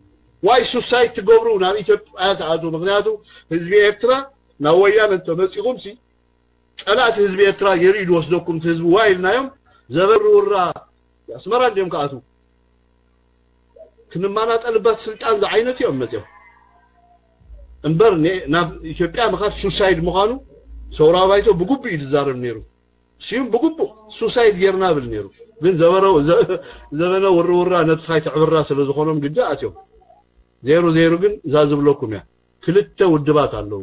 ዋይ ሱሳይድ ትገብሩ ናብ ኢትዮጵያ ትኣትዉ። ምክንያቱ ህዝቢ ኤርትራ ናብ ወያነ እንተመፂኹም ሲ ፀላእቲ ህዝቢ ኤርትራ ገይሩ እዩ ዝወስደኩም እቲ ህዝቢ ዋይ ኢልናዮም ዘበን ውርውራ ኣስመራ እንዲዮም ክኣትዉ። ክንመናጠልባት ስልጣን ዝዓይነት እዮም መፅኦም እምበር ናብ ኢትዮጵያ ምኻድ ሱሳይድ ምዃኑ ሰውራዊ ባይቶ ብግቡእ እዩ ዝዛረብ ነይሩ። ስዩም ብግቡእ ሱሳይድ ጌርና ብል ነይሩ። ግን ዘበረ-፣ ዘ-፣ ዘበነ ውርውራ ነብስኻ ይትዕብራ ስለ ዝኾኖም ግዲ ኣትዮም። ዜሩ ዜሩ ግን እዛ ዝብለኩም እያ። ክልተ ውድባት ኣለዉ።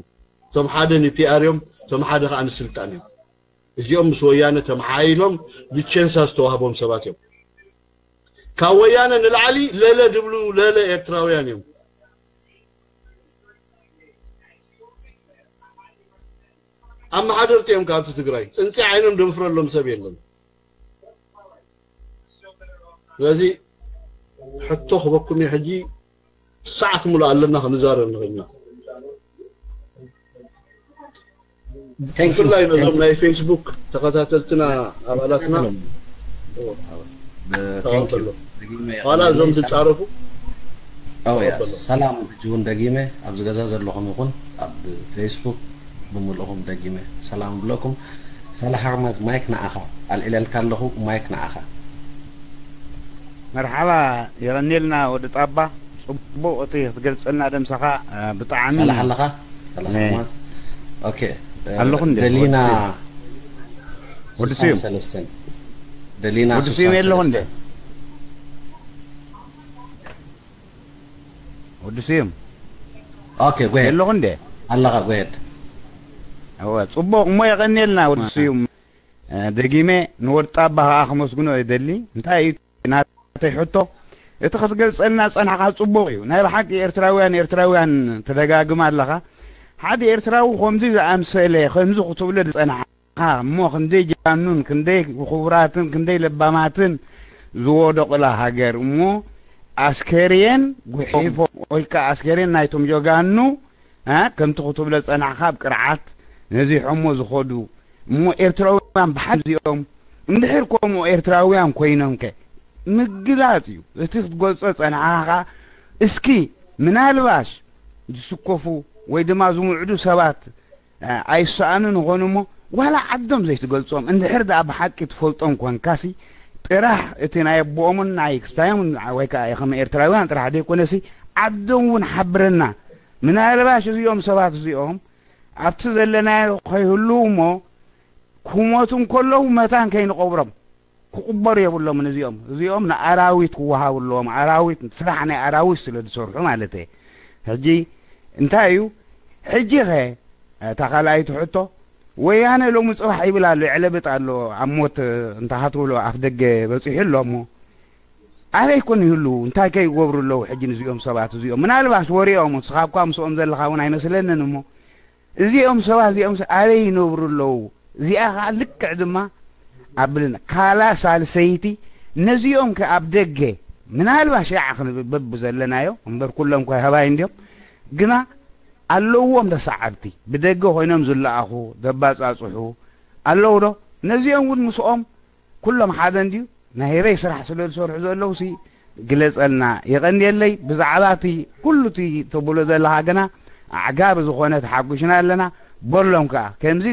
እቶም ሓደ ንፒኣር እዮም፣ እቶም ሓደ ከዓ ንስልጣን እዮም። እዚኦም ምስ ወያነ ተመሓይሎም ብቸንሳ ዝተዋህቦም ሰባት እዮም። ካብ ወያነ ንላዕሊ ለለ ድብሉ ለለ ኤርትራውያን እዮም። ኣመሓደርቲ እዮም ካብቲ ትግራይ። ጽንጺ ዓይኖም ደንፍረሎም ሰብ የለን። ስለዚ ሕቶ ክበኩም እየ ሕጂ፣ ሰዓት ሙሉእ ኣለና ክንዛረብ ንኽእል ኢና። Thank you. ብፍላይ ነዞም ናይ ፌስቡክ ተኸታተልትና ኣባላትና ተቐበሎ። ዋላ እዞም ዝጻረፉ ተቐበሎ። ሰላም። ሕጂ እውን ደጊመ ኣብዚ ገዛ ዘለኹም ይኹን ኣብ ፌስቡክ ብምልእኹም ደጊመ ሰላም ብለኩም። ሳላሕ ኣሕመድ፣ ማይክ ንዓኻ። ኣልዒለልካ ኣለኹ፣ ማይክ ንዓኻ። መርሓባ፣ የቐንየልና ወዲ ጣባ። ጽቡቕ እቲ ክትገልጸልና ደምሰኻ፣ እ፣ ብጣዕሚ። ሳላሕ ኣለኻ? ሳላሕ ነ- ኣሕመድ። ኦኬ፣ እ፣ ኣለኹ እንዴ? ደሊና ወዲ ስዩም። ስልሳን ሰለስተን። ደሊና ወዲ ስዩም የለኹ እንዴ? ስልሳን ሰለስተን። ወዲ ስዩም። ኦኬ፣ go ahead። የለኹ እንዴ? ኣለኻ፣ go ahead። እወ፣ ጽቡቕ እሞ የቐንየልና ወዲ ስዩም። እ፣ ደጊመ ንወዲ ጣባ ከኣ ከመስግኖ እደሊ። እንታይ እዩ ናተይ ሕቶ? እቲ ክትገልጸልና ጸናሕካ ጽቡቕ እዩ። ናይ ብሓቂ ኤርትራውያን፣ ኤርትራውያን ትደጋግም ኣለኻ። ሓደ ኤርትራዊ ከምዚ ዝኣምሰለ፣ ከምዚ ክትብሎ ዝጸናሕካ እሞ ክንደይ ጀጋኑን፣ ክንደይ ክቡራትን፣ ክንደይ ለባማትን ዝወደቑላ ሃገር እሞ ኣስከሬን ጉሒፎም ወይ ከኣ ኣስከሬን ናይቶም ጀጋኑ፣ እ፣ ከምቲ ክትብሎ ዝጸናሕካ ኣብ ቅርዓት ነዚሖሞ ዝኸዱ እሞ ኤርትራውያን ብሓደ እዚኦም እንድሕር ከምኡ ኤርትራውያን ኮይኖም ከ ምግላጽ እዩ እቲ ክትገልጾ ዝጸናሕካ። እስኪ ምናልባሽ ዝስከፉ ወይ ድማ ዝምዕዱ ሰባት፣ እ፣ ኣይሰኣኑን ይኾኑ እሞ ዋላ ዓዶም ዘይትገልጾም እንድሕር ደኣ ብሓቂ ትፈልጦም ኮንካሲ ጥራሕ እቲ ናይ ኣቦኦምን ናይ ክስታዮምን ወይ ከኣ ከም ኤርትራውያን ጥራሕ ዘይኮነሲ ዓዶም እውን ሓብረና። ምናልባሽ እዚኦም ሰባት እዚኦም ኣብቲ ዘለናዮ ከይህልዉ እሞ ክሞቱ እንከለዉ መታን ከይንቐብሮም ክቕበሩ የብሎምን እዚኦም። እዚኦም ንኣራዊት ክወሃቡ ኣለዎም። ኣራዊት፣ ስራሕ ናይ ኣራዊት ስለ ዝሰርሑ ማለት እየ። ሕጂ እንታይ እዩ? ሕጂ ኸ እታ ካልኣይቲ ሕቶ፣ ወያነ ሎሚ ጽባሕ ይብል ኣሎ፣ ይዕለብጥ ኣሎ፣ ኣብ ሞት እንተ ሃትብሎ ኣፍ ደገ በጺሑ ኣሎ እሞ ኣበይ ኮን ይህልዉ? እንታይ ከ ይገብሩ ኣለዉ? ሕጂ ንዚኦም ሰባት እዚኦም ምናልባሽ ወሬኦም፣ ንስኻ እኳ ምስኦም ዘለኻ እውን ኣይመስለንን እሞ እዚኦም ሰባት እዚኦም ኣበይ ይነብሩ ኣለዉ? እዚኣ ኸዓ ልክዕ ድማ ኣብልና ካላ ሳልሰይቲ ነዚኦም ከ ኣብ ደገ ምናልባሽ ያዓ ክንብል በብዘለናዮ እምበር ኩሎም ከ ኣህባይ እንድዮም ግና ኣለዎም ዶ ሰዓብቲ ብደገ ኮይኖም ዝለኣኹ ዘባጻጽሑ ኣለዉ ዶ? ነዚኦም እውን ምስኦም ኩሎም ሓደ እንድዩ? ናይ ህበይ ስራሕ ስለ ዝሰርሑ ዘለዉ ሲ ግለጸልና። የቐንየለይ ብዛዕባ እቲ ኩሉ እቲ ተብሎ ዘለኻ ግና ኣዕጋቢ ዝኾነ ተሓጒስና ኣለና። በሎም ከኣ ከምዚ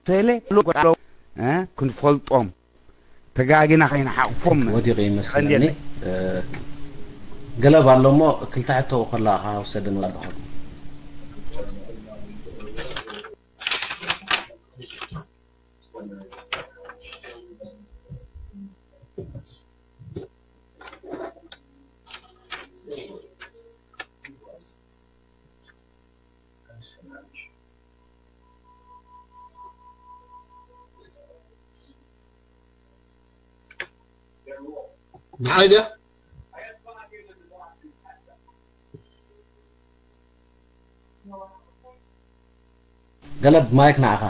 ተለ ክንፈልጦም ተጋጊና ከይንሓቕፎም ወዲቑ ይመስለኒ። ገለብ ኣሎ እሞ ክልተ ሕቶ ከለኻ ውሰደን ወዲ ኾን። ንዓይ ድያ? ገለብ ማይክ ንዓኻ።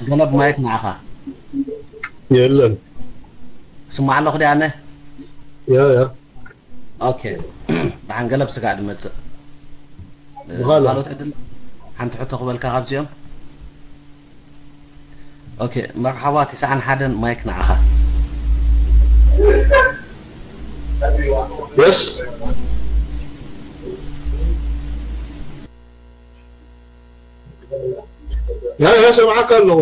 ገለብ ማይክ ንዓኻ የለን። ስማዕ ኣለኹ ድያ ኣነ? ያ ያ ኦኬ። ደሓን ገለብ ስጋዕ ድመጽእ። ብኻልእ። ካልኦት ዕድል ሓንቲ ሕቶ ክበልካ ካብዚኦም። ኦኬ፣ መርሓባ። ትስዓን ሓደን፣ ማይክ ንዓኻ። የስ ያ ያ ሰምዓካ ኣለኹ።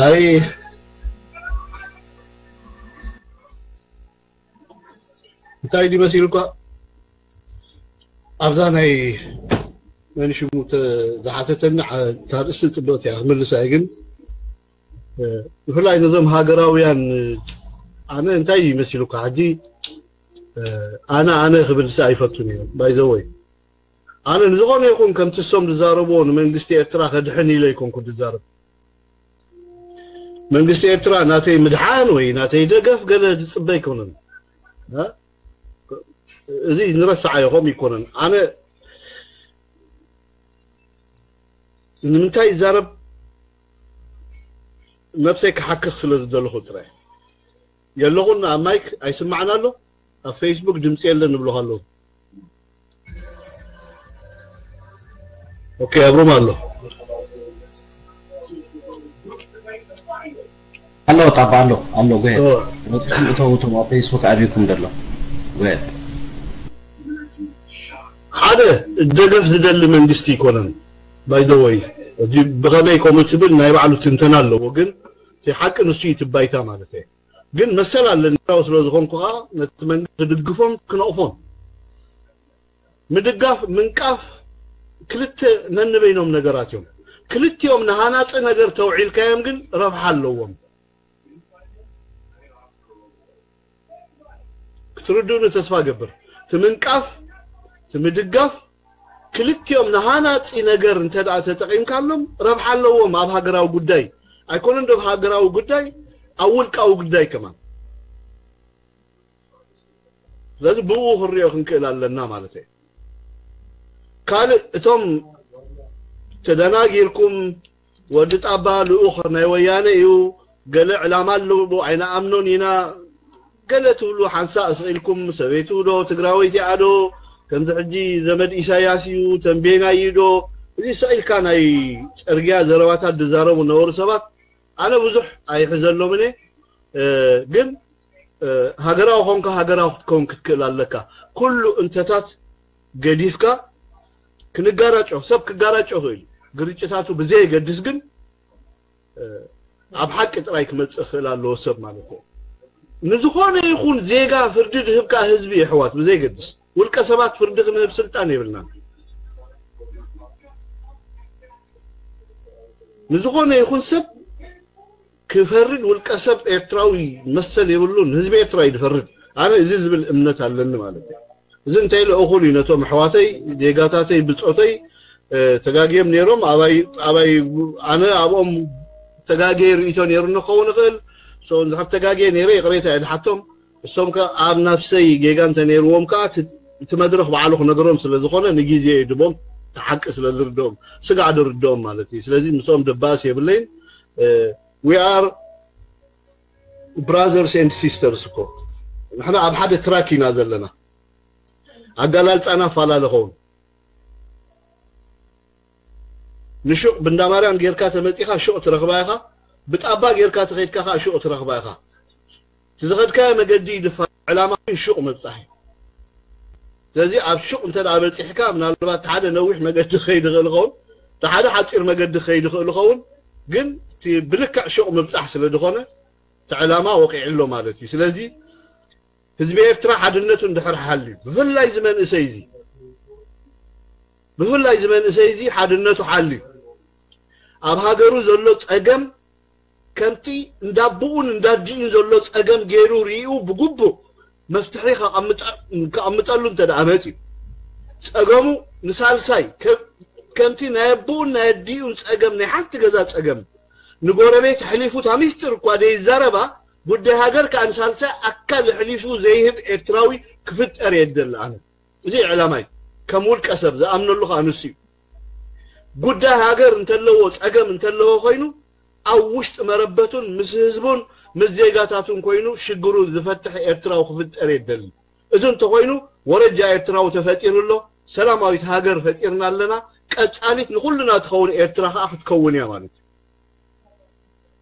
ኣይ እንታይ ድዩ መሲልኳ ኣብዛ ናይ መን ሽሙ ዝሓተተኒ ታርእስቲ ፅብቕቲ እያ ክምልሳ እየ ግን ብፍላይ ነዞም ሃገራውያን ኣነ እንታይ ይመስልካ ሕጂ ኣነ ኣነ ክብል ሲ ኣይፈቱን እየ ባይዘወይ ኣነ ንዝኾነ ይኹን ከምቲ እሶም ዝዛረብዎ ንመንግስቲ ኤርትራ ከድሕን ኢለ ይኮንኩ ዝዛረብ መንግስቲ ኤርትራ ናተይ ምድሓን ወይ ናተይ ደገፍ ገለ ዝፅበ ኣይኮነን እዚ ንረስዓ ይኾም ይኮነን ኣነ ንምንታይ ይዛረብ ነብሰይ ክሓክኽ ስለ ዝደለኹ ጥራይ የለኹን ኣብ ማይክ ኣይስማዕን ኣሎ ኣብ ፌስቡክ ድምፂ የለን ንብልኹ ኣለዉ ኦኬ ኣብሮም ኣሎ ኣሎ ጣባ ኣሎ ኣሎ ጎየ ወጥቶም እቶም ኣብ ፌስቡክ ኣቢኩም ደሎ ጎየ ሓደ ደገፍ ዝደሊ መንግስቲ ይኮነን ባይዘወይ እዚ ብኸመይ ከምኡ ትብል ናይ ባዕሉ ትንተና ኣለዎ ግን እቲ ሓቂ ንሱ እዩ ትባይታ ማለት እየ ግን መሰል ኣለኒ ስለ ዝኾንኩ ከዓ ነቲ መንግስቲ ክድግፎን ክነቕፎን ምድጋፍ ምንቃፍ ክልተ ነንበይኖም ነገራት እዮም ክልቲኦም ንሃናፂ ነገር ተውዒልካዮም ግን ረብሓ ኣለዎም ክትርድኡኒ ተስፋ ገብር ትምንቃፍ ትምድጋፍ ክልቲኦም ንሃናፂ ነገር እንተ ተጠቂምካሎም ረብሓ ኣለዎም ኣብ ሃገራዊ ጉዳይ ኣይኮነን ዶ ሃገራዊ ጉዳይ ኣብ ውልቃዊ ጉዳይ ከማን ስለዚ ብኡ ክንሪኦ ክንክእል ኣለና ማለት እየ ካልእ እቶም ተደናጊርኩም ወዲ ጣባ ልኡኽ ናይ ወያነ እዩ ገለ ዕላማ ኣለዎ ኣይንኣምኖን ኢና ገለ ትብሉ ሓንሳእ ስቕ ኢልኩም ሰበይቱ ዶ ትግራወይቲ እያ ዶ ከምዚ ሕጂ ዘመድ ኢሳያስ እዩ ተንቤናይ እዩ ዶ እዚ ስቕ ኢልካ ናይ ፅርግያ ዘረባታት ዝዛረቡ ነበሩ ሰባት ኣነ ብዙሕ ኣይሕዘሎምን እየ ግን ሃገራዊ ኮንካ ሃገራዊ ክትከውን ክትክእል ኣለካ ኩሉ እንተታት ገዲፍካ ክንጋራጮ ሰብ ክጋራጮ ይኽእል ግርጭታቱ ብዘየገድስ ግን ኣብ ሓቂ ጥራይ ክመፅእ ክእል ኣለዎ ሰብ ማለት እዩ ንዝኾነ ይኹን ዜጋ ፍርዲ ዝህብ ከዓ ህዝቢ የሕዋት ብዘየገድስ ውልቀ ሰባት ፍርዲ ክንህብ ስልጣን የብልናን ንዝኾነ ይኹን ሰብ ክፈርድ ውልቀ ሰብ ኤርትራዊ መሰል የብሉን ህዝቢ ኤርትራ እዩ ዝፈርድ ኣነ እዚ ዝብል እምነት ኣለኒ ማለት እዩ እዚ እንታይ ኢለ እኹል እዩ ነቶም ኣሕዋተይ ዜጋታተይ ብፆተይ ተጋግዮም ነይሮም ኣባይ ኣባይ ኣነ ኣብኦም ተጋግየ ርእይቶ ነይሩ ንኸውን ይኽእል ንዝሓብ ተጋግየ ነይረ ይቕሬታ እየ ዝሓቶም እሶም ከ ኣብ ናፍሰይ ጌጋ እንተ ነይርዎም ከኣ እቲ መድረኽ ባዕሉ ክነግሮም ስለ ዝኾነ ንግዜ ይድቦም፣ ተሓቂ ስለ ዝርድኦም ስጋዕ ድርድኦም ማለት እዩ። ስለዚ ምስኦም ደባእስ የብለይን። We are brothers and sisters እኮ ንሕና ኣብ ሓደ ትራክ ኢና ዘለና። ኣጋላልጻና ፈላለ ኸውን። ንሹቕ ብእንዳማርያም ጌርካ ተመጺኻ ሹቕ ትረኽባ ኢኻ። ብጣባ ጌርካ ተኸይድካ ኸዓ ሹቕ ትረኽባ ኢኻ። እቲ ዝኸድካዮ መገዲ ይድፋ፣ ዕላማ ግን ሹቕ ምብጻሕ እዩ። ስለዚ ኣብ ሹቕ እንተ ደኣ በጺሕካ ምናልባት ሓደ ነዊሕ መገዲ ክኸይድ ይኽእል ይኸውን፣ እቲ ሓደ ሓጺር መገዲ ክኸይድ ይኽእል ይኸውን፣ ግን እቲ ብልክዕ ሹቕ ምብጻሕ ስለ ዝኾነ እቲ ዕላማ ወቂዑ ኣሎ ማለት እዩ። ስለዚ ህዝቢ ኤርትራ ሓድነቱ እንድሕር ሓልዩ፣ ብፍላይ እዚ መንእሰይ እዚ፣ ብፍላይ እዚ መንእሰይ እዚ ሓድነቱ ሓልዩ፣ ኣብ ሃገሩ ዘሎ ጸገም ከምቲ እንዳቦኡን እንዳዲኡን ዘሎ ጸገም ገይሩ ሪኡ ብግቡእ መፍትሒ ከቐምጠ-፣ ከቐምጠሉ እንተ ደኣ መጺኡ፣ ጸገሙ ንሳልሳይ ከ-፣ ከምቲ ናይ ኣቦኡን ናይ ኣዲኡን ጸገም፣ ናይ ሓንቲ ገዛ ጸገም ንጎረቤት ኣሕሊፉ፣ እታ ሚስጥር እኳ ዘይዛረባ፣ ጉዳይ ሃገር ከኣ ንሳልሳይ ኣካል ኣሕሊፉ ዘይህብ ኤርትራዊ ክፍጠር እየ ዝደሊ ኣነ። እዚ እዩ ዕላማይ። ከም ውልቀ ሰብ ዝኣምነሉ ከኣ ንሱ እዩ። ጉዳይ ሃገር እንተለዎ፣ ጸገም እንተለዎ ኮይኑ፣ ኣብ ውሽጢ መረበቱን ምስ ህዝቡን ምስ ዜጋታቱን ኮይኑ ሽግሩ ዝፈትሕ ኤርትራዊ ክፍጠር እየ ዝደሊ። እዚ እንተኾይኑ፣ ወረጃ ኤርትራዊ ተፈጢሩ ኣሎ፣ ሰላማዊት ሃገር ፈጢርና ኣለና፣ ቀጻሊት ንኹልና ትኸውን ኤርትራ ከኣ ክትከውን እያ ማለት እዩ።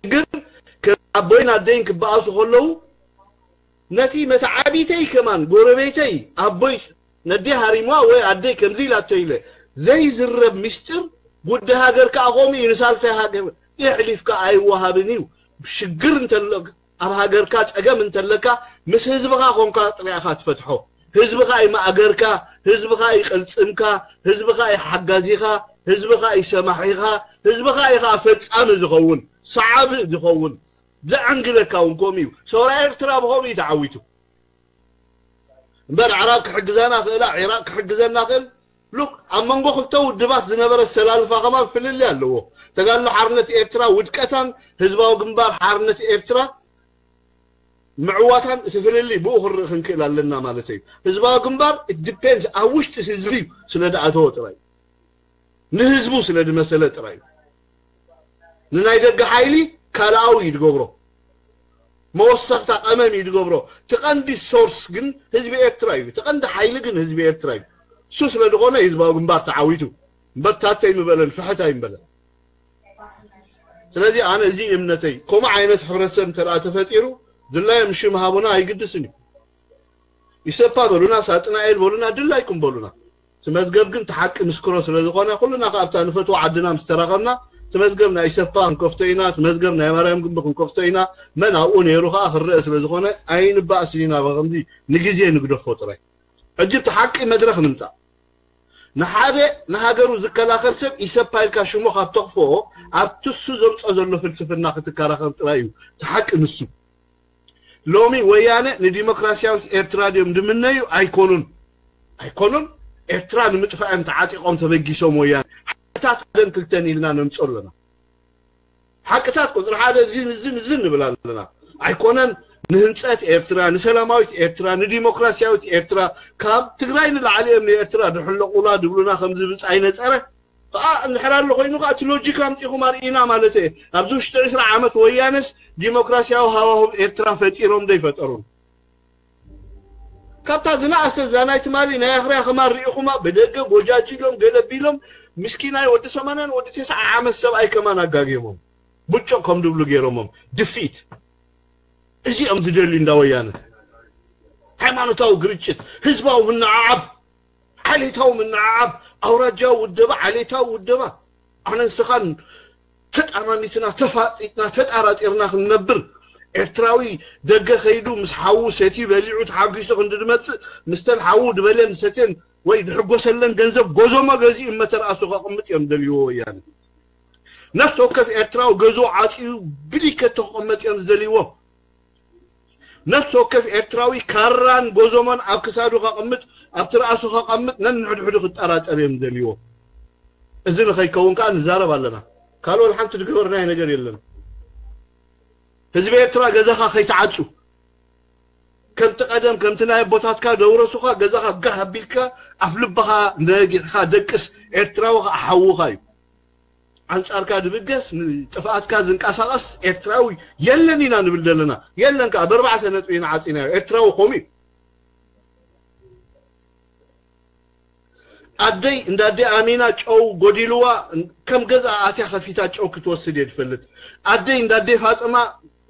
ግን ከም ኣቦይን ኣደይን ክበኣሱ ከለዉ፣ ነቲ መተዓቢተይ ከማን ጎረቤተይ ኣቦይ ነደይ ሃሪምዋ ወይ ኣደይ ከምዚ ኢላቶ ኢለ ዘይዝረብ ምስጢር፣ ጉዳይ ሃገር ከኣ ከምኡ እዩ። ንሳልሳይ ሃገር የሕሊፍካ ኣይወሃብን እዩ። ሽግር እንተሎ፣ ኣብ ሃገርካ ጸገም እንተለካ፣ ምስ ህዝብኻ ኮንካ ጥራይ ኢኻ ትፈትሖ። ህዝብኻ እዩ ማእገርካ፣ ህዝብኻ እዩ ቅልጽምካ፣ ህዝብኻ እዩ ሓጋዚኻ፣ ህዝብኻ እዩ ሰማዒኻ፣ ህዝብኻ እዩ ኸኣ ፈጻሚ ዝኸውን፣ ሰዓቢ ዝኸውን። ዘዐንግለካ እውን ከምኡ እዩ። ሰውራ ኤርትራ ብኸምኡ እዩ ተዓዊቱ። እምበር ኣዕራብ ክሕግዛና ክእላ፣ ዒራቕ ክሕግዘና ክእል። ሉክ፣ ኣብ መንጎ ክልተ ውድባት ዝነበረ ኣሰላልፋ ከማን ፍልልይ ኣለዎ። ተጋድሎ ሓርነት ኤርትራ ውድቀታን ህዝባዊ ግንባር ሓርነት ኤርትራ ምዕዋታን እቲ ፍልልይ ብኡ ክንርኢ ክንክእል ኣለና ማለት እዩ። ህዝባዊ ግንባር it depends ኣብ ውሽጢ ህዝቢ እዩ ስለ ዝኣተወ ጥራይ፣ ንህዝቡ ስለ ዝመሰለ ጥራይ እዩ። ንናይ ደገ ሓይሊ ካልኣዊ እዩ ዝገብሮ፣ መወሰኽታ ቀመም እዩ ዝገብሮ። እቲ ቀንዲ ሶርስ ግን ህዝቢ ኤርትራ እዩ። እቲ ቀንዲ ሓይሊ ግን ህዝቢ ኤርትራ እዩ። እሱ ስለ ዝኾነ ህዝባዊ ግንባር ተዓዊቱ እምበር ታተይ ምበለን ፍሕት ኣይምበለን። ስለዚ ኣነ እዚ እምነተይ፣ ከምኡ ዓይነት ሕብረተሰብ እንተ ደኣ ተፈጢሩ ድላዮም ሽም ሃቡና ኣይግድስን እዩ። ኢሰፓ በሉና፣ ሳጥናኤል በሉና፣ ድላይኩም በሉና። እቲ መዝገብ ግን እቲ ሓቂ ምስክሮ ስለ ዝኾነ፣ ኩልና ከኣ ኣብታ ንፈትዋ ዓድና ምስ ተራኸብና፣ እቲ መዝገብ ናይ ኢሰፓ ክንከፍቶ ኢና፣ እቲ መዝገብ ናይ ማርያም ግንቢ ክንከፍቶ ኢና፣ መን ኣብኡ ነይሩ ከኣ ክረአ ስለ ዝኾነ፣ ኣይንባእስን ኢና። ብኸምዚ ንግዜ ንግደፎ ጥራይ። ሕጂ እቲ ሓቂ መድረኽ ንምጻእ። ንሓደ ንሃገሩ ዝከላኸል ሰብ ኢሰፓ ኢልካ ሽሙ ካብ ተኽፍኦ፣ ኣብቲ እሱ ዘምጽኦ ዘሎ ፍልስፍና ክትከራኸር ጥራይ እዩ። እቲ ሓቂ ንሱ። ሎሚ ወያነ ንዲሞክራሲያዊት ኤርትራ ድዮም ዝምነዩ? ኣይኮኑን። ኣይኮኑን። ኤርትራ ንምጥፋእ እዮም ተዓጢቖም ተበጊሶም ወያነ። ሓቅታት ሓደን ክልተን ኢልና ነምጽኦ ኣለና። ሓቅታት ቁጽሪ ሓደ እዝን እዝን እዝን ንብል ኣለና። ኣይኮነን ንህንጸት ኤርትራ፣ ንሰላማዊት ኤርትራ፣ ንዲሞክራሲያዊት ኤርትራ፣ ካብ ትግራይ ንላዕሊ እዮም ንኤርትራ ድሕለቑላ ድብሉና ከም ዝብጻ ይነጸረ። ከኣ እንድሕር ኣሎ ኮይኑ ከኣ እቲ ሎጂክ ኣምጺኹም ኣርእዩና ማለት እየ። ኣብዚ ውሽጢ ዕስራ ዓመት ወያነስ ዲሞክራሲያዊ ሃዋህው ኤርትራ ፈጢሮም ዶ ኣይፈጠሩን? ካብታ ዝነኣሰት እዛ ናይ ትማሊ ናይ ኣኽርያ ከማን ርኢኹማ፣ ብደገ ጎጃጅሎም ገለ ቢሎም ምስኪናይ ወዲ ሰማንያን ወዲ ተስዓ ዓመት ሰብኣይ ከማን ኣጋግዮሞም። ብጮቕ ከም ድብሉ ገይሮሞም። ድፊት። እዚኦም ዝደልዩ እንዳ ወያነ። ሃይማኖታዊ ግርጭት፣ ህዝባዊ ምንዕዓብ፣ ዓሌታዊ ምንዕዓብ፣ ኣውራጃዊ ውደባ፣ ዓሌታዊ ውደባ። ኣነ ንስኻን ተጣማሚትና፣ ተፋጢጥና፣ ተጣራጢርና ክንነብር፣ ኤርትራዊ ደገ ከይዱ ምስ ሓዉ ሰትዩ በሊዑ ተሓጒሱ ክንዲ ዝመጽእ፣ ምስተን ሓዉ ዝበልየን ዝሰትየን ወይ ዝሕጎሰለን ገንዘብ ጎዞሞ ገዚኡ መተርኣሱ ከቕምጥ እዮም ደልይዎ ወያነ። ነፍሲ ወከፍ ኤርትራዊ ገዝኡ ዓጽዩ ብሊከቶ ክቕመጥ እዮም ዝደልይዎ። ነፍሲ ወከፍ ኤርትራዊ ካራን ጎዞሞን ኣብ ክሳዱ ከቐምጥ፣ ኣብ ትርኣሱ ከቐምጥ ነንሕድሕዱ ክጠራጠር እዮም ዝደልይዎ። እዚ ንኸይከውን ከኣ ንዛረብ ኣለና። ካልእ ወላ ሓንቲ ዝገበርናዮ ነገር የለን። ህዝቢ ኤርትራ ገዛኻ ከይትዓጹ፣ ከምቲ ቀደም ከምቲ ናይ ኣቦታትካ ደውረሱኻ ገዛኻ ጋህ ኣቢልካ ኣፍ ልብኻ ነጊሕካ ደቅስ። ኤርትራዊ ኸዓ ሓውኻ እዩ። ኣንጻርካ ድብገስ ንጥፍኣትካ ዝንቀሳቐስ ኤርትራዊ የለን ኢና ንብል ዘለና። የለን ከኣ ብኣርባዕተ ነጥቢ ኢና ዓጺናዮ። ኤርትራዊ ከምኡ እዩ። ኣደይ እንዳ ኣደ ኣሚና ጨው ጎዲልዋ ከም ገዛ ኣትያ ከፊታ ጨው ክትወስድ እየ ዝፈልጥ። ኣደይ እንዳ ኣደ ፋጥማ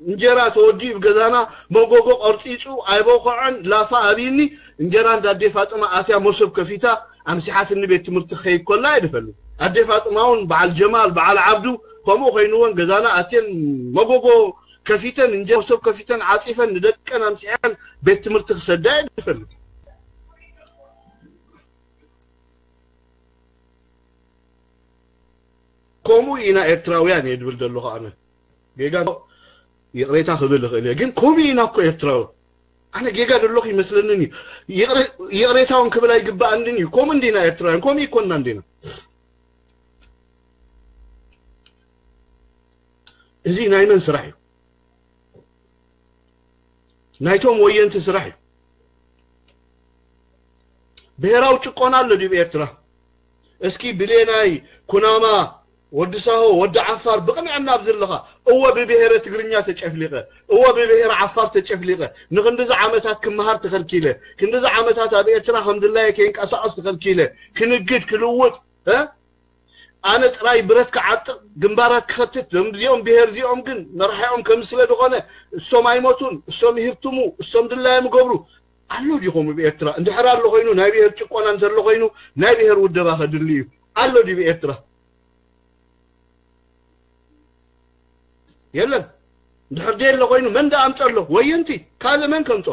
እንጀራ ተወዲኡ ብገዛና መጎጎ ቀርጺጹ ኣይበኸዐን ላፋ ኣብይኒ። እንጀራ እንዳ ኣደ ፋጥማ ኣትያ መሶብ ከፊታ ኣምሲሓትኒ ቤት ትምህርቲ ክኸይድ ኮላ እየ ዝፈልጥ። ኣደ ፋጥማ እውን በዓል ጀማል በዓል ዓብዱ ከምኡ ኮይንወን ገዛና ኣትየን መጎጎ ከፊተን እንጀራ መሶብ ከፊተን ዓጺፈን ንደቀን ኣምሲሐን ቤት ትምህርቲ ክሰዳ እየ ዝፈልጥ። ከምኡ ኢና ኤርትራውያን እየ ድብል ዘለኹ ኣነ። ጌጋ ይቕሬታ ክብል እኽእል እየ፣ ግን ከምኡ ኢና እኮ ኤርትራዊ። ኣነ ጌጋ ዘለኹ ይመስለንን እዩ። ይቕሬ-፣ ይቕሬታ እውን ክብል ኣይግባኣንን እዩ። ከምኡ እንዲና ኤርትራውያን፣ ከምኡ ይኮንና እንዲና። እዚ ናይ መን ስራሕ እዩ? ናይቶም ወየንቲ ስራሕ እዩ። ብሄራዊ ጭቆና ኣሎ ድዩ ኤርትራ? እስኪ ብሌናይ፣ ኩናማ፣ ወዲ ሳሆ፣ ወዲ ዓፋር ብቕንዕና ኣብዚ ኣለኻ። እወ ብብሄረ ትግርኛ ተጨፍሊቐ፣ እወ ብብሄረ ዓፋር ተጨፍሊቐ። ንክንድዚ ዓመታት ክመሃር ተኸልኪለ፣ ክንድዚ ዓመታት ኣብ ኤርትራ ከም ድላየ ከይንቀሳቐስ ተኸልኪለ፣ ክንግድ፣ ክልውጥ፣ እ? ኣነ ጥራይ ብረት ክዓጥቕ፣ ግንባራት ክኸትት፣ እዞም ብሄር እዚኦም ግን መራሒኦም ከም ስለ ዝኾነ፣ እሶም ኣይሞቱን፣ እሶም ይህብትሙ፣ እሶም ድላዮም ይገብሩ። ኣሎ ድዩ ከምኡ ብኤርትራ? እንድሕር ኣሎ ኮይኑ፣ ናይ ብሄር ጭቆና እንተሎ ኮይኑ፣ ናይ ብሄር ውደባ ከድሊ እዩ። ኣሎ ድዩ ብኤርትራ? የለን። እንድሕር ደየሎ ኮይኑ፣ መን ደኣ ኣምጸሎ? ወየንቲ። ካልእ መን ከምጾ?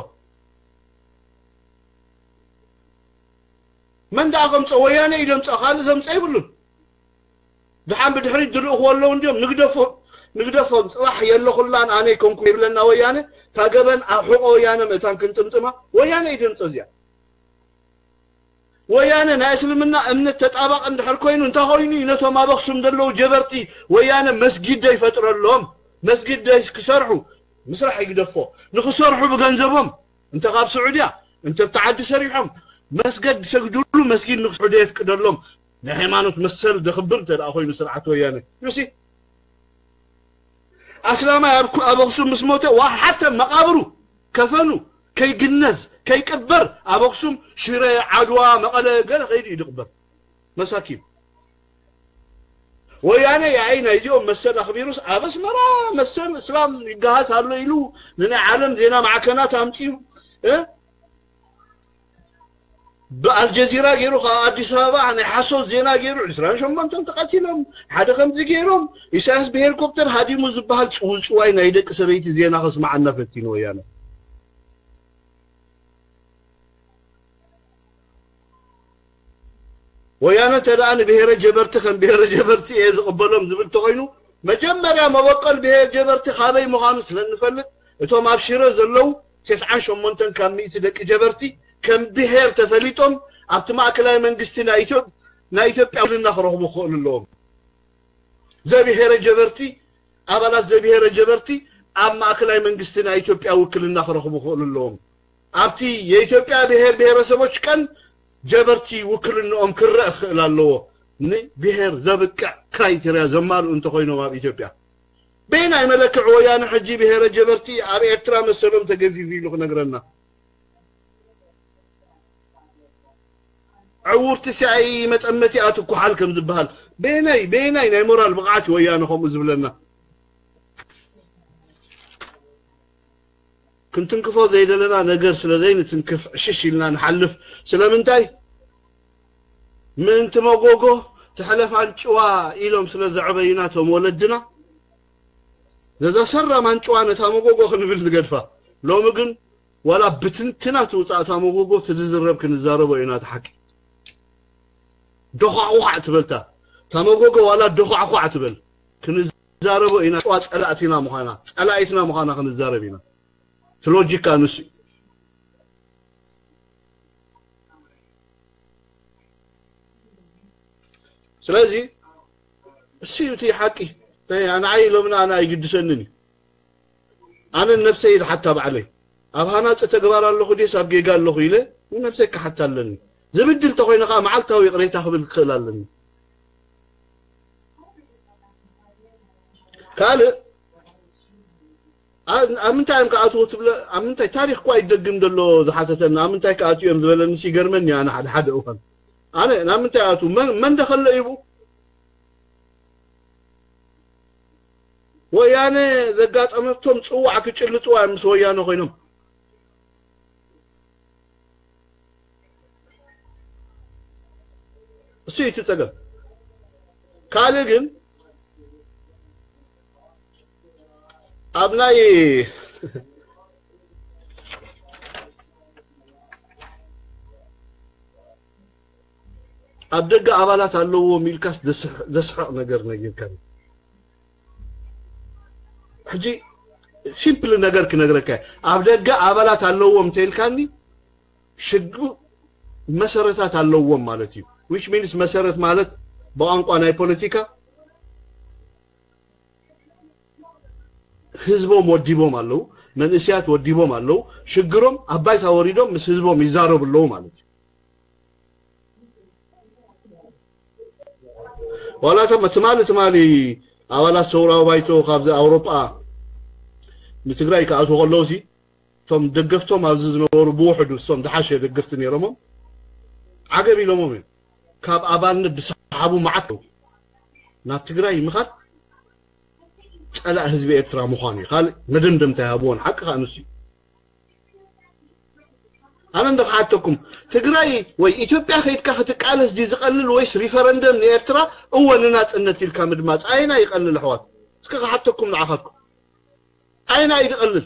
መን ደኣ ከምጾ? ወያነ እዩ ደምጾ፣ ካልእ ዘምጾ የብሉን። ደሓን ብድሕሪት ዝልእኽዎ ኣለዉ እንድዮም፣ ንግደፎም፣ ንግደፎም። ጽባሕ የለኹላን ኣነ ኣይኮንኩ ይብለና ወያነ፣ እታ ገበን ኣብ ሕቖ ወያነ ምእታን ክንጥምጥማ፣ ወያነ እዩ ደምጾ እዚኣ። ወያነ ናይ እስልምና እምነት ተጣባቂ እንድሕር ኮይኑ፣ እንታይ ኮይኑ እዩ ነቶም ኣብ ኣኽሱም ዘለዉ ጀበርቲ ወያነ መስጊድ ዶ ይፈጥረሎም? መስጊድ ዶ ክሰርሑ? ምስራሕ ይግደፎ። ንኽሰርሑ ብገንዘቦም፣ እንተ ካብ ስዑድያ፣ እንተ ብቲ ዓዲ ሰሪሖም፣ መስገድ ዝሰግድሉ መስጊድ ንኽስርሑ ዶ የፍቅደሎም? ናይ ሃይማኖት መሰል ደኽብር እንተ ደኣ ኮይኑ ስርዓት ወያነ። ዩሲ፣ ኣስላማይ ኣብ ኩ-፣ ኣብ ኣኽሱም ምስ ሞተ፣ ዋ፣ ሓተ መቓብሩ፣ ከፈኑ፣ ከይግነዝ፣ ከይቅበር፣ ኣብ ኣኽሱም፣ ሽረ፣ ዓድዋ፣ መቐለ፣ ገለ ከይዱ እዩ ዝቕበር። መሳኪን። ወያነ ያኢ ናይዚኦም መሰል ኣኽቢሩስ ኣብ ኣስመራ መሰል እስላም ይገሃስ ኣሎ ኢሉ ንናይ ዓለም ዜና ማዕከናት ኣምጺኡ፣ እ? ብኣልጀዚራ ገይሩ ካብ ኣዲስ ኣበባ ናይ ሓሶት ዜና ገይሩ ዕስራን ሸሞንተን ተቐቲሎም፣ ሓደ ከምዚ ገይሮም፣ ኢሳያስ ብሄሊኮፕተር ሃዲሙ ዝበሃል ጽውጽዋይ ናይ ደቂ ሰበይቲ ዜና ከስምዓና ፈቲኑ ወያነ። ወያነ እንተ ደኣ ንብሄረ ጀበርቲ ከም ብሄረ ጀበርቲ እየ ዝቕበሎም ዝብል እንተኾይኑ፣ መጀመርያ መበቆል ብሄር ጀበርቲ ካበይ ምዃኑ ስለ እንፈልጥ፣ እቶም ኣብ ሽረ ዘለዉ ተስዓን ሸሞንተን ካብ ሚእቲ ደቂ ጀበርቲ ከም ብሄር ተፈሊጦም ኣብቲ ማእከላይ መንግስቲ ናይ ኢትዮ-፣ ናይ ኢትዮጵያ ውክልና ክረኽቡ ክኽእሉ ኣለዎም። ዘብሄረ ጀበርቲ፣ ኣባላት ዘብሄረ ጀበርቲ ኣብ ማእከላይ መንግስቲ ናይ ኢትዮጵያ ውክልና ክረኽቡ ክኽእሉ ኣለዎም። ኣብቲ የኢትዮጵያ ብሄር ብሄረሰቦች ቀን ጀበርቲ ውክልንኦም ክረእ ክኽእል ኣለዎ። ንብሄር ዘብቅዕ ክራይቴርያ ዘማልኡ እንተኾይኖም ኣብ ኢትዮጵያ። በየናይ መለክዒ ወያነ ሕጂ ብሄረ ጀበርቲ ኣብ ኤርትራ መሰሎም ተገፊፉ ኢሉ ክነግረና? ዕውርቲ ሲኣይኢ መጠመቲኣ ትኩሓል ከም ዝበሃል፣ በየናይ፣ በየናይ ናይ ሞራል ብቕዓት እዩ ወያነ ከምኡ ዝብለና? ክንትንክፎ ዘይደለና ነገር ስለ ዘይንትንክፍ ዕሽሽ ኢልና ንሓልፍ። ስለምንታይ? ምእንቲ መጎጎ ትሕለፍ ኣንጭዋ ኢሎም ስለ ዘዕበዩና እቶም ወለድና፣ ነዛ ሰራም ኣንጭዋ ነታ መጎጎ ክንብል ንገድፋ። ሎሚ ግን ዋላ ብትንትና ትውጻእ እታ መጎጎ፣ ትዝረብ ክንዛረቦ ኢና እቲ ሓቂ። ዶዃዕዃዕ ትበልታ እታ መጎጎ፣ ዋላ ዶዃዕዃዕ ትበል ክንዛረቦ ኢና። ጨዋ ጸላእትና ምዃና፣ ጸላኢትና ምዃና ክንዛረብ ኢና። እቲ ሎጂካ ንሱ እዩ። ስለዚ እሱ እዩ እቲ ሓቂ። ንዓይ ሎምና ኣነ ኣይግድሰንን እዩ። ኣነ ነብሰይ ይድሓታ ባዕለይ። ኣብ ሃናጺ ተግባር ኣለኹ ድየስ ኣብ ጌጋ ኣለኹ ኢለ ንነብሰይ ክሓታ ኣለኒ። ዝብድል እንተኾይነ ከኣ መዓልታዊ ይቕሬታ ክብል ክኽእል ኣለኒ። ካልእ፣ ኣ-፣ ኣብ ምንታይ እዮም ክኣትዉ ትብለ-፣ ኣብ ምንታይ ታሪኽ እኳ ይደግም ዘሎ ዝሓተተኒ፣ ኣብ ምንታይ ክኣትዉ እዮም ዝበለኒ ይገርመኒ። ኣነ ሓደ ሓደ እዋን፣ ኣነ ናብ ምንታይ ኣትዉ? መን፣ መን ደኸለ ይቡ? ወያነ ዘጋጠመቶም ጽዋዕ ክጭልጥዋ እዮም ምስ ወያነ ኮይኖም። እሱ እዩ እቲ ጸገም። ካልእ ግን ኣብ ናይ ኣብ ደገ ኣባላት ኣለዎም ኢልካስ ዘስሕ-፣ ዘስሕቕ ነገር ነጊርካኒ። ሕጂ ሲምፕል ነገር ክነግረካ እየ። ኣብ ደገ ኣባላት ኣለዎም እንተኢልካኒ ሽግ መሰረታት ኣለዎም ማለት እዩ። Which means መሰረት ማለት ብቋንቋ ናይ ፖለቲካ ህዝቦም ወዲቦም ኣለዉ፣ መንእስያት ወዲቦም ኣለዉ። ሽግሮም ኣብ ባይታ ወሪዶም ምስ ህዝቦም ይዛረቡ ኣለዉ ማለት እዩ። ዋላ እቶም ትማሊ፣ ትማሊ ኣባላት ሰውራዊ ባይቶ ካብዚ ኣውሮጳ ንትግራይ ክኣትዉ ከለዉ ሲ፣ እቶም ደገፍቶም ኣብዚ ዝነበሩ ብውሕዱ እሶም ዝሓሸ ደገፍቲ ነይሮሞም፣ ዓገብ ኢሎሞም እዮም። ካብ ኣባልነት ዝሰሓቡ መዓት ኣለዉ። ናብ ትግራይ ምኻድ ጸላእ ህዝቢ ኤርትራ ምዃኑ እዩ። ካልእ መደምደምታ ይሃብዎን። ሓቂ ከኣ ንሱ እዩ። ኣነ እንዶ ክሓተኩም፣ ትግራይ ወይ ኢትዮጵያ ከይድካ ክትቃለስ ድዩ ዝቐልል ወይስ ሪፈረንደም ንኤርትራ እወ ንናጽነት ኢልካ ምድማጽ? ኣየና ይቐልል ኣሕዋት? እስከ ክሓተኩም ንዓኻትኩም። ኣየና እዩ ዝቐልል?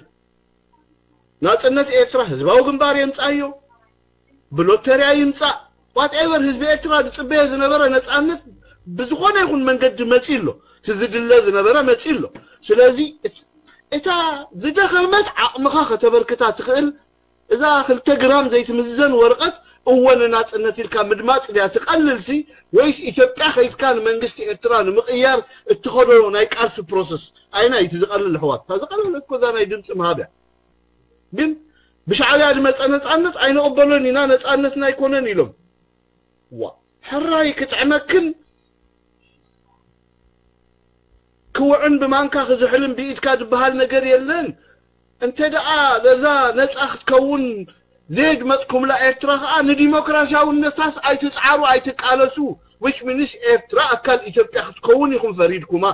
ናጽነት ኤርትራ ህዝባዊ ግንባር የምጻዮ፣ ብሎተርያ ይምጻእ፣ ዋትኤቨር ህዝቢ ኤርትራ ዝጽበዮ ዝነበረ ነጻነት ብዝኾነ ይኹን መንገዲ መጺኡ ኣሎ። እቲ ዝድለ ዝነበረ መጺኡ ኣሎ። ስለዚ እት-፣ እታ ዝደኸመት ዓቕምኻ ከተበርክታ ትኽእል እዛ ክልተ ግራም ዘይትምዘን ወረቐት እወ ንናጽነት ኢልካ ምድማጽ ድያ ትቐልልሲ፣ ወይስ ኢትዮጵያ ከይድካ ንመንግስቲ ኤርትራ ንምቕያር እትኸዶ ናይ ቃልሲ ፕሮሰስ? ኣይና እዩ እቲ ዝቐልል ኣሕዋት? እታ ዝቐለለት እኮ እዛ ናይ ድምፂ ምሃብ እያ። ግን ብሻዕብያ ዝመፀ ነፃነት ኣይንቕበሎን ኢና፣ ነፃነትና ኣይኮነን ኢሎም። ዋ፣ ሕራይ ክጥዕመክን ክውዕን ብማንካ ክዝሕልን ብኢድካ ዝበሃል ነገር የለን። እንተ ደኣ በዛ ነፃ ክትከውን ዘየድመፅኩምላ ኤርትራ ኸኣ ንዲሞክራሲያውነታስ ኣይትፅዓሩ፣ ኣይትቃለሱ። Which means ኤርትራ ኣካል ኢትዮጵያ ክትከውን ኢኹም ፈሪድኩማ።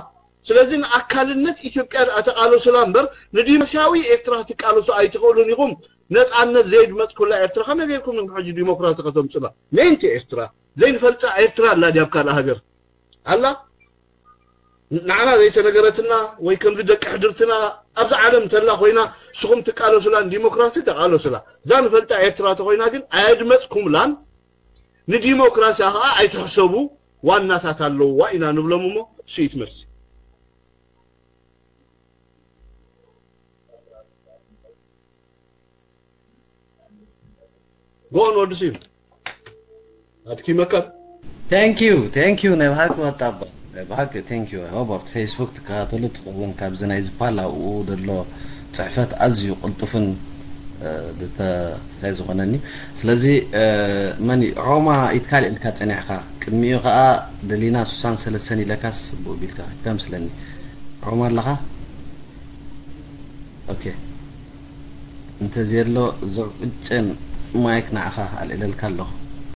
ስለዚ ንኣካልነት ኢትዮጵያ ደኣ ተቃለሱላ እምበር ንዲሞክራሲያዊ ኤርትራ ክትቃለሱ ኣይትኽእሉን ኢኹም። ነፃነት ዘየድመፅኩላ ኤርትራ ከመይ ጌርኩም ኢኹም ሕጂ ዲሞክራሲ ከተምፁላ? ምእንቲ ኤርትራ ዘይንፈልጣ ኤርትራ ኣላ ድያ ኣብ ካልእ ሃገር? ኣላ? ንዓና ዘይተነገረትና ወይ ከምዚ ደቂ ሕድርትና ኣብዚ ዓለም እንተላ ኮይና ንስኹም ትቃለሱላን ዲሞክራሲ ተቃለሱላ። እዛ ንፈልጣ ኤርትራ ተኮይና ግን ኣየድመፅኩምላን። ንዲሞክራሲያ ከዓ ኣይትሕሰቡ፣ ዋናታት ኣለውዋ ኢና ንብሎም እሞ እሱ እዩ እቲ መልሲ። ጎን ወዲ ስዩም ኣድኪመካ። Thank you, thank you። ናይ ብሓቂ ወጣባ፣ ናይ ብሓቂ thank you። ሆበርት ፌስቡክ ትከታተሉ ትኸውን፣ ካብዚ ናይ ዝፓል ኣብኡ ዘሎ ፅሕፈት ኣዝዩ ቅልጡፍን እ፣ ብተ-፣ ሳይ ዝኾነኒ። ስለዚ እ፣ መን እዩ? ዖማ ኢትካል ኢልካ ፀኒዕካ፣ ቅድሚኡ ከዓ ደሊና ሱሳን ሰለሰን ኢለካስ ብኡ ቢልካ ይተምስለኒ። ዖማ ኣለኻ? ኦኬ። እንተዘየሎ ዘውጭን ማይክ ንዓኻ ኣልዕለልካ ኣለኹ።